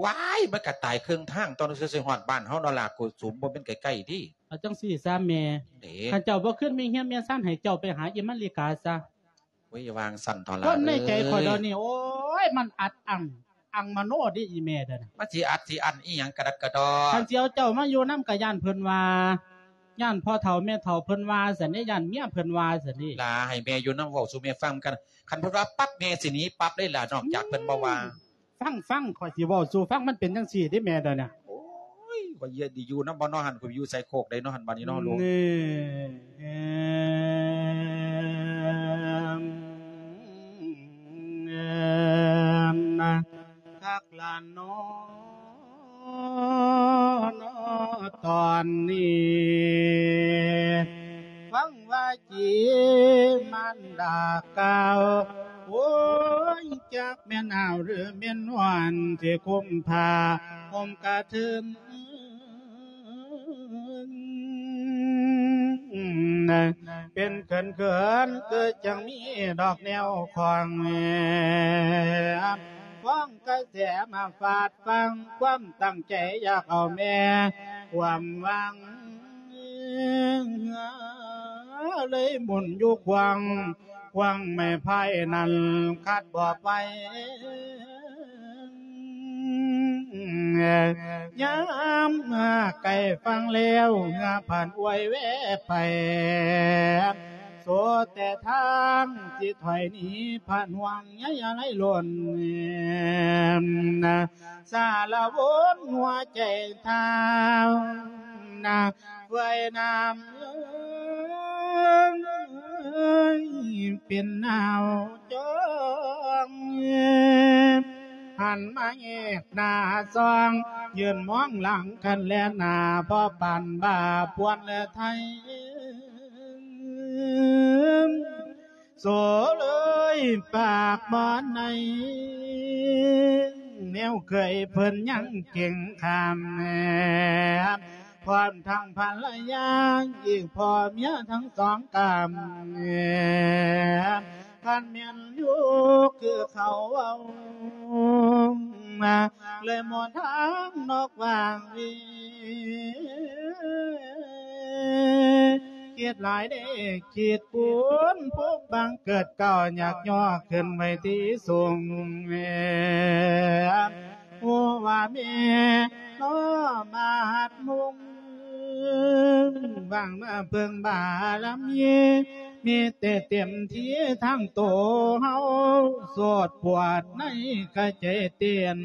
ວ້າຍ ມັນກະຕາຍເຄິ່ງທາງ ຕ້ອງຊິຮອດບ້ານເຮົາເນາະຫຼ້າ ໂກສຸມ ບໍ່ແມ່ນໃກ້ໆຕິ. ເອົາຈັ່ງຊີ້ຊະແມ່ ເດ້ ຄັນເຈົ້າບໍ່ຄືນມີເຮືອນມີຊານ ໃຫ້ເຈົ້າໄປຫາອີ່ມາລິກາຊະ. ໂອ້ຍ ຢ່າວ່າຈັ່ງຊັ້ນເຖາະຫຼ້າ ຄວາມໃນໃຈຂ້ອຍດຽວນີ້ ເອີຍ ໂອ້ຍ ມັນອັດອັ້ນ ອັງມະໂນເດ້ອີ່ແມ່ເດີນະ. ມັນຊິອັດຊິອັ້ນອີ່ຫຍັງກະດັກກະດໍ. ຄັນຊິເອົາເຈົ້າມາຢູ່ນຳກະຢ້ານເພິ່ນວ່າ ຢ້ານພໍ່ເຖົ້າແມ່ເຖົ້າເພິ່ນວ່າຊັ້ນເດ້ ຢ້ານເມຍເພິ່ນວ່າຊັ້ນເດ້. ຫຼ້າ ໃຫ້ແມ່ຢູ່ນຳ ເວົ້າສູ່ແມ່ຟັງກັນ ຄັນເພິ່ນວ່າປັບ ແມ່ຊິໜີປັບເລີຍຫຼ້າ ນອກຈາກເພິ່ນບໍ່ວ່າ. ອືມ ຟັງໆ ຂ້ອຍຊິເວົ້າສູ່ຟັງ ມັນເປັນຈັ່ງຊີ້ເດ້ແມ່ດຽວນີ້. ໂອ້ຍ ຂ້ອຍເຮັດດີຢູ່ນຳບໍ່ເນາະຫັ້ນ ຂ້ອຍຢູ່ໃສ່ໂຄກໃດເນາະຫັ້ນ ບາດນີ້ເນາະລູກ. ຄັກລະເນາະ ເນາະຕອນນີ້ ຟັງວ່າຈີມານດາກ່າວ ໂອ້ຍ ຈັກແມ່ນໜາວຫຼືແມ່ນຮ້ອນ ຊິຄຸມຜ້າຫົ່ມກະເທີນ ເປັນເຂີນໆ ຄືຈັ່ງມີດອກແນວຂອງ ຄວາມກະແສມາຟາດຟັງ ຄວາມຕັ້ງໃຈຢາກເອົາແມ່ຄວາມຫວັງ ເລີຍໝຸນຢູ່ຂວາງ ຂວາງໄມ້ໄຜ່ນັ້ນຂັດບໍ່ໄປ ຍາມໃກ້ຝັ່ງແລ້ວ ເຮືອຜ່ານອວຍແວໄປ ໂສແຕ່ທາງຊິຖອຍໜີ ຜ່ານຫ່ວງໃຍອາໄລລົ້ນ ສາລະວົນຫົວໃຈທາວນາ ເມື່ອຍນ້ຳເອີຍ ເປັນໜາວຈ້ອງ ຫັນມາແຍກໜ້າຊ່ອງ ຢືນມອງຫຼັງຄັນແລນໜ້າ ພໍປານບ້າພວນແລໄທ ໂສເອີຍ ປາກບໍ່ໃນ ແນວເຄີຍເພິ່ນຍັງເກັ່ງຂາມ ພ້ອມທັງພັນລະຍາ ອີກພໍ່ເມຍທັງສອງກາມ ຄັນແມ່ນຢູ່ຄືເຂົາເວົ້າ ເລີຍໝົດທາງນອກຫວ່າງວີ ຄິດຫຼາຍເດ້ຄິດຄູນ ພູມບັງເກີດເກົ່າ ຢາກຍໍຂຶ້ນໄວ້ທີ່ສູງ ຮູ້ວ່າແມ່ ນ້ອມມາຮັດມຸງ ຫວັງມາເພິ່ງບາລະມີ ມີແຕ່ເຕັມທີ່ທາງໂຕເຮົາ ໂສດປວດໃນກະໃຈເຕັ້ນ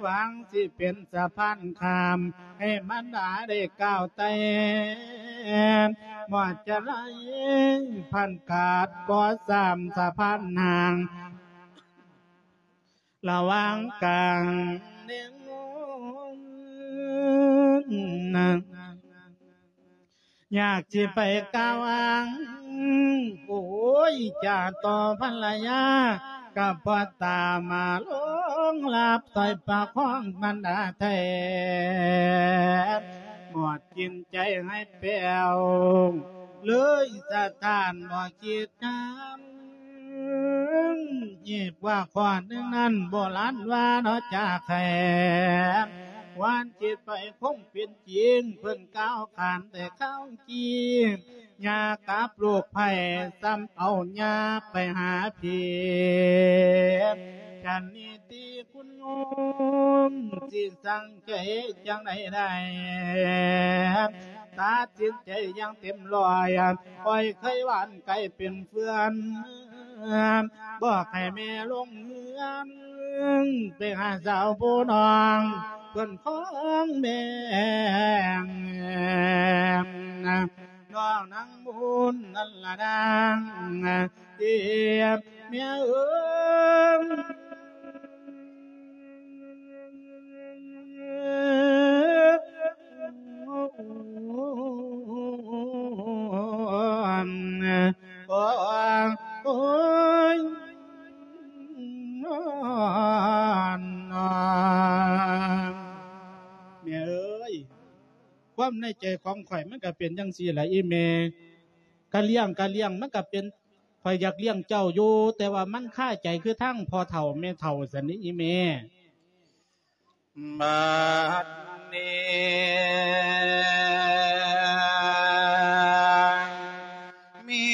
ຫວັງຊິເປັນສະພານຂ້າມ ໃຫ້ມານດາໄດ້ກ້າວໄຕ່ ໝົດຈະໄລພັນກາດ ກໍສາມສະພານຫ່າງ ລະຫວ່າງກາງ ຢາກຊິໄປກ່າວອ້າງ ໂອ້ຍ ຈາຕໍ່ພັນລະຍາ ກະພໍຕາມາລົງລັບ ຊ່ອຍປະຄອງບັນດາແທ້ ໝົດຈິດໃຈໃຫ້ແປ້ວ ເລີຍສະທ້ານບໍ່ຄິດຫາ ອີກວ່າຂໍ້ໜຶ່ງນັ້ນ ໂບລານວ່າເນາະຈາກແຂນ ຄວາມຄິດໄປຄົງເປັນຈິງ ເພິ່ນກ່າວຂານແຕ່ຄາວກີ້ ຍາກັບໂລກໄພ ສ່ຳເອົາຍາໄປຫາຜີ ສັນນິຕິຄຸນໂຍມ ຊິສັງເກດຈັ່ງໃດໄດ້ ຕັດສິນໃຈຢ່າງເຕັມຮ້ອຍ ປ່ອຍໄຂ້ຫວັດໄຂ້ເປັນເພື່ອນ ບອກໃຫ້ແມ່ລົງເຮືອນ ໄປຫາສາວຜູ້ນ້ອງ ເພິ່ນຂອງແມ່ ນ້ອງນາງບຸນນັ້ນລະນາງ ເອີ ແມ່ເອີຍ ໂອ້ຍ ໂອ້ຍ ແມ່ເອີຍ ຄວາມໃນໃຈຂອງຂ້ອຍມັນກະເປັນຈັ່ງຊີ້ລະອີ່ແມ່ ກະລ້ຽງກະລ້ຽງ ມັນກະເປັນ ຂ້ອຍຢາກລ້ຽງເຈົ້າຢູ່ ແຕ່ວ່າມັນຄາໃຈຄືທາງພໍ່ເຖົ້າແມ່ເຖົ້າຊັ້ນນີ້ອີ່ແມ່. ບັດນີ້ມີ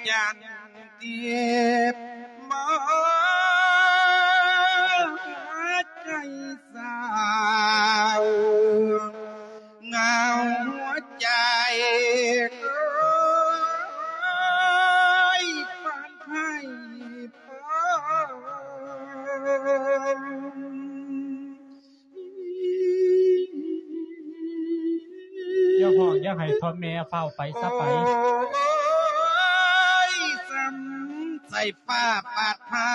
ຈັນທິບມາໃຈສາວ ເຫງົາຫົວໃຈ ໂອ້ຍ ປານໄພ ຢ່າຮ້ອງຢ່າໄຫ້ ເຖົ້າແມ່ ຟ້າວໄປຊະໄປ. ໂອ້ຍ ສ່ຳໃສ່ຟ້າປາດພາ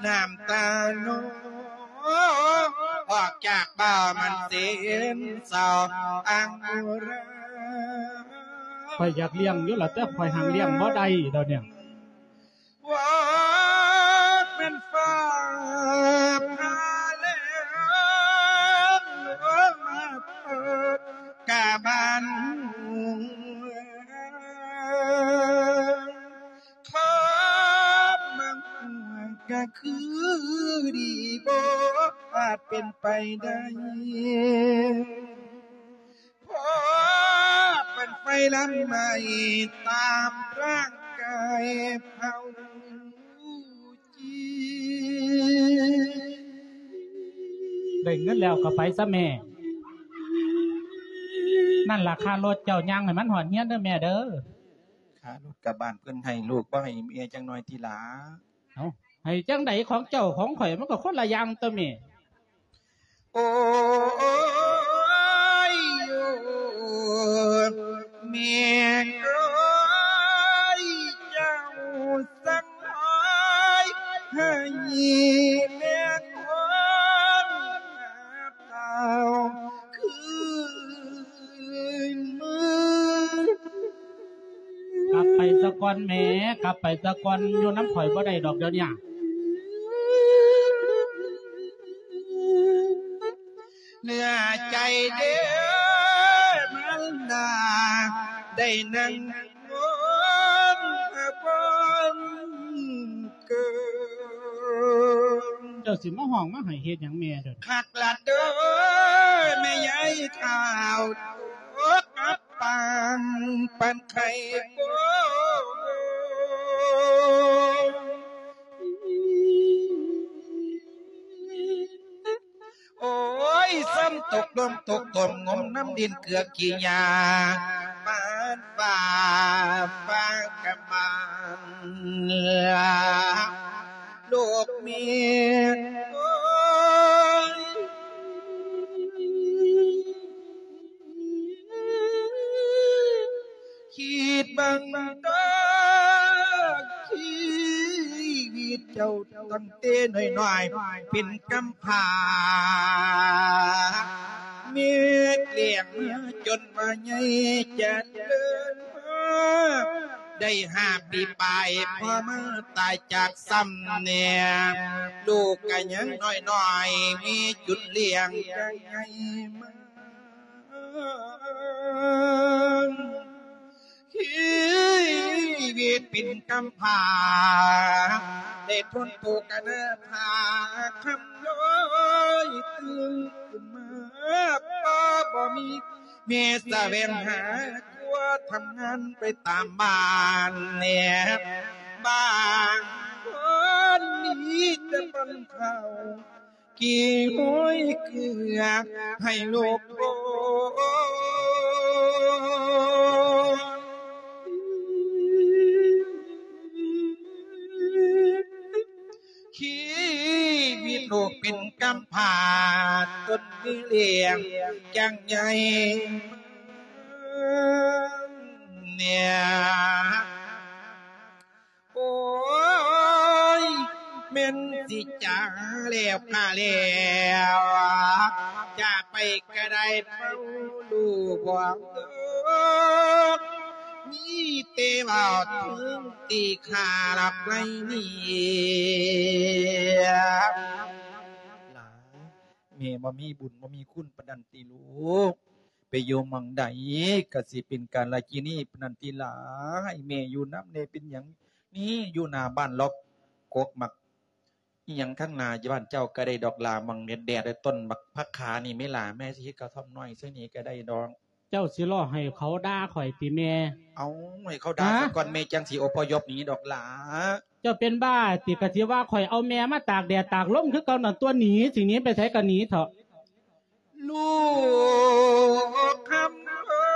ນ້ຳຕານ້ອງ ອອກຈາກເບ້າມັນເຊັນເສົ້າອັງຣາ. ຂ້ອຍຢາກລ້ຽງຢູ່ລະ ແຕ່ຂ້ອຍຫາງລ້ຽງບໍ່ໄດ້ດອກນີ້. ວ່າແມ່ນຟ້າຜ່າແລ້ງມາເປີດກະບານຫົວ ຄອບມາຫົວກະຄືດີບໍ່ອາດເປັນໄປໄດ້. ເພາະເປັນໄຟລຳໄໝ້ຕາມຮ່າງກາຍເຮົາຈີ່. ໄດ້ເງິນແລ້ວກໍໄປຊະແມ່. ນັ້ນລະຄ່າລົດເຈົ້າຍ່າງໃຫ້ມັນຮອດເຮືອນເດີແມ່ເດີ. ຄ່າລົດກະບ້ານເພິ່ນໃຫ້ລູກ ບໍ່ໃຫ້ແມ່ຈັກໜ້ອຍຕິລະ. ເອົ້າ ໃຫ້ຈັ່ງໃດ ຂອງເຈົ້າຂອງຂ້ອຍມັນກໍຄົນລະຢ່າງຕົວະແມ່. ໂອ້ຍ ໂອ້ຍ ແມ່ເອີຍ ເຈົ້າສັງຫາຍໃຫ້ແມ່ຄົນເກົ່າຄືນມາ. ກັບໄປສາກ່ອນແມ່ ກັບໄປສາກ່ອນ ຢູ່ນຳຂ້ອຍບໍ່ໄດ້ດອກດຽວນີ້. ເນື້ອໃຈເດີມາລດາ ໄດ້ນັ່ງວົງອາວົງເກີນ. ເຈົ້າຊິມາຮ້ອງມາໄຫ້ເຮັດຫຍັງແມ່ເດີ? ຄັກລະເດີແມ່ຍາຍທ້າວ ໂຕກັບ ປາງປານໄຂ່ໂກ. ໂອ້ຍ ຊ້ຳຕົກລົມຕົກຕົມ ງົມນ້ຳດິນເກືອຂີ້ຫຍ້າ ປານຟ້າຟ້າກະມານ ລູກເມຍ ໂອ້ຍ ຄິດເບິ່ງເດີ ຊີວິດ ເຈົ້າຕັ້ງແຕ່ນ້ອຍໆເປັນກຳພ້າ ແມ່ລ້ຽງມາຈົນວ່າໃຫຍ່ຈະເລີນມາ ໄດ້ຫ້າປີປາຍ ພໍ່ມາຕາຍຈາກຊ້ຳແນ່ ລູກກະຍັງນ້ອຍໆ ແມ່ຈຸນລ້ຽງກະໃຫຍ່ມາ ຊີວິດເປັນກຳພ້າ ໄດ້ທົນທຸກອະນາຖາ ຄຳນ້ອຍຕື່ນຂຶ້ນມາ ພໍ່ບໍ່ມີ ແມ່ສະແຫວງຫາຕົວະ ທຳງານໄປຕາມບ້ານແນ່ ບາງຄົນມີແຕ່ປ້ອນເຂົ້າ ກີ່ຫ້ອຍເກືອໃຫ້ລູກໂພ ຊີວິດລູກເປັນກຳພ້າ ຕົນມີລ້ຽງຈັ່ງໃຫຍ່ແນ່ ໂອ້ຍ ແມ່ນຊິຈາແລ້ວກະແລ້ວ ຈາໄປກະໄດ້ເຝົ້າລູກບອກ ມີແຕ່ເວົ້າເຖິງທີ່ຂ້າລັບໄວ້ນີ້ ຫຼານ ແມ່ບໍ່ມີບຸນບໍ່ມີຄຸນປານນັ້ນຕິລູກ ໄປຢູ່ໝ່ອງໃດກະຊິເປັນກາລະກິນີປານນັ້ນຕິຫຼາ ໃຫ້ແມ່ຢູ່ນຳແດ່ ເປັນຫຍັງນີ້ ຢູ່ໜ້າບ້ານລອກກົກໝາກອີ່ຫຍັງຂ້າງໜ້າບ້ານເຈົ້າກະໄດ້ດອກຫຼາ ໝ່ອງແດດໆ ຕົ້ນບັກຜັກຂານີ້ແມ່ຫຼ້າ ແມ່ຊິເຮັດກະທ່ອມນ້ອຍໃສ່ນີ້ກະໄດ້ດອກ. ເຈົ້າຊິລໍໃຫ້ເຂົາດ່າຂ້ອຍຕິແມ່? ເອົາ ໃຫ້ເຂົາດ່າສາກ່ອນ ແມ່ຈັ່ງຊິອົບພະຍົບໜີດອກຫຼ້າ. ເຈົ້າເປັນບ້າຕິ? ກະຊິວ່າຂ້ອຍເອົາແມ່ມາຕາກແດດຕາກລົມຄືເກົ່ານັ້ນຕົວະ ໜີ ຊິໜີໄປໃສກະໜີເຖາະ. ລູກຄຳເອີ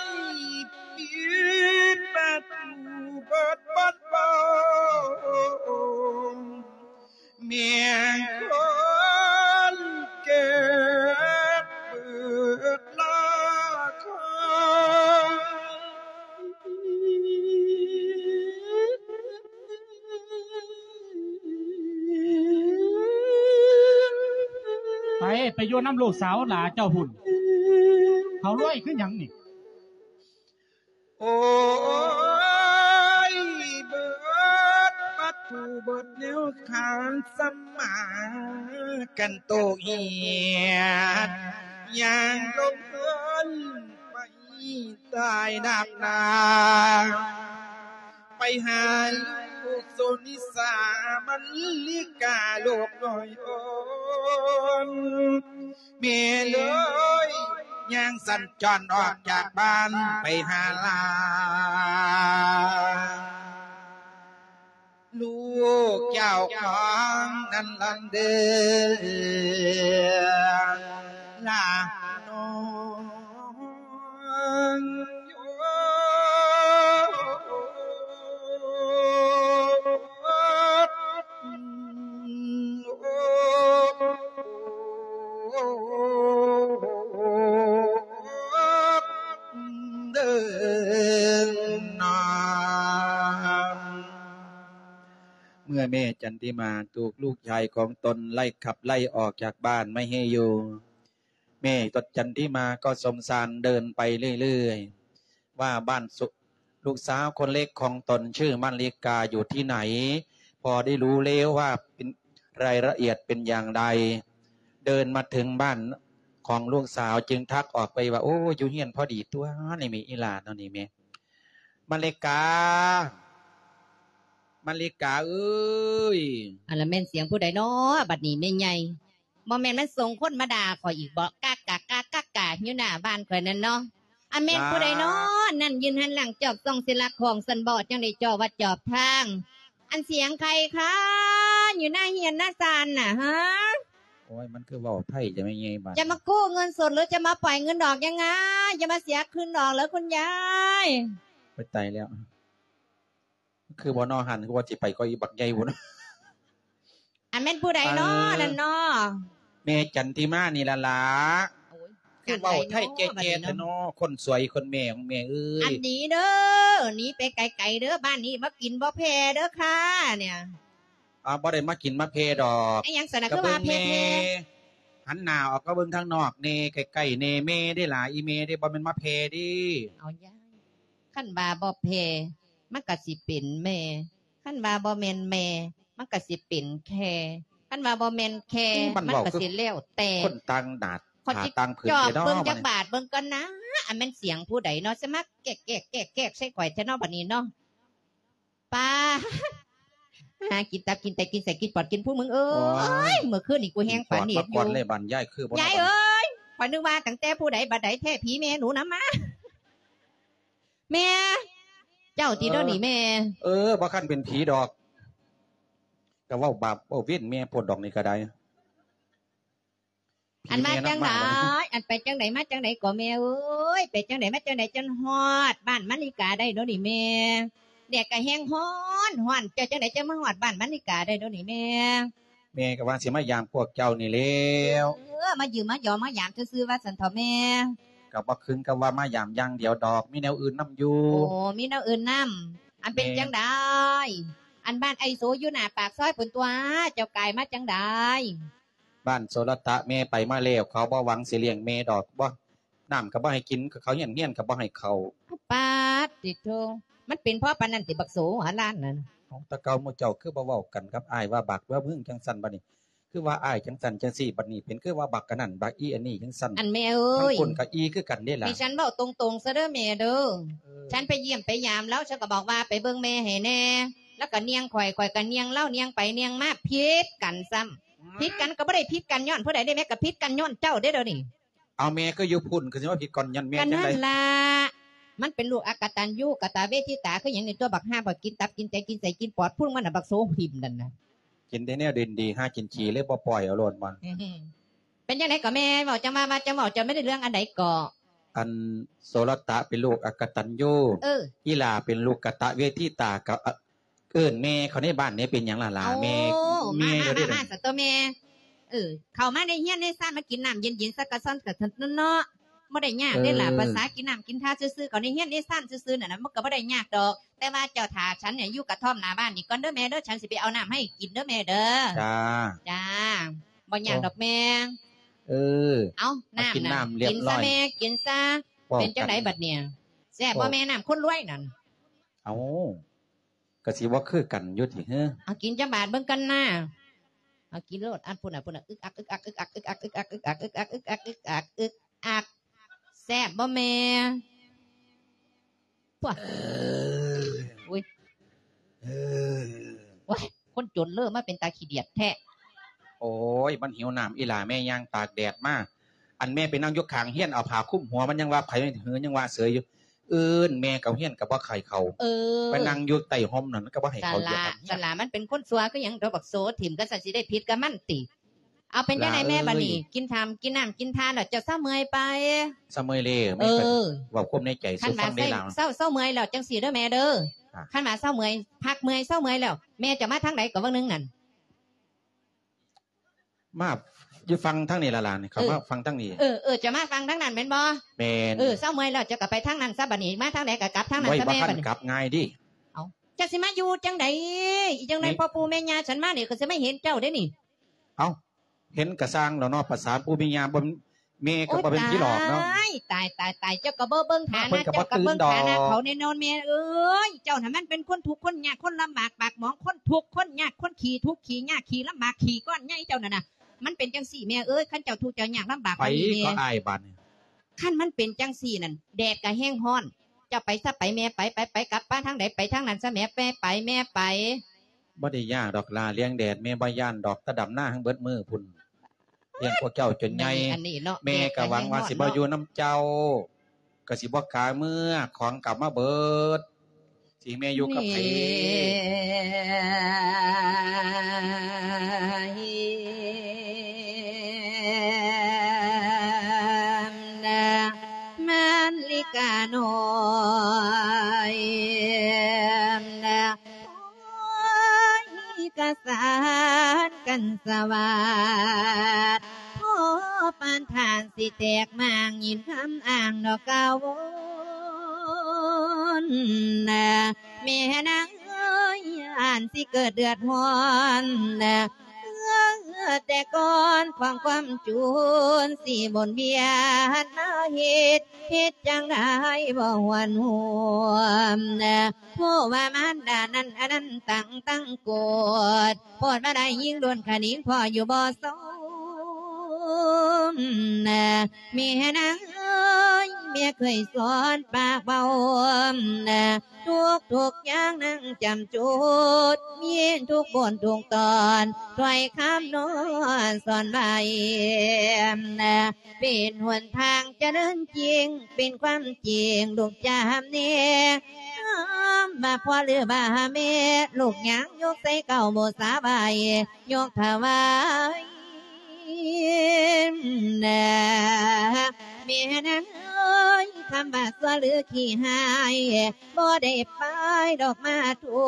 ຍ ປິດປະຕູເບິດບ່ອນເວົ້າ ແມ່ນຄົນເກັບເບີດລາຄາ. ໄປ ໄປຢູ່ນຳລູກສາວຫຼ້າເຈົ້າພຸ້ນ ເຂົາລວຍຄືຫຍັງນີ້? ໂອ້ຍ ເບິດປະຕູເບິດແນວຂານສຳມາ ກັນໂຕເຫຍດ ຍ່າງລົງເຮືອນໄປຕາຍດາບໜາ ໄປຫາລູກສຸນິສາ ມັນລິກາລູກນ້ອຍອ່ອນ ແມ່ເອີຍ ຍ່າງສັນຈອນອອກຈາກບ້ານໄປຫາຫຼ້ານ ລູກເຈົ້າຂອງນັ້ນລຳເດີ ຫຼ້ານ້ອງ. ເມື່ອແມ່ຈັນທິມາຖືກລູກຊາຍຂອງຕົນໄລ່ຂັບໄລ່ອອກຈາກບ້ານໄມ່ໃຫ້ຢູ່ ແມ່ຕົນຈັນທິມາກໍສົງສານເດີນໄປເລື້ອຍໆ ວ່າບ້ານສຸ ລູກສາວຄົນເລັກຂອງຕົນຊື່ມາລິກາຢູ່ທີ່ໃດ ພໍໄດ້ຮູ້ແລ້ວວ່າເປັນ ລາຍລະອຽດເປັນຢ່າງໃດ. ເດີນມາເຖິງບ້ານຂອງລູກສາວຈຶ່ງທັກອອກໄປວ່າ ໂອ້ ຢູ່ເຮືອນພໍດີຕົວະ ນີ້ແມ່ອີ່ຫຼ້າເນາະ ນີ້ແມ່ມາລິກາ ມາລິກາເອີຍ. ອັນລະແມ່ນສຽງຜູ້ໃດເນາະບັດນີ້ແມ່ໃຫຍ່? ບໍ່ແມ່ນມັນສົ່ງຄົນມາດ່າຂ້ອຍອີກບໍ? ກາກາກາກາກາຢູ່ໜ້າບ້ານຂ້ອຍນັ້ນເນາະ. ອາ ແມ່ນຜູ້ໃດເນາະນັ້ນ ຢືນຫັນຫຼັງຈອບສ່ອງເສຍຫຼັກຂອງຊັ້ນບໍ ຈັ່ງໄດ້ຈອບວັດຈອບທາງ? ອັນສຽງໃຜຄາຢູ່ໜ້າເຮືອນໜ້າຊານນະ ຮະ? ໂອ້ຍ ມັນຄືເວົ້າໄທຈະແມ່ນໃຫຍ່ບາດ ຈະມາກູ້ເງິນສົດ ຫຼື ຈະມາປ່ອຍເງິນດອກຍັງງາ? ຢ່າມາເສຍຄືນດອກເລີຍຄຸນຍາຍ. ໂອ້ຍ ຕາຍແລ້ວ. ຄືບໍ່ນໍຫັ້ນ ຄືວ່າຊິໄປກໍອີບັກໃຫຍ່ພຸ້ນ. ອັນແມ່ນຜູ້ໃດນໍນັ້ນນໍ? ແມ່ຈັນທິມານີ້ລະລະ. ໂອ້ຍ ຄືເວົ້າໄທແຈ້ໆແທ້ເນາະ ຄົນສວຍຄົນແມ່ຂອງແມ່ເອີຍ. ອັນນີ້ເດີ ໜີໄປໄກໆເດີ ບ້ານນີ້ບໍ່ກິນບໍ່ແຜ່ເດີຄ່າ ເນຍ. ອາ ບໍ່ໄດ້ມາກິນມາແຜ່ດອກ. ອີຫຍັງຊັ້ນນະ ຄືວ່າແຜ່ໆ? ຫັນໜ້າອອກມາເບິ່ງທາງນອກແດ່ ໃກ້ໆແດ່ ແມ່ເດ້ຫຼ້າ ອີແມ່ເດ້ ບໍ່ແມ່ນມາແຜ່ເດ້. ເອົາຍາຍ ຄັນວ່າບໍ່ແຜ່ ມັນກະຊິເປັນແມ່ ຄັນວ່າບໍ່ແມ່ນແມ່ ມັນກະຊິເປັນແຄ່ ຄັນວ່າບໍ່ແມ່ນແຄ່ ມັນກະຊິແລ້ວແຕ່ ຄົນຕ່າງໜ້າ ຂ້ອຍຊິຕາງຜືນເດເນາະ ເບິ່ງຈັກບາດເບິ່ງກ່ອນນາ ອັນແມ່ນສຽງຜູ້ໃດເນາະ ຊິມາແກກໆໆໃສ່ຂ້ອຍແທ້ເນາະ ບັດນີ້ເນາະ. ປ້າ ຫາກິນຕັບກິນໄຕກິນໄສ້ກິນປອດກິນພຸງ ມຶງເອີຍ ໂອ້ຍ ເມື່ອຄືນນີ້ກູແຮງປານນີ້ຢູ່. ຍາຍເອີຍ ຂ້ອຍນຶກວ່າຕັ້ງແຕ່ຜູ້ໃດບັດໃດແທ້ ຜີແມ່ໜູນຳມາ. ແມ່ ເຈົ້າຕິເດີນີ້ແມ່. ເອີ ບໍ່ຄັນເປັນຜີດອກ ກະເວົ້າບາບເວົ້າເວັນແມ່ໂພດດອກນີ້ກະໄດ້. ອັນມາຈັ່ງໃດ ອັນໄປຈັ່ງໃດມາຈັ່ງໃດກໍແມ່ເອີຍ ໄປຈັ່ງໃດມາຈັ່ງໃດຈົນຮອດບ້ານມະລິກາໄດ້ໂດນີ້ແມ່. ແດດກະແຮງຮ້ອນ ຮ້ອນ ເຈົ້າຈັ່ງໃດຈັ່ງມາຮອດບ້ານມະລິກາໄດ້ໂດນີ້ແມ່. ແມ່ກະວ່າຊິມາຢາມພວກເຈົ້ານີ້ແລ້ວ. ເອີ ມາຢ້ຽມມາຢອມມາຢາມຊື່ໆວ່າຊັ້ນເຖາະແມ່. ກະບໍ່ເຖິງກັບວ່າມາຢາມຢ່າງດຽວດອກ ມີແນວອື່ນນຳຢູ່. ໂອ້ ມີແນວອື່ນນຳ. ອັນເປັນຈັ່ງໃດ ອັນບ້ານອ້າຍໂສຢູ່ໜ້າປາກຊອຍພຸ້ນຕົວະ ເຈົ້າກາຍມາຈັ່ງໃດ? ບ້ານໂສລະຕະແມ່ໄປມາແລ້ວ ເຂົາບໍ່ຫວັງຊິລ້ຽງແມ່ດອກ ບໍ່ ນ້ຳກະບໍ່ໃຫ້ກິນ ເຂົ້າຮຽນ ຮຽນກະບໍ່ໃຫ້ເຂົ້າ. ປາດຕິໂທ ມັນເປັນເພາະປານນັ້ນຕິບັກໂສຫົວລ້ານນັ້ນ. ເອົ້າ ແຕ່ເກົ່າໝູ່ເຈົ້າຄືບໍ່ເວົ້າກັນກັບອ້າຍວ່າບັກວ່າມຶງຈັ່ງຊັ້ນ ບັດນີ້ຄືວ່າອ້າຍຈັ່ງຊັ້ນຈັ່ງຊີ້ ບັດນີ້ເປັນຄືວ່າບັກອັນນັ້ນບັກອີອັນນີ້ຈັ່ງຊັ້ນ. ອັນແມ່ເອີຍ ທັງຄົນກະອີຄືກັນເດ້ລະ. ໃຫ້ສັນເວົ້າຕົງໆຊະເດີແມ່ເດີ. ເອີ ສັນໄປຢ້ຽມໄປຢາມລາວ ສັນກະບອກວ່າໄປເບິ່ງແມ່ໃຫ້ແດ່ ລາວກະຍ່ຽງຂ້ອຍ ຂ້ອຍກະຍ່ຽງລາວ ຍ່ຽງໄປຍ່ຽງມາ ຜິດກັນຊ້ຳ. ຜິດກັນກະບໍ່ໄດ້ຜິດກັນຍ້ອນຜູ້ໃດເດ້ແມ່ ກະຜິດກັນຍ້ອນເຈົ້າເດ້ດຽວນີ້. ເອົາ ແມ່ຄືຢູ່ພຸ້ນ ຄືຊິມາຜິດກ່ອນຍ້ອນແມ່ຈັ່ງໃດ? ກະນັ້ນລະ ມັນເປັນລູກອະກະຕັນຍູກະຕະເວທິຕາ ຄືຫຍັງນີ້ຕົວະ ບັກຫ່າ ບັກກິນຕັບກິນໄຕກິນໄສ້ກິນປອດພຸ້ນ ມັນນະບັກໂສຫິ້ມນັ້ນນະ. ກິນແຕ່ແນວດິນດີ ຫາກິນຂີ້ເລີຍບໍ່ປ່ອຍເອົາໂລດມັນ. ເປັນຈັ່ງໃດກໍແມ່ ເວົ້າຈັ່ງວ່າ ວ່າຈັ່ງເວົ້າ ເຈົ້າແມ່ນໄດ້ເລື່ອງອັນໃດເກາະ? ອັນໂສລະຕະເປັນລູກອະກະຕັນຍູ ເອີ ອີຫຼ້າເປັນລູກກະຕະເວທິຕາ ກະ ເອີ້ນແມ່ເຂົາໃນບ້ານນີ້ເປັນຫຍັງລະຫຼ້າ? ໂອ້ ແມ່ ມາ ມາ ມາ ມາ ສະໂຕແມ່. ເອີ ເຂົ້າມາໃນເຮືອນໃນຊານ ມາກິນນ້ຳເຢັນໆ ຊະກະຊອນກະຊະເນາະ. ບໍ່ໄດ້ຍາກເດ້ລະ ເອີ ພາສາກິນນ້ຳກິນທ່າຊື່ໆ ເຂົ້າໃນເຮືອນໃນຊານຊື່ໆນັ້ນນະ ມັນກະບໍ່ໄດ້ຍາກດອກ. ແຕ່ວ່າເຈົ້າຖ້າສັນນີ້ຢູ່ກະທ່ອມໜ້າບ້ານນີ້ກ່ອນເດີແມ່ເດີ ສັນຊິໄປເອົານ້ຳໃຫ້ກິນເດີແມ່ເດີ. ຈ້າ ຈ້າ ບໍ່ຍາກດອກແມ່. ເອີ ເອົາ ນ້ຳ ກິນນ້ຳລຽບຮ້ອຍ ກິນຊະແມ່ ກິນຊະ. ເປັນຈັ່ງໃດບັດນີ້ ແຊບບໍ່ແມ່ ນ້ຳຄົນລວຍນັ້ນ? ເອົາ ກະຊິບໍ່ຄືກັນຢູ່ຕິເຮີ. ເອົາກິນຈັກບາດເບິ່ງກ່ອນນາ. ເອົາກິນໂລດ ອັນພຸ້ນນະ ພຸ້ນນະ ອຶກອັກ ອຶກອັກ ອຶກອັກ ອຶກອັກ ອຶກອັກ ອຶກອັກ ອຶກອັກ ອຶກອັກ ອຶກອັກ ອຶກອັກ. ແຊບບໍ່ແມ່? ໂອ້ຍ ໂອ້ຍ ຄົນຈົນເລີມາເປັນຕາຂີ້ດຽດແທ້. ໂອ້ຍ ມັນຫິວນ້ຳອີຫຼ້າ ແມ່ຍ່າງຕາກແດດມາ. ອັນແມ່ໄປນັ່ງຢູ່ຂ້າງເຮືອນ ເອົາຜ້າຄຸມຫົວ ມັນຍັງວ່າໃຜ ຫື ຍັງວ່າເສີຍຢູ່. ເອີ້ນແມ່ເຂົ້າເຮືອນກະບໍ່ໃຄ່ເຂົ້າ. ເອີ ໄປນັ່ງຢູ່ໃຕ້ຮົ່ມນັ້ນ ມັນກະບໍ່ໃຫ້ເຂົ້າ. ສະຫຼະ ສະຫຼະ ມັນເປັນຄົນຊົ່ວຄືຫຍັງ ໂຕບັກໂສຖິ້ມ ກະສັນຊິໄດ້ຜິດກັບມັນຕິ. ເອົາ ເປັນຈັ່ງໃດແມ່ບັດນີ້ ກິນທຳ ກິນນ້ຳກິນທ່າແລ້ວ ເຈົ້າເຊົາເມື່ອຍໄປ? ເຊົາເມື່ອຍແລ້ວ ເອີ ເວົ້າຄວາມໃນໃຈສູ່ຟັງໄດ້ລາວ. ເຊົາ ເຊົາເມື່ອຍແລ້ວ ຈັ່ງຊີ້ເດີແມ່ເດີ ຄັນວ່າເຊົາເມື່ອຍ ພັກເມື່ອຍ ເຊົາເມື່ອຍແລ້ວ ແມ່ຈະມາທາງໃດເກາະ ເບິ່ງໜຶ່ງນັ້ນ? ມາຢູ່ຝັ່ງທາງນີ້ລະຫຼານ ເຂົ້າມາຝັ່ງທາງນີ້. ເອີ ເອີ ຈະມາຝັ່ງທາງນັ້ນແມ່ນບໍ່? ແມ່ນ. ເອີ ເຊົາເມື່ອຍແລ້ວ ເຈົ້າກະໄປທາງນັ້ນຊະ ບັດນີ້ມາທາງໃດກະກັບທາງນັ້ນຊະແມ່. ບໍ່ທັນກັບງ່າຍເດ້. ເອົ້າ ເຈົ້າຊິມາຢູ່ຈັ່ງໃດ? ອີ່ຈັ່ງໃດ ພໍ່ປູ່ແມ່ຍ່າສັນມານີ້ ຂ້ອຍຊິມາເຫັນເຈົ້າເດ້ນີ້. ເອົ້າ ເຫັນກະຊ່າງແລ້ວເນາະ ພາສາປູ່ມີຍ່າ ບໍ່ ແມ່ກະບໍ່ແມ່ນຜີຫຼອກເນາະ. ໂອ້ຍ ຕາຍ ຕາຍ ຕາຍ ຕາຍ ເຈົ້າກະບໍ່ເບິ່ງຖານະ ເຈົ້າກະບໍ່ຕື່ນດອກ ເຈົ້າກະບໍ່ເບິ່ງຖານະເຂົາແນ່ນອນແມ່ເອີຍ. ເຈົ້າຫັ້ນມັນເປັນຄົນທຸກຄົນຍາກ ຄົນລຳບາກປາກໝອງ ຄົນທຸກຄົນຍາກ ຄົນຂີ້ທຸກຂີ້ຍາກ ຂີ້ລຳບາກ ຂີ້ກ້ອນໃຫຍ່ເຈົ້ານັ້ນນະ. ມັນເປັນຈັ່ງຊີ້ແມ່ເອີຍ ຄັນເຈົ້າທຸກເຈົ້າຍາກລຳບາກປານນີ້ແມ່ ໄປກໍອາຍບາດນີ້. ຄັນມັນເປັນຈັ່ງຊີ້ນັ້ນ ແດດກະແຮງຮ້ອນ ເຈົ້າໄປຊະ ໄປແມ່ ໄປ ໄປ ໄປ ກັບ ໄປທາງໃດໄປທາງນັ້ນຊະແມ່ ແມ່ໄປ ແມ່ໄປ. ບໍ່ໄດ້ຍາກດອກຫຼ້າ ລ້ຽງແດດແມ່ບໍ່ຢ້ານດອກ ແຕ່ດຳນາທັງເບິດມື້ພຸ້ນ ລ້ຽງພວກເຈົ້າຈົນໃຫຍ່. ແມ່ກະຫວັງວ່າຊິມາຢູ່ນຳເຈົ້າ ກະຊິບໍ່ກາເມືອ ຂອງກະມາເບິດ ຊິໃຫ້ແມ່ຢູ່ກັບໃຜ? ມາລິການ້ອຍ ກະສານກັນສະຫວາດ ຂໍປານທ່ານ ແຕກມ້າງຍິນຄຳອ້າງດອກກ່າວວົນນະ ແມ່ນາງເອີຍ ຢ້ານຊິເກີດເດືອດຮ້ອນນະ ເອີ ແຕ່ກ່ອນຂອງຄວາມຈູນ ຊິວົນວຽນມາເຮັດ ເຮັດຈັ່ງໃດບໍ່ຫວນຫວມນະ ຜູ້ວ່າມານດານັ້ນ ອັນນັ້ນຕັ້ງຕັ້ງໂກດ ໂພດວ່າໄດ້ຍິງໂດນຂະໜິງ ພໍ່ຢູ່ບໍ່ສົມນະ ແມ່ນາງເອີຍ ແມ່ເຄີຍສອນປາກເວົ້ານະ ທຸກໆຢ່າງນາງຈຳຈຸດ ມີທຸກບົດທຸກຕອນ ຖ້ອຍຄຳນອນສອນໄວ້ນະ ເປັນຫົນທາງຈະເດີນຈິງ ເປັນຄວາມຈິງລູກຈຳແນ ຄຳວ່າພໍ່ຫຼືວ່າແມ່ ລູກຍັງຍົກໃສ່ເກົ້າບູຊາໄວ້ ຍົກຖວາຍນະ ແມ່ນາງເອີຍ ຄຳວ່າຊົ່ວຫຼືຂີ້ຮ້າຍ ບໍ່ໄດ້ປາຍດອກມາທຸ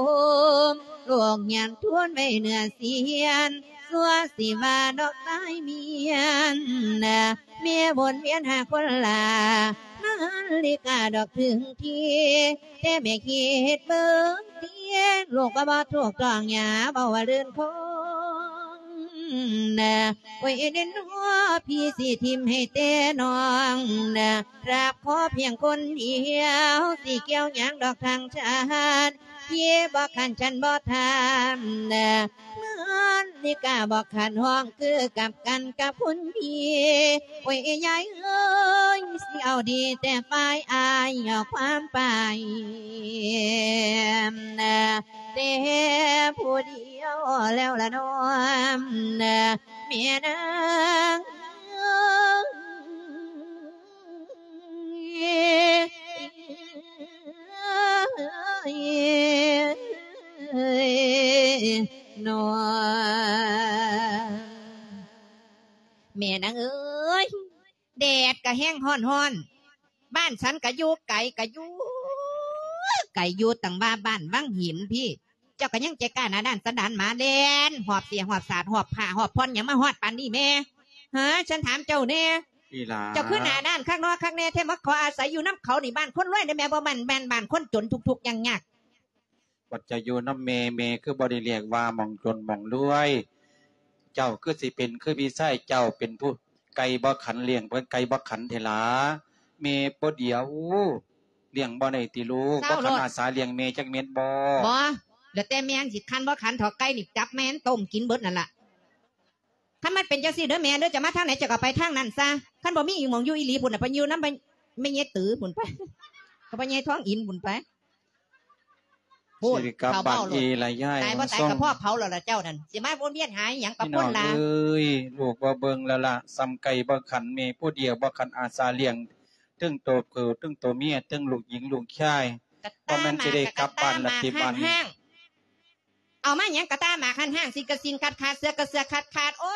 ມ ລູກຍັງທູນໄວ້ເໜືອສຽນ ຊົ່ວຊິວ່າດອກຕາຍມຽນນະ ແມ່ວົນວຽນຫາຄົນລາ ມາລິກາດອກເຖິງທີ ແຕ່ແມ່ຄິດເບິ່ງຕິ ລູກກໍບໍ່ຖືກຕ້ອງຫຍ້າ ເວົ້າວ່າລື່ນຄົງນະ ໂອ້ຍ ເອີ ເນນ ຫົວ ພີ່ຊິຖິ້ມໃຫ້ແຕ່ນ້ອງນະ ຮັບຂໍພຽງຄົນດຽວ ຊິກ່ຽວຫຍັງດອກທາງຊາດ ພີ່ບໍ່ຂັນ ສັນບໍ່ຖາມນະ ມາລິກາບໍ່ຂັນ ຮ້ອງຄືກັບກັນກັບຄຸນພີ່ ໂອ້ຍ ຍາຍເອີຍ ຊິເອົາດີແຕ່ຝ່າຍອ້າຍ ເອົາຄວາມໄປນະ ແຕ່ຜູ້ດຽວແລ້ວລະນ້ອມນະ ແມ່ນາງເອີຍ ເອີຍ ເນາະ ແມ່ນາງເອີຍ ແດດກະແຮງຮ້ອນໆ ບ້ານສັນກະຢູ່ໄກ ກະຢູ່ໄກ ຢູ່ຕັ້ງວ່າບ້ານວັງຫີນພີ້ ເຈົ້າກະຍັງໃຈກ້າໜ້າດ້ານສັນດານໝາ ແລ່ນຮອບເສຍ ຮອບສາດ ຮອບຜ້າ ຮອບຜ່ອນຫຍັງ ມາຮອດປານນີ້ແມ່ ຫາ ສັນຖາມເຈົ້າແດ່ ອີ່ຫຼ້າ ເຈົ້າຄືໜ້າດ້ານຄັກເນາະ ຄັກແນ່ແທ້ ມາຂໍອາໄສຢູ່ນຳເຂົານີ້ ບ້ານຄົນລວຍເດ້ແມ່ ບໍ່ແມ່ນ ແມ່ນບ້ານຄົນຈົນທຸກໆຍາກໆ. ບັດເຈົ້າຢູ່ນຳແມ່ ແມ່ຄືບໍ່ໄດ້ລຽກວ່າໝ່ອງຈົນໝ່ອງລວຍ ເຈົ້າຄືຊິເປັນຄືພີ່ຊາຍເຈົ້າ ເປັນຜູ້ໄກ່ບໍ່ຂັນ ລ້ຽງເພິ່ນໄກ່ບໍ່ຂັນແທ້ຫຼ້າ ແມ່ຜູ້ດຽວລ້ຽງບໍ່ໄດ້ຕິລູກ ບໍ່ຂັນອາສາລ້ຽງແມ່ຈັກເມັດບໍ່? ບໍ່ ແລ້ວແຕ່ແມ່ຊິຂັນບໍ່ຂັນເຖາະ ໄກ່ນີ້ຈັບແມ່ນຕົ້ມກິນເບິດນັ້ນລະ. ຄັນມັນເປັນຈັ່ງຊີ້ເດີແມ່ເດີ ເຈົ້າມາທາງໃດເຈົ້າກໍໄປທາງນັ້ນຊະ ຄັນບໍ່ມີອີ່ໝ່ອງຢູ່ອີ່ຫຼີພຸ້ນນະ ໄປຢູ່ນຳແມ່ໃຫຍ່ຕື້ພຸ້ນໄປ ກັບພໍ່ໃຫຍ່ທອງອິນພຸ້ນໄປ ພຸ້ນ ຊິໄດ້ກັບບ້ານເອລະຍາຍ ຕາຍບໍ່ຕາຍກໍພໍເຜົາແລ້ວລະເຈົ້ານັ້ນ ຊິມາວົນວຽນຫາອີ່ຫຍັງກັບຄົນລະ ພີ່ນ້ອງເອີຍ ລູກບໍ່ເບິ່ງແລ້ວລະ ສ່ຳໄກ່ບໍ່ຂັນ ແມ່ຜູ້ດຽວບໍ່ຂັນອາສາລ້ຽງ ເຖິງໂຕຜູ້ເຖິງໂຕເມຍ ເຖິງລູກຍິງລູກຊາຍ ບໍ່ແມ່ນຊິໄດ້ກັບບ້ານລະຕິບັດນີ້ ເອົາມາຫຍັງກະຕາໝາກຫັ້ນ ຫ້າງສິ້ນກະສິ້ນຂາດຂາດ ເສື້ອກະເສື້ອຂາດຂາດ ໂອ້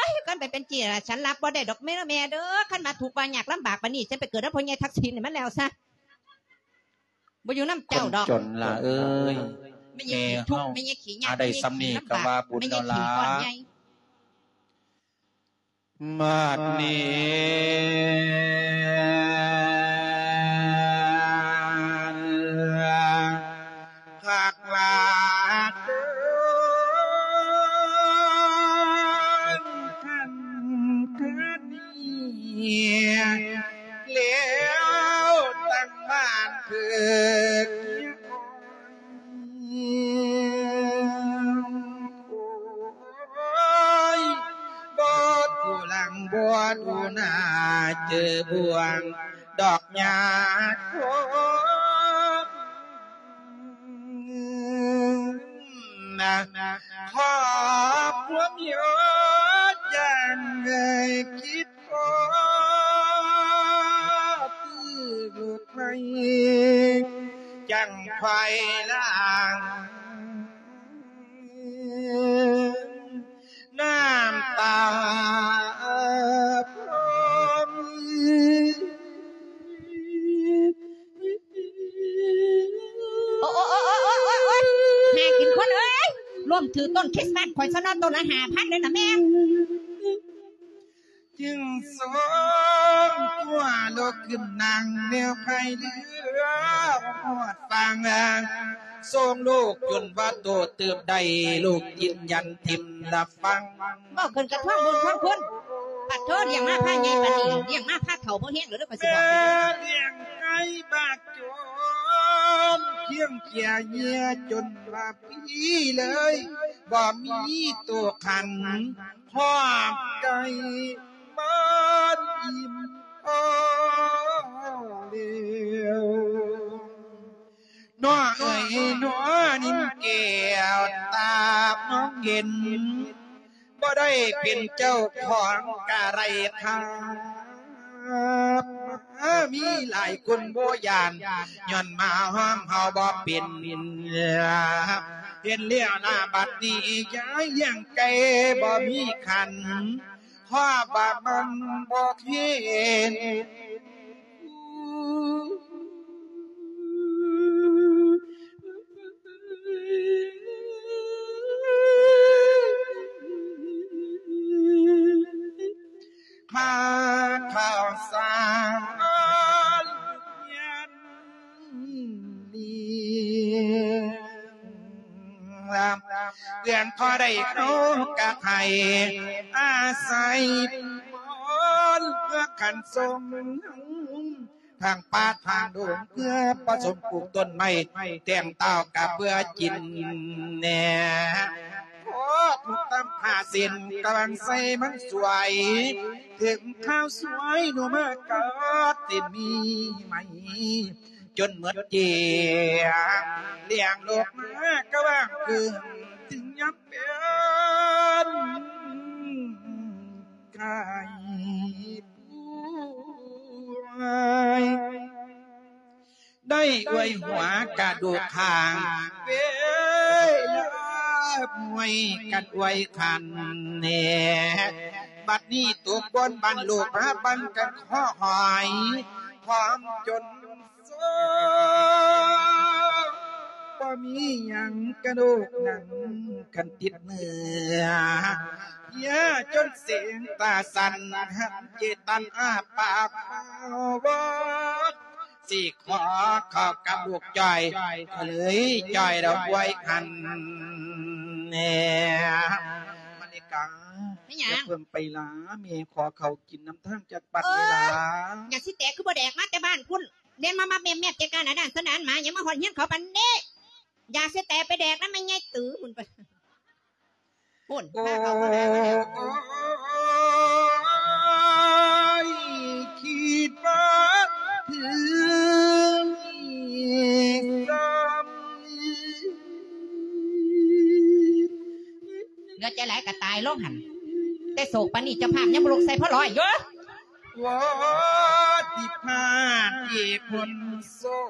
ຍ ຄັນໄປເປັນຈີ້ລະ ສັນຮັບບໍ່ໄດ້ດອກເດີແມ່ເດີ ຄັນວ່າທຸກວ່າຍາກລຳບາກປານນີ້ ສັນໄປເກີດນຳພໍ່ໃຫຍ່ທັກສິນໃຫ້ມັນແລ້ວຊະ ບໍ່ຢູ່ນຳເຈົ້າດອກ ຄົນຈົນລະເອີຍ ແມ່ໃຫຍ່ຂີ້ທຸກ ແມ່ໃຫຍ່ຂີ້ຍາກ ອາ ໄດ້ສ່ຳນີ້ກໍວ່າບຸນແລ້ວລະ ບາດນີ້ ຄັກຫຼາຍເດີ ຄັນຄືນນີ້ ແລ້ວຕັ້ງບ້ານເກີດ ໂອ້ຍ ບໍ່ດູຫຼັງບໍ່ດູໜ້າ ເຈີບ່ວງດອກຫຍ້າຄົນນະ ຂອບຄວາມຍົດຢ່າງໃດຄິດ ຂໍຊື້ລົດໃໝ່ ຈັ່ງໄຂວ່າລ້າງນ້ຳຕາພອມ. ໂອ້ຍ ໂອ້ຍ ໂອ້ຍ ໂອ້ຍ ໂອ້ຍ ໂອ້ຍ ຫາກິນຄົນເອີຍ ລົ້ມຖືກຕົ້ນຄຣິສມາສຂ້ອຍຊະເນາະ ຕົ້ນລະຫ້າພັນເດ້ນະແມ່. ຈຶ່ງສົ່ງຕົວລຸກຂຶ້ນນັ່ງແນວພາຍເຮືອຮອດຝັ່ງ ສົ່ງລູກຈົນວ່າໂຕເຕີບໄດ້ ລູກຢືນຢັນຖິ້ມລະຟັງ. ເວົ້າຂຶ້ນກະທ້ວງບຸນທ້ວງຄຸນ ປາດໂທ ລ້ຽງມາພາໃຫຍ່ປານນີ້ ລ້ຽງມາພາເຖົ້າບໍ່ແຮງແລ້ວເດີ ຂ້ອຍຊິບອກໃຫ້ເດີ. ແມ່ລ້ຽງໄກ່ບາກໂຈນ ຄຽງເຄຍເຫຍື້ອຈົນວ່າພີເລີຍ ບໍ່ມີໂຕຂັນ ຄອບໄກ່ມັນອີ່ມພໍແລ້ວ. ໜໍເອີຍໜໍ ນິນແກ້ວຕາມອງເຫັນ ບໍ່ໄດ້ເປັນເຈົ້າຂອງກະໄດ້ຄັບ ມີຫຼາຍຄົນບໍ່ຢ້ານ ຍ້ອນມາຫ້ອມເຮົາບໍ່ເປັນ. ເຫັນແລ້ວນາບັດນີ້ ຢາຍລ້ຽງໄກ່ບໍ່ມີຂັນ ເພາະວ່າມັນບໍ່ເຫັນ ຄ່າເຂົ້າສານ ເພື່ອພໍໄດ້ເຮົາກະໃຫ້ອາໄສບອນ ເພື່ອຂັນສົ່ງທາງປ່າທາງດົງ ເພື່ອປະສົມປູກຕົ້ນໄມ້ ແຕ່ງເຕົ້າກະເພື່ອກິນແນ່. ໂອ້ ທຸກຕຳພາເສັ້ນກຳລັງໃສ່ມັນສວຍ ເຖິງຄາວສວຍໜູມາກັດເສັ້ນມີໄໝ ຈົນໝົດເຈ້ຍ ລ້ຽງລູກມາກະວ່າງຄືນ ເຖິງຍາມເປັນໄຂ້ປ່ວຍ ໄດ້ອວຍຫົວກະດູກຂ້າງ ເວລາມວຍກັນອວຍຂັນແນ່ ບັດນີ້ຕົກບ່ອນບ້ານໂລກ ມາບັນກັນຂໍຫອຍ ພ້ອມຈົນ ບໍ່ມີຫຍັງກະດູກໜັງກັນຕິດເນື້ອ ເພຍຈົນເສງຕາສັ່ນ ຫັນເຈຕັນອ້າປາກເວົ້າ ຊິຂໍເຂົ້າກັບລູກຈ້ອຍ ກະເລີຍຈ້ອຍດອກອວຍຫັນແນ່. ມະລິກາ ແມ່ນຫຍັງ? ຢ່າເພິ່ງໄປຫຼາ ແມ່ຂໍເຂົ້າກິນນຳທາງຈັກປັດນີ້ຫຼາ. ຢາກຊິແຕກຄືບໍ່ແດກມາແຕ່ບ້ານພຸ້ນ ແລ່ນມາມາແມບໆ ແຈກການອາດານສະໜານໝາ ຫຍັງມາຮອດເຮືອນເຂົາປານນີ້. ຢາຊິແຕກໄປແດກນຳແມ່ໃຫຍ່ຕື້ພຸ້ນໄປ ພຸ້ນ ໂອ້ ພາເຂົາມາແລ້ວ. ໂອ້ຍ ຄິດວ່າເຖິງອີກຊ້ຳ ເຫຼືອໃຈຫຼາຍກະຕາຍລົງຫັ້ນ ແຕ່ໂສກປານນີ້ເຈົ້າພາບຍັງບໍ່ລຸກໃສ່ພໍລອຍຢູ່. ໂອ້ ທີ່ພາດທີ່ຄົນໂສກ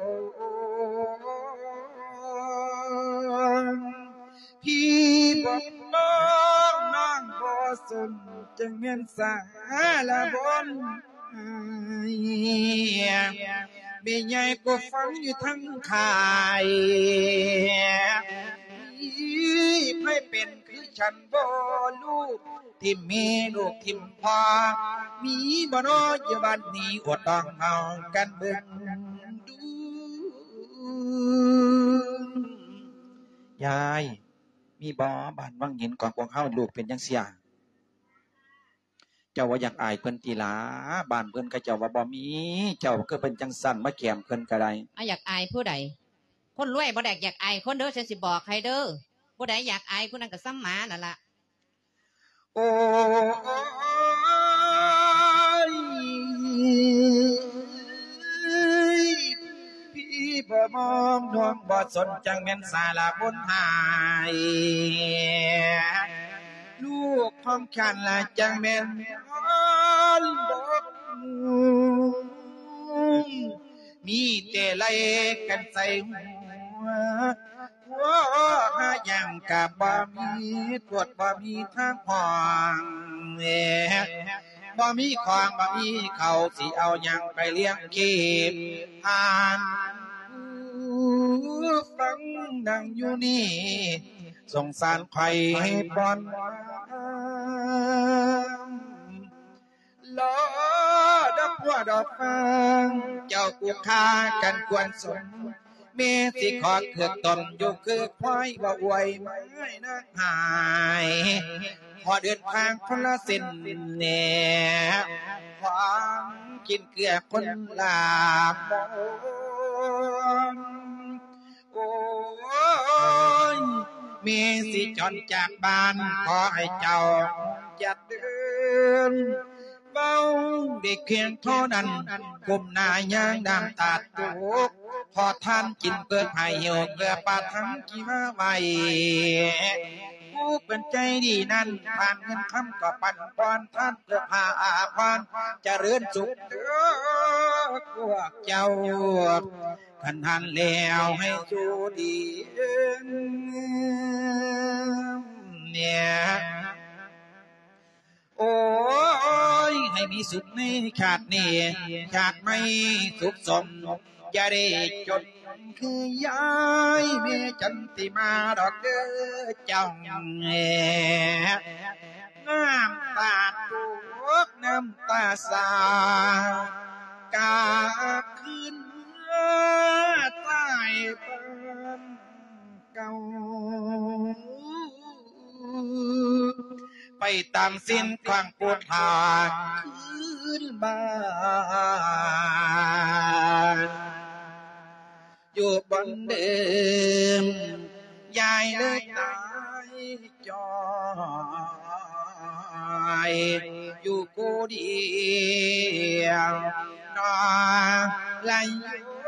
ພີ່ບໍ່ມອງ ນ້ອງບໍ່ສົນ ຈັ່ງແມ່ນສາລະບົນ ແມ່ໃຫຍ່ກໍຟັງຢູ່ທັງຄ້າຍ ມີໃຜເປັນຄື ສັນບໍ່ລູກຖິ້ມແມ່ລູກຖິ້ມພໍ່ ມີບໍ່ນໍຢູ່ບ້ານນີ້ ອົດຕ້ອງເອົາກັນເບິ່ງດູ ຍາຍ ມີບໍ່ບ້ານວັງຫີນຂອງພວກເຮົາ ລູກເປັນຈັ່ງຊີ້? ເຈົ້າບໍ່ຢາກອາຍເພິ່ນຕິຫຼາ? ບ້ານເພິ່ນເຂົາເຈົ້າວ່າບໍ່ມີ ເຈົ້າຄືເປັນຈັ່ງຊັ້ນ ມາແກ້ມເພິ່ນກະໄດ້. ອາ ຢາກອາຍຜູ້ໃດ? ຄົນລວຍບໍ່ໄດ້ຢາກອາຍຄົນເດີ ສັນຊິບອກໃຫ້ເດີ ຜູ້ໃດຢາກອາຍຜູ້ນັ້ນກະສ່ຳໝານັ້ນລະ. ໂອ້ຍ ພີ່ບໍ່ມອງ ນ້ອງບໍ່ສົນ ຈັ່ງແມ່ນສາລະບົນຫາຍ ລູກຂອງຂ້າລະຈັ່ງແມ່ນບໍ່ ມີແຕ່ໄລ່ກັນໃສ່ຫົວ ຫົວຫາຫຍັງກະບໍ່ມີ ກວດບໍ່ມີທາງຫ້ອງ ບໍ່ມີຂອງບໍ່ມີເຂົ້າ ຊິເອົາຫຍັງໄປລ້ຽງຊີບ ທ່ານຜູ້ຟັງນັ່ງຢູ່ນີ້ ສົງສານຂ້ອຍບ່ອນ ດອກຟາງ ເຈົ້າຜູ້ຂ້າກັນຄວນສົມ ແມ່ຊິຂໍເກືອກຕົ້ມຢູ່ຄືຄວາຍ ບໍ່ອວຍມາຍນາງຫາຍ ຂໍເດີນທາງຄົນລະເສັ້ນແດ່ ຂອງກິນເກືອຄົນລະບ່ອນ. ໂອ້ຍ ແມ່ຊິຈອນຈາກບ້ານ ຂໍໃຫ້ເຈົ້າຢ່າເດີນ ເວົ້າໄດ້ພຽງເທົ່ານັ້ນ ກົ້ມໜ້າຍ່າງນ້ຳຕາຕົກ ຂໍທານກິນເພື່ອໃຫ້ຫິວ ເພື່ອປາທັງທີ່ມາໄຫວ້ ຜູ້ເປັນໃຈດີນັ້ນ ທານເງິນຄຳກໍປັນປ່ອນ ທານເພື່ອຜ້າອາພອນ ຈະເລີນສຸກເດີພວກເຈົ້າ ຄັນຫັ້ນແລ້ວໃຫ້ໂຊກດີເນຍ. ໂອ້ຍ ໃຫ້ມີສຸກໃນຊາດນີ້ ຊາດໃໝ່ສຸກສົມ ຢ່າໄດ້ຈົນຄືຍາຍແມ່ຈັນຕິມາດອກເດີເຈົ້າ. ນ້ຳຕາຕົກ ນ້ຳຕາສາດ ກັບຄືນເມືອໃຕ້ບ້ານເກົ່າ ໄປຕາມເສັ້ນທາງພຸດທາ ຄືນບ້ານ ຢູ່ບ່ອນເດີມ ຍາຍເລີຍຕາຍຈ່ອຍ ຢູ່ຜູ້ດຽວນອນລະຍົງ.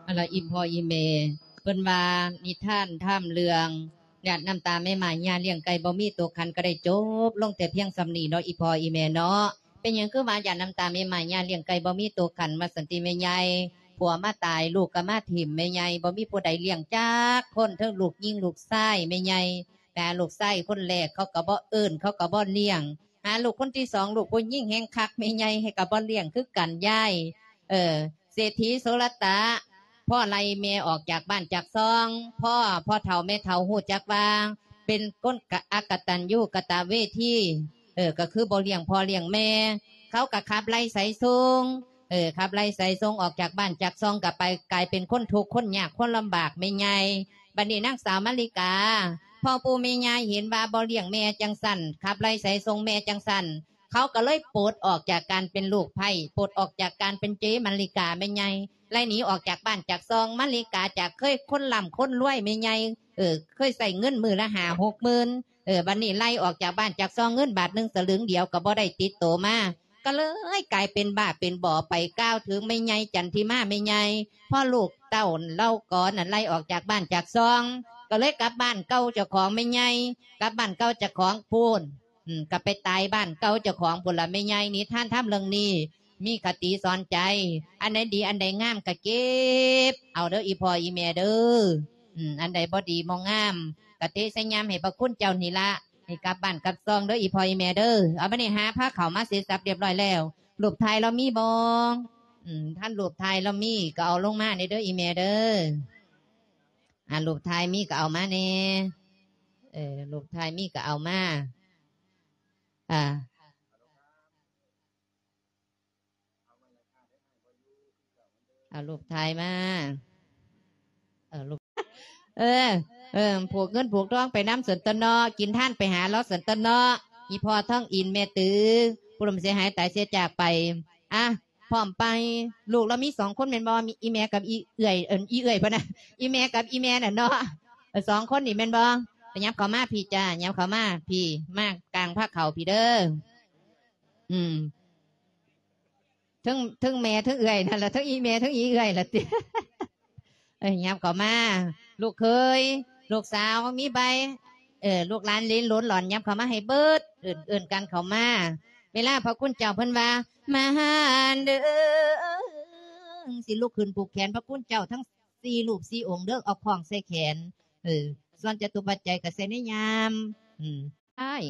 ເອີລະ ອີ່ພໍ່ອີ່ແມ່ ເພິ່ນວ່ານິທານທຳເລື່ອງຫຍາດນ້ຳຕາແມ່ໝ້າຍຍ່າລ້ຽງໄກ່ບໍ່ມີໂຕຂັນ ກໍໄດ້ຈົບລົງແຕ່ພຽງສ່ຳນີ້ເນາະ ອີ່ພໍ່ອີ່ແມ່ເນາະ. ເປັນຫຍັງຄືວ່າຫຍາດນ້ຳຕາແມ່ໝ້າຍຍ່າລ້ຽງໄກ່ບໍ່ມີໂຕຂັນ ວ່າຊັ້ນຕິແມ່ໃຫຍ່? ຜົວມາຕາຍ ລູກກໍມາຖິ້ມແມ່ໃຫຍ່ ບໍ່ມີຜູ້ໃດລ້ຽງຈັກຄົນ ເຖິງລູກຍິງລູກຊາຍແມ່ໃຫຍ່ ໄປຫາລູກຊາຍຄົນແລກ ເຂົາກໍບໍ່ເອີ້ນ ເຂົາກໍບໍ່ລ້ຽງ ຫາລູກຄົນທີສອງ ລູກຜູ້ຍິງແຮ່ງຄັກ ແມ່ໃຫຍ່ໃຫ້ກໍບໍ່ລ້ຽງຄືກັນຍາຍ. ເອີ ເສດຖີໂສລະຕະ ພໍ່ໄລ່ແມ່ອອກຈາກບ້ານຈາກຊ່ອງ ພໍ່ ພໍ່ເຖົ້າແມ່ເຖົ້າຮູ້ຈັກວ່າເປັນຄົນກະ ອະກະຕັນຍູກະຕະເວທີ ເອີ ກໍຄືບໍ່ລ້ຽງພໍ່ລ້ຽງແມ່ ເຂົາກໍຂັບໄລ່ໄສສົ່ງ ເອີ ຂັບໄລ່ໄສສົ່ງອອກຈາກບ້ານຈາກຊ່ອງ ກໍໄປກາຍເປັນຄົນທຸກຄົນຍາກຄົນລຳບາກແມ່ໃຫຍ່. ບັດນີ້ນາງສາວມາລິກາ ພໍ່ປູ່ແມ່ຍ່າເຫັນວ່າບໍ່ລ້ຽງແມ່ຈັ່ງຊັ້ນ ຂັບໄລ່ໄສສົ່ງແມ່ຈັ່ງຊັ້ນ ເຂົາກໍເລີຍປົດອອກຈາກການເປັນລູກໃພ້ ປົດອອກຈາກການເປັນເຈມາລິກາແມ່ໃຫຍ່ ໄລ່ໜີອອກຈາກບ້ານຈາກຊ່ອງ. ມາລິກາຈາກເຄີຍຄົນລ່ຳຄົນລວຍແມ່ໃຫຍ່ ເອີ ເຄີຍໃຊ້ເງິນມື້ລະຫ້າຫົກໝື່ນ ເອີ ບັດນີ້ໄລ່ອອກຈາກບ້ານຈາກຊ່ອງ ເງິນບາດໜຶ່ງສະຫຼຶງດຽວກໍບໍ່ໄດ້ຕິດໂຕມາ ກໍເລີຍກາຍເປັນບ້າເປັນບໍໄປ ກ່າວເຖິງແມ່ໃຫຍ່ຈັນທິມາແມ່ໃຫຍ່ ພໍລູກເຕົ້າເຫຼົ່າກໍນັ້ນໄລ່ອອກຈາກບ້ານຈາກຊ່ອງ ກໍເລີຍກັບບ້ານເກົ່າເຈົ້າຂອງແມ່ໃຫຍ່ ກັບບ້ານເກົ່າເຈົ້າຂອງພຸ້ນ ອືມ ກໍໄປຕາຍບ້ານເກົ່າເຈົ້າຂອງພຸ້ນລະແມ່ໃຫຍ່. ນິທານທຳເລື່ອງນີ້ມີຄະຕິສອນໃຈ ອັນໃດດີອັນໃດງາມກໍເກັບເອົາເດີ ອີ່ພໍ່ອີ່ແມ່ເດີ ອືມ ອັນໃດບໍ່ດີບໍ່ງາມກໍເທໃສ່ຍາມໃຫ້ພະຄຸນເຈົ້ານີ້ລະ ໃຫ້ກັບບ້ານກັບຊ່ອງເດີ ອີ່ພໍ່ອີ່ແມ່ເດີ. ເອົາ ບັດນີ້ຫາພາເຂົ້າມາເສັດສັບລຽບຮ້ອຍແລ້ວ ຮູບຖ່າຍລາວມີບໍ່? ອືມ ຄັນຮູບຖ່າຍລາວມີກໍເອົາລົງມາແດ່ເດີ ອີ່ແມ່ເດີ. ອ່າ ຮູບຖ່າຍມີກໍເອົາມາແດ່ ເອີ ຮູບຖ່າຍມີກໍເອົາມາ ອ່າ ເອົາຮູບຖ່າຍມາ ເອີ ຮູບ ເອີ ເອີ ຜູກເງິນຜູກທອງໄປນຳຊັ້ນຕົວະເນາະ ກິນທານໄປຫາລາວຊັ້ນຕົວະເນາະ ອີ່ພໍ່ທອງອິນ ແມ່ຕື້ ຜູ້ລ່ວງເສຍຫາຍຕາຍເສຍຈາກໄປ. ອ່ະ ພ້ອມໄປ ລູກລາວມີສອງຄົນແມ່ນບໍ່? ມີອີ່ແມ່ກັບອີເອື້ອຍ ເອີ້ນ ອີເອື້ອຍພຸ້ນນະ ອີ່ແມ່ກັບອີແມ່ນັ້ນເນາະ ເອີ ສອງຄົນນີ້ແມ່ນບໍ່? ໄປ ຫຍັບເຂົ້າມາພີ້ຈ້າ ຫຍັບເຂົ້າມາພີ້ ມາກາງພາເຂົ້າພີ້ເດີ ອືມ ເທິງ ເທິງແມ່ເທິງເອື້ອຍນັ້ນລະ ເທິງອີແມ່ເທິງອີເອື້ອຍລະຕິ ເອີ ຫຍັບເຂົ້າມາ ລູກເຂີຍ ລູກສາວມີໃບ ເອີ ລູກຫຼານເລນໂຫຼນຫຼອນ ຫຍັບເຂົ້າມາໃຫ້ເບິດ ເອີ້ນ ເອີ້ນກັນເຂົ້າມາ. ເວລາພະຄຸນເຈົ້າເພິ່ນວ່າ ມາເດີ ຊິລຸກຂຶ້ນຜູກແຂນພະຄຸນເຈົ້າທັງສີ່ຮູບສີ່ອົງເດີ ເອົາຄ້ອງໃສ່ແຂນ ເອີ ສ່ວນຈະຕຸປັດໄຈກໍໃສ່ໃນຍາມ ອືມ ອ້າຍ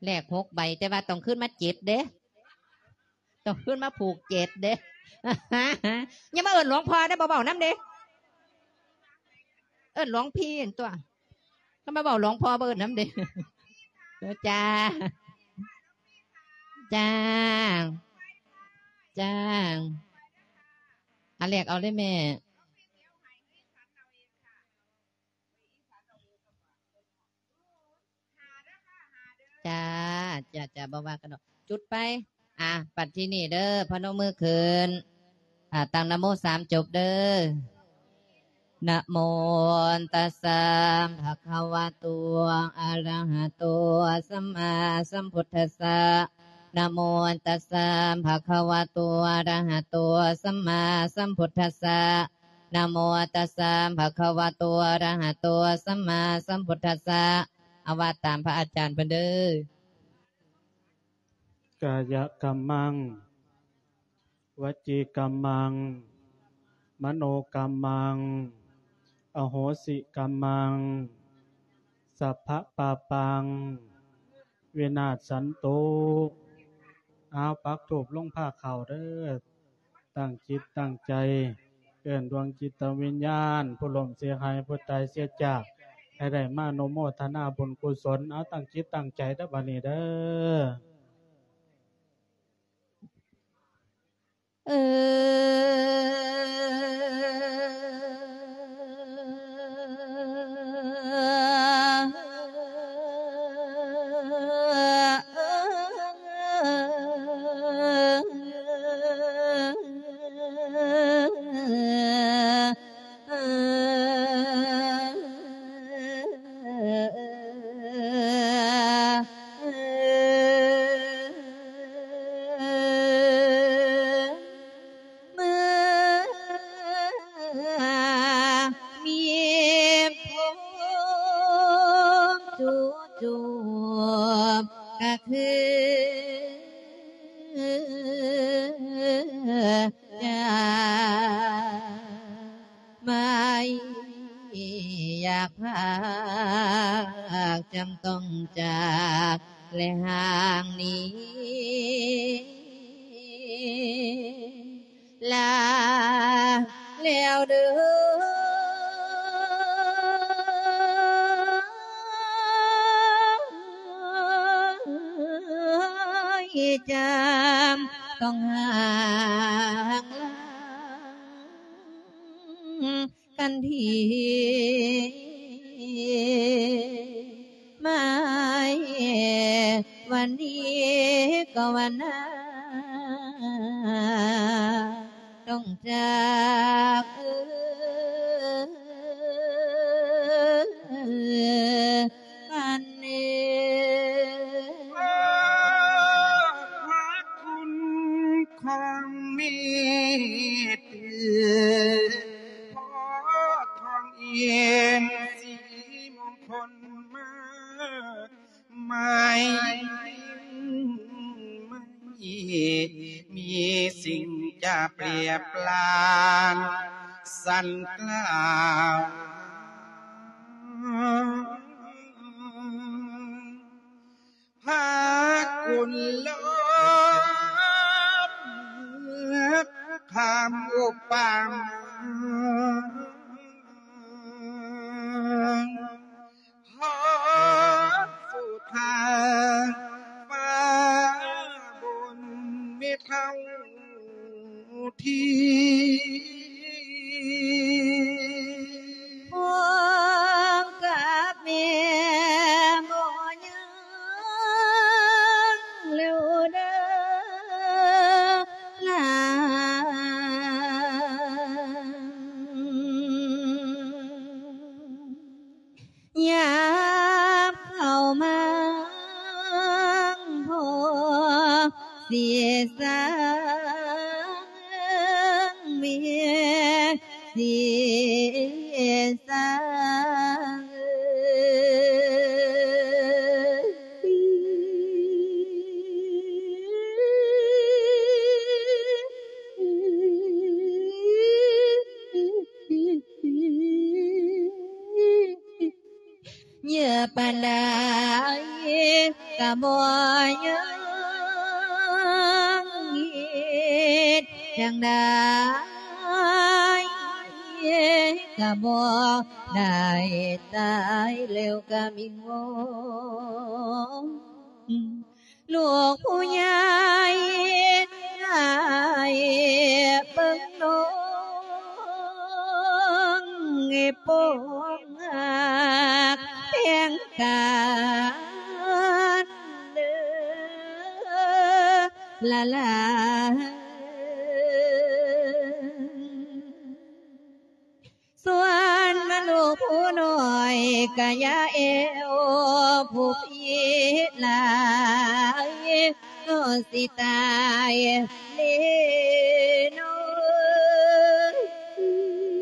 ແລກຫົກໃບ ແຕ່ວ່າຕ້ອງຄືນມາເຈັດເດ້ ຕ້ອງຄືນມາຜູກເຈັດເດ້. ຢ່າມາເອີ້ນຫຼວງພໍ່ເດ້ ບໍ່ເວົ້ານຳເດ້. ເອີ້ນຫຼວງພີ່ຫັ້ນຕົວະ. ຄັນມາເວົ້າຫຼວງພໍ່ບໍ່ເອີ້ນນຳເດ້. ເອີ ຈ້າ ຈ້າ ຈ້າ. ອັນແລກເອົາເລີຍແມ່. ຈ້າ ຈ້າ ຈ້າ ບໍ່ວ່າກັນດອກ ຈຸດໄປ. ອ່າ ບັດທີນີ້ເດີ ພະນົມມືຂຶ້ນ ອ່າ ຕັ້ງນະໂມສາມຈົບເດີ. ນະໂມຕັດສະ ພະຄະວະໂຕ ອະລະຫະໂຕ ສຳມາສຳພຸດທັດສະ. ນະໂມຕັດສະ ພະຄະວະໂຕ ອະລະຫະໂຕ ສຳມາສຳພຸດທັດສະ. ນະໂມຕັດສະ ພະຄະວະໂຕ ອະລະຫະໂຕ ສຳມາສຳພຸດທັດສະ. ເອົາວ່າຕາມພະອາຈານເພິ່ນເດີ. ກາຍະກຳມັງ ວະຈີກຳມັງ ມະໂນກຳມັງ ອະໂຫສິກຳມັງ ສັບພະປາປັງ ວິນາດສັນຕຸ. ເອົາ ປັກທູບລົງພາເຂົ້າເດີ. ຕັ້ງຈິດຕັ້ງໃຈ ເອີ້ນດວງຈິດຕະວິນຍານ ຜູ້ລົ້ມເສຍຫາຍ ຜູ້ຕາຍເສຍຈາກ ໃຫ້ໄດ້ມາອະນຸໂມທະນາບຸນກຸສົນ. ເອົາ ຕັ້ງຈິດຕັ້ງໃຈເດີ ບັດນີ້ເດີ. ເອີ ເມື່ອມີພົມຈູຈູບກະຄືຈາກ ໄມ່ຢາກພາກ ຈຳຕ້ອງຈາກ ແລະຫ່າງໜີ ລາແລ້ວເດີ ຈຳຕ້ອງຫ່າງລາ ກັນທີ ໄມ້ວັນນີ້ກໍວັນໜ້າ ຕ້ອງຈາກກັນເອງ. ພະຄຸນຂອງແມ່ເຕີ ພໍ່ທອງເອງ ສີມົງຄົນມາ ໄມ້ມີສິ່ງຈະແປບປານ ສັນກ່າວ ພະຄຸນລອບ ຄຳອຸປະມາ ຂໍສຸທາຟ້າບົນເມທາ ທີ່ພວງກັບແມ່ບໍ່ຍັງແລ້ວເດີຫຼານ ຍາມເຂົ້າມາພໍ ເສຍສາງເມ ເສຍສາງເອີຍ. ເຍອະປານໃດກະບໍ່ ຈັ່ງໃດກະບໍ່ໄດ້ ຕາຍແລ້ວກະວິງວອນ ລູກຜູ້ໃຫຍ່ໃຫ້ເບິ່ງນ້ອງ ປອງຮັກແພງກັນເດີ ລະລາ. ສ່ວນມາລູກຜູ້ນ້ອຍກະຢ່າແອວຜູ້ພີ້ຫຼາຍ ກໍຊິຕາຍເດ້ນ້ອງເອີຍ.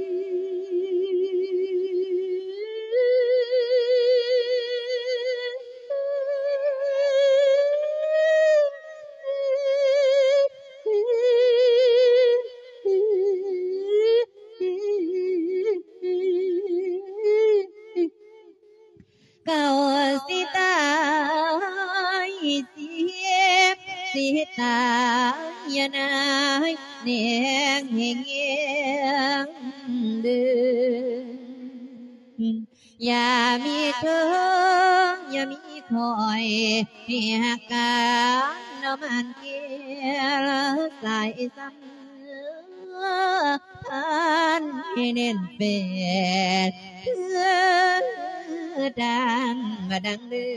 ເຂົາຊິຕາຍ ຊິ ຊິຕາຍ ຢ່ານາຍແນງແຮງເດີ ຢ່າມີເທີ ຢ່າມີຂ້ອຍ ໃຫ້ຮັກກັນເນາະ ໝານແກ້ວສາຍສຳ ພັນໃຫ້ແໜ້ນແຟ້ນ ຄືດັ່ງ ບໍ່ດັ່ງເດີ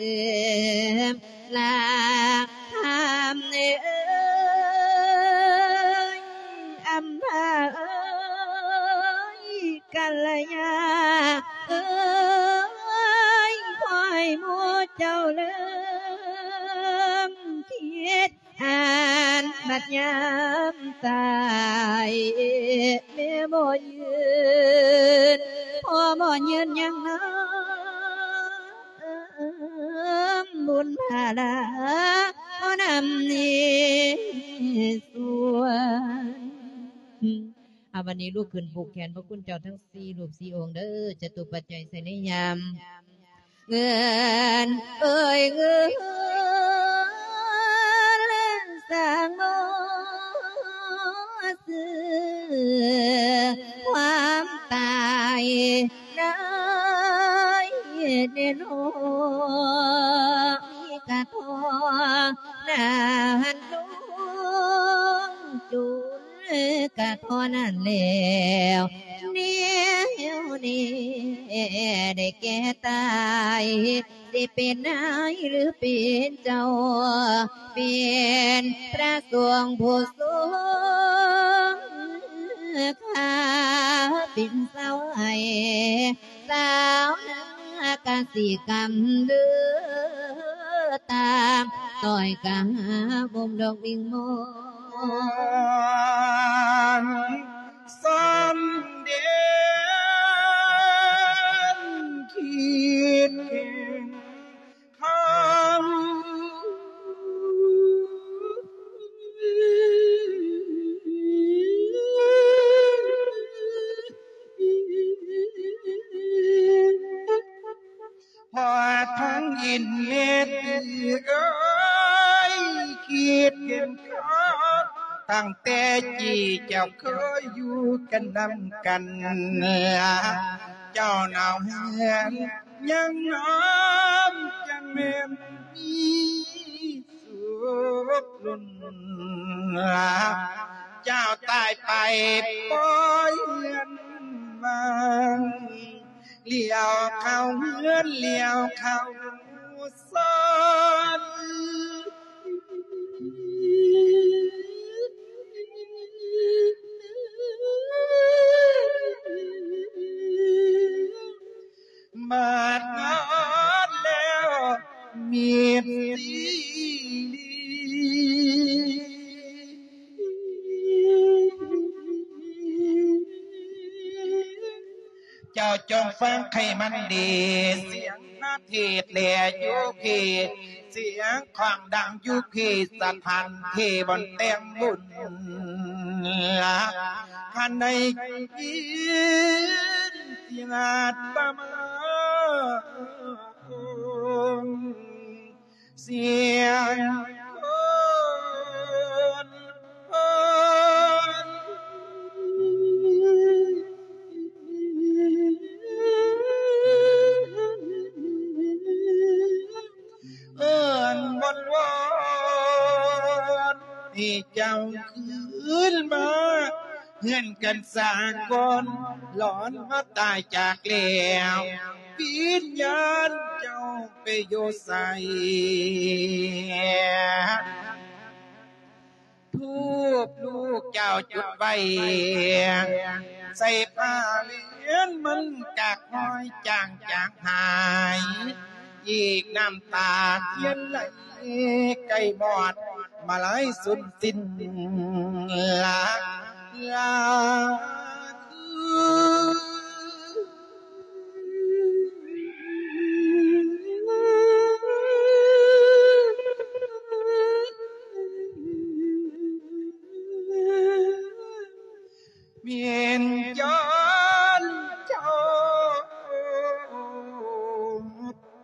ມ ລາຄຳເອີຍ ອຳພາເອີຍ ກັນລະຍາເອີຍ ຂໍໃຫ້ໝູ່ເຈົ້າເລີມຄິດ ອັນບັດຍາມຕາຍ ແມ່ບໍ່ຍືນ ພໍ່ບໍ່ຍືນຍັງນຳ ບຸນພາລາ ຂໍນຳນີ້ສ່ວນ. ອາ ບັດນີ້ລຸກຂຶ້ນຜູກແຂນພະຄຸນເຈົ້າທັງສີ່ຮູບສີ່ອົງເດີ ຈະຕຸປັດໄຈໃສ່ໃນຍາມ ເງິນເອີຍເງິນ ສ້າງບໍ່ຊື້ຄວາມຕາຍໄດ້ແນ່ນອນ ມີກະທໍ່ນານລຸງຈຸນ ກະທໍ່ນັ້ນແລ້ວ ແນວນີ້ໄດ້ແກ່ຕາຍ ຊິເປັນນາຍຫຼືເປັນເຈົ້າ ເປັນພະສົງຜູ້ຊົງ ຂ້າເປັນສາວໃຫ້ ສາວນາກະສິກຳເດີ ຕາມຕ້ອຍກະຫາບົ່ມດອກວິງມອນ ສຳເດນຄິດເກັ່ງ ເຮົາ ຮອດທາງອິນເມດເອີຍ ຄິດເຫັນເຂົາ ຕັ້ງແຕ່ກີ້ເຈົ້າເຄີຍຢູ່ກັນນຳກັນ ເຈົ້າໜາວແຮງ ຍັງນອນຈັ່ງແມ່ນມີສຸກລຸນ ເຈົ້າຕາຍໄປປ່ອຍເຮືອນວ່າງ ຫຼຽວເຂົ້າເຮືອນ ຫຼຽວເຂົ້າຊານ ມາດງານແລ້ວມິດຊີ ເຈົ້າຈົ່ງຟັງໃຫ້ມັນດີ ສຽງພະເທດແລຢູ່ພີ້ ສຽງຂອງດັງຢູ່ພີ້ ສະຖານທີ່ບ່ອນແຕ່ງບຸນ ຄັນໄດ້ຍິນສຽງອາດຕະມາ ສຽງຄົນ ໃຫ້ເຈົ້າຄືນມາເຮືອນກັນສາກ່ອນ ຫຼອນມາຕາຍຈາກແລ້ວ ວິນຍານເຈົ້າໄປຢູ່ໃສ? ທູບລູກເຈົ້າຈຸດໄວ້ ໃສ່ຜ້າແວ່ນມັນກະຄ່ອຍຈາງຈາງຫາຍ ອີກນ້ຳຕາທຽນໄຫຼໃກ້ມອດ ມາໄຫຼສຸນສິ້ນລາ ລາ ແມ່ນຍ້ອນເຈົ້າ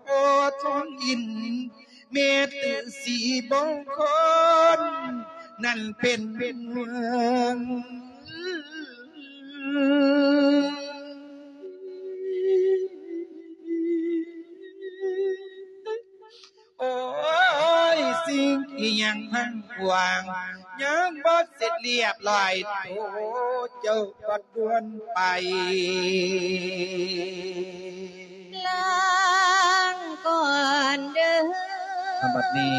ພໍ່ທອງອິນ ແມ່ຕື້ສີມົງຄົນ ນັ້ນເປັນເມືອງ ໂອ້ຍ ສິ່ງທີ່ຍັງພັງພວາງ ຍັງບໍ່ເສັດລຽບລ້ອຍ ໂທເຈົ້າກໍດ່ວນໄປ ລາງກ່ອນເດີ. ບັດນີ້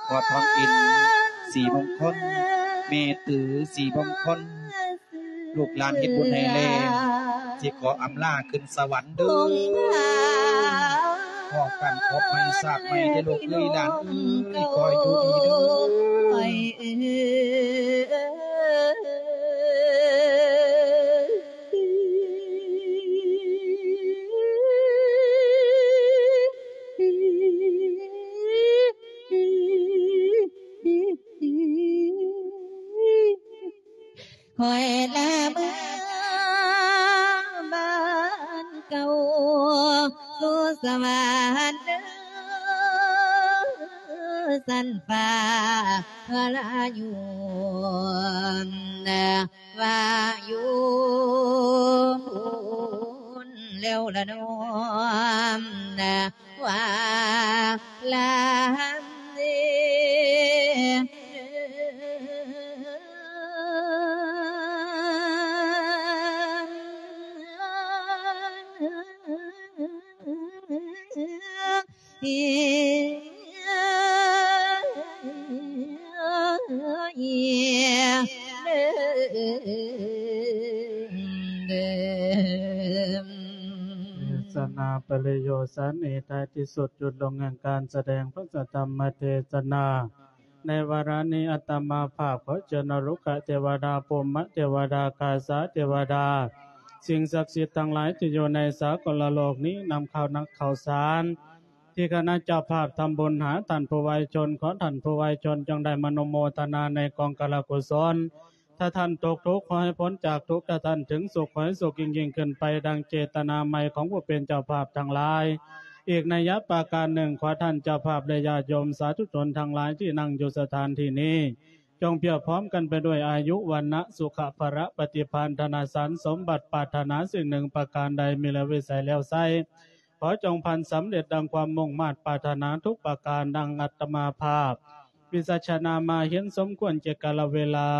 ພໍ່ທອງອິນ ສີມົງຄົນ ແມ່ຕື້ສີມົງຄົນ ລູກຫຼານເຮັດບຸນໃຫ້ແລ້ວ ຊິຂໍອຳລາຂຶ້ນສະຫວັນເດີ. ພໍ້ກັນພົບໃໝ່ຊາດໃໝ່ເດີລູກເອີຍ ຫຼານເອີຍ ຂໍໃຫ້ຢູ່ດີເດີ. ຂ້ອຍລາເມືອບ້ານເກົ່າ ສູ່ສະຫວານເດີ ຊັ້ນຟ້າ ລາຢູ່ ວ່າຢູ່ພຸ້ນແລ້ວລະນ້ອງ ວ່າລາເດີ. ເທສະນາປະລິໂຍຄສັນນີ້ ທ້າຍທີ່ສຸດ ຢຸດລົງແຫ່ງການສະແດງພະສັດທຳມະເທສະນາ. ໃນວາລະນີ້ ອາດຕະມາພາບຂໍເຊີນອະລຸກຂະເທວະດາ, ພົມມະເທວະດາ, ກາສາເທວະດາ, ສິ່ງສັກສິດທັງຫຼາຍທີ່ຢູ່ໃນສາກົນລະໂລກນີ້ ນຳເຂົ້າໜັກເຂົ້າສານ ທີ່ຄະນະເຈົ້າພາບທຳບຸນຫາທ່ານຜູ້ໄວຊົນ, ຂໍທ່ານຜູ້ໄວຊົນຈົ່ງໄດ້ມະນຸໂມທະນາໃນກອງກະລະກຸສົນ. ຖ້າທ່ານຕົກທຸກ ຂໍໃຫ້ພົ້ນຈາກທຸກ, ຖ້າທ່ານເຖິງສຸກ ຂໍໃຫ້ສຸກຍິ່ງໆຂຶ້ນໄປ ດັ່ງເຈດຕະນາໃໝ່ຂອງຜູ້ເປັນເຈົ້າພາບທັງຫຼາຍ. ອີກໄນຍະປະການໜຶ່ງ, ຂໍທ່ານເຈົ້າພາບ ແລະ ຍາດໂຍມສາທຸຊົນທັງຫຼາຍທີ່ນັ່ງຢູ່ສະຖານທີ່ນີ້ ຈົ່ງພຽບພ້ອມກັນໄປດ້ວຍອາຍຸ, ວັນນະ, ສຸຂະ, ພະລະ, ປະຕິພານ, ທະນະສານສົມບັດ, ປາດຖະໜາສິ່ງໜຶ່ງປະການໃດ ມີແລ້ວວິໄສແລ້ວໃຊ້ ຂໍຈົ່ງພັນສຳເລັດດັ່ງຄວາມມຸ່ງມາດປາດຖະໜາທຸກປະການ ດັ່ງອາດຕະມາພາບ ວິສັດຊະນາມາເຫັນສົມຄວນແກ່ກາລະເວລາ.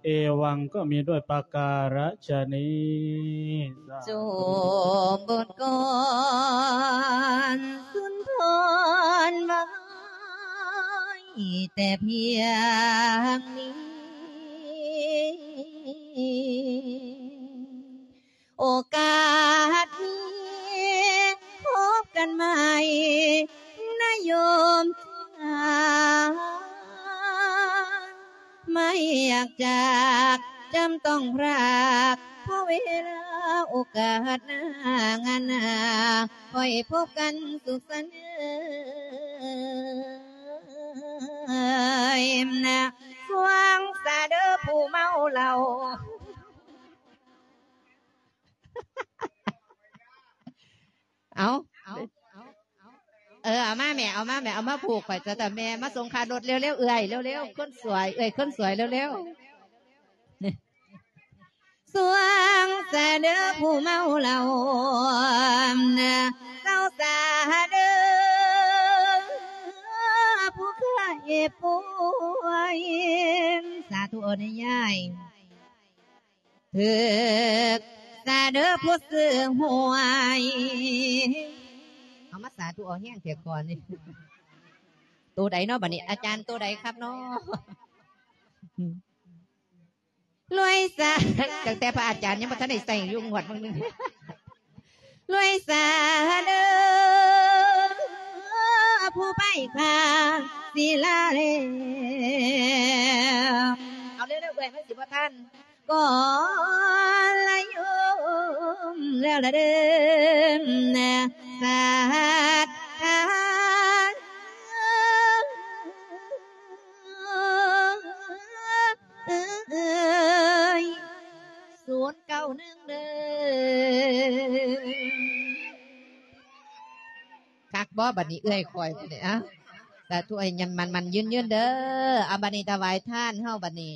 ເອວັງ ກໍມີດ້ວຍປະກາລະຊະນີ້. ສົມບົດກ່ອນສຸນທອນໄວ້ແຕ່ພຽງນີ້. ໂອກາດມີພົບກັນໃໝ່ນະໂຍມຈາ ໄມ່ຢາກຈາກຈຳຕ້ອງພຣາກ ເພາະເວລາໂອກາດໜ້າງານໜ້າ ຄ່ອຍພົບກັນສຸກສັນເອີຍນະ. ຟັງສາເດີຜູ້ເມົາເຫຼົ້າ. ເອົາ ເອີ ເອົາມາແມ່ ເອົາມາແມ່ ເອົາມາຜູກຂ້ອຍຊະຕະແມ່ ມາສົ່ງຄ່າລົດເລັວໆ ເອື້ອຍ ເລັວໆ ຄົນສວຍ ເອື້ອຍຄົນສວຍ ເລັວໆ. ສວງສາເດີຜູ້ເມົາເຫຼົ້າ ເຊົາສາເດີຜູ້ໄຂ້ປ່ວຍ. ທຸເອົາແດ່ຍາຍ ຖືກສາເດີຜູ້ຊື້ຫວຍ. ເອົາມາສາທຸເອົາແຮງແທ້ກ່ອນນີ້. ໂຕໃດເນາະບັດນີ້ ອາຈານ ໂຕໃດຄັບເນາະ? ລວຍສາ ຕັ້ງແຕ່ພະອາຈານຍັງບໍ່ທັນໄດ້ໃຊ້ຢູ່ງວດເບິ່ງໜຶ່ງ. ລວຍສາເດີ ຜູ້ໄປຂ້າສິລາແລ້ວ. ເອົາເລັວໆ ເອື້ອຍ ມັນຊິບໍ່ທັນ. ກໍລະຍົມແລ້ວລະເດີ ສັດທາ ເອີຍ ສູນເກົ້າໜຶ່ງເດີ. ຄັກບໍ່ບັດນີ້ເອື້ອຍຂ້ອຍນີ້? ເອົ້າ ສາທຸ ໃຫ້ໝັ້ນໆ ຍືນໆ ເດີ. ເອົາ ບັດນີ້ຖວາຍທານເຮົາບັດນີ້.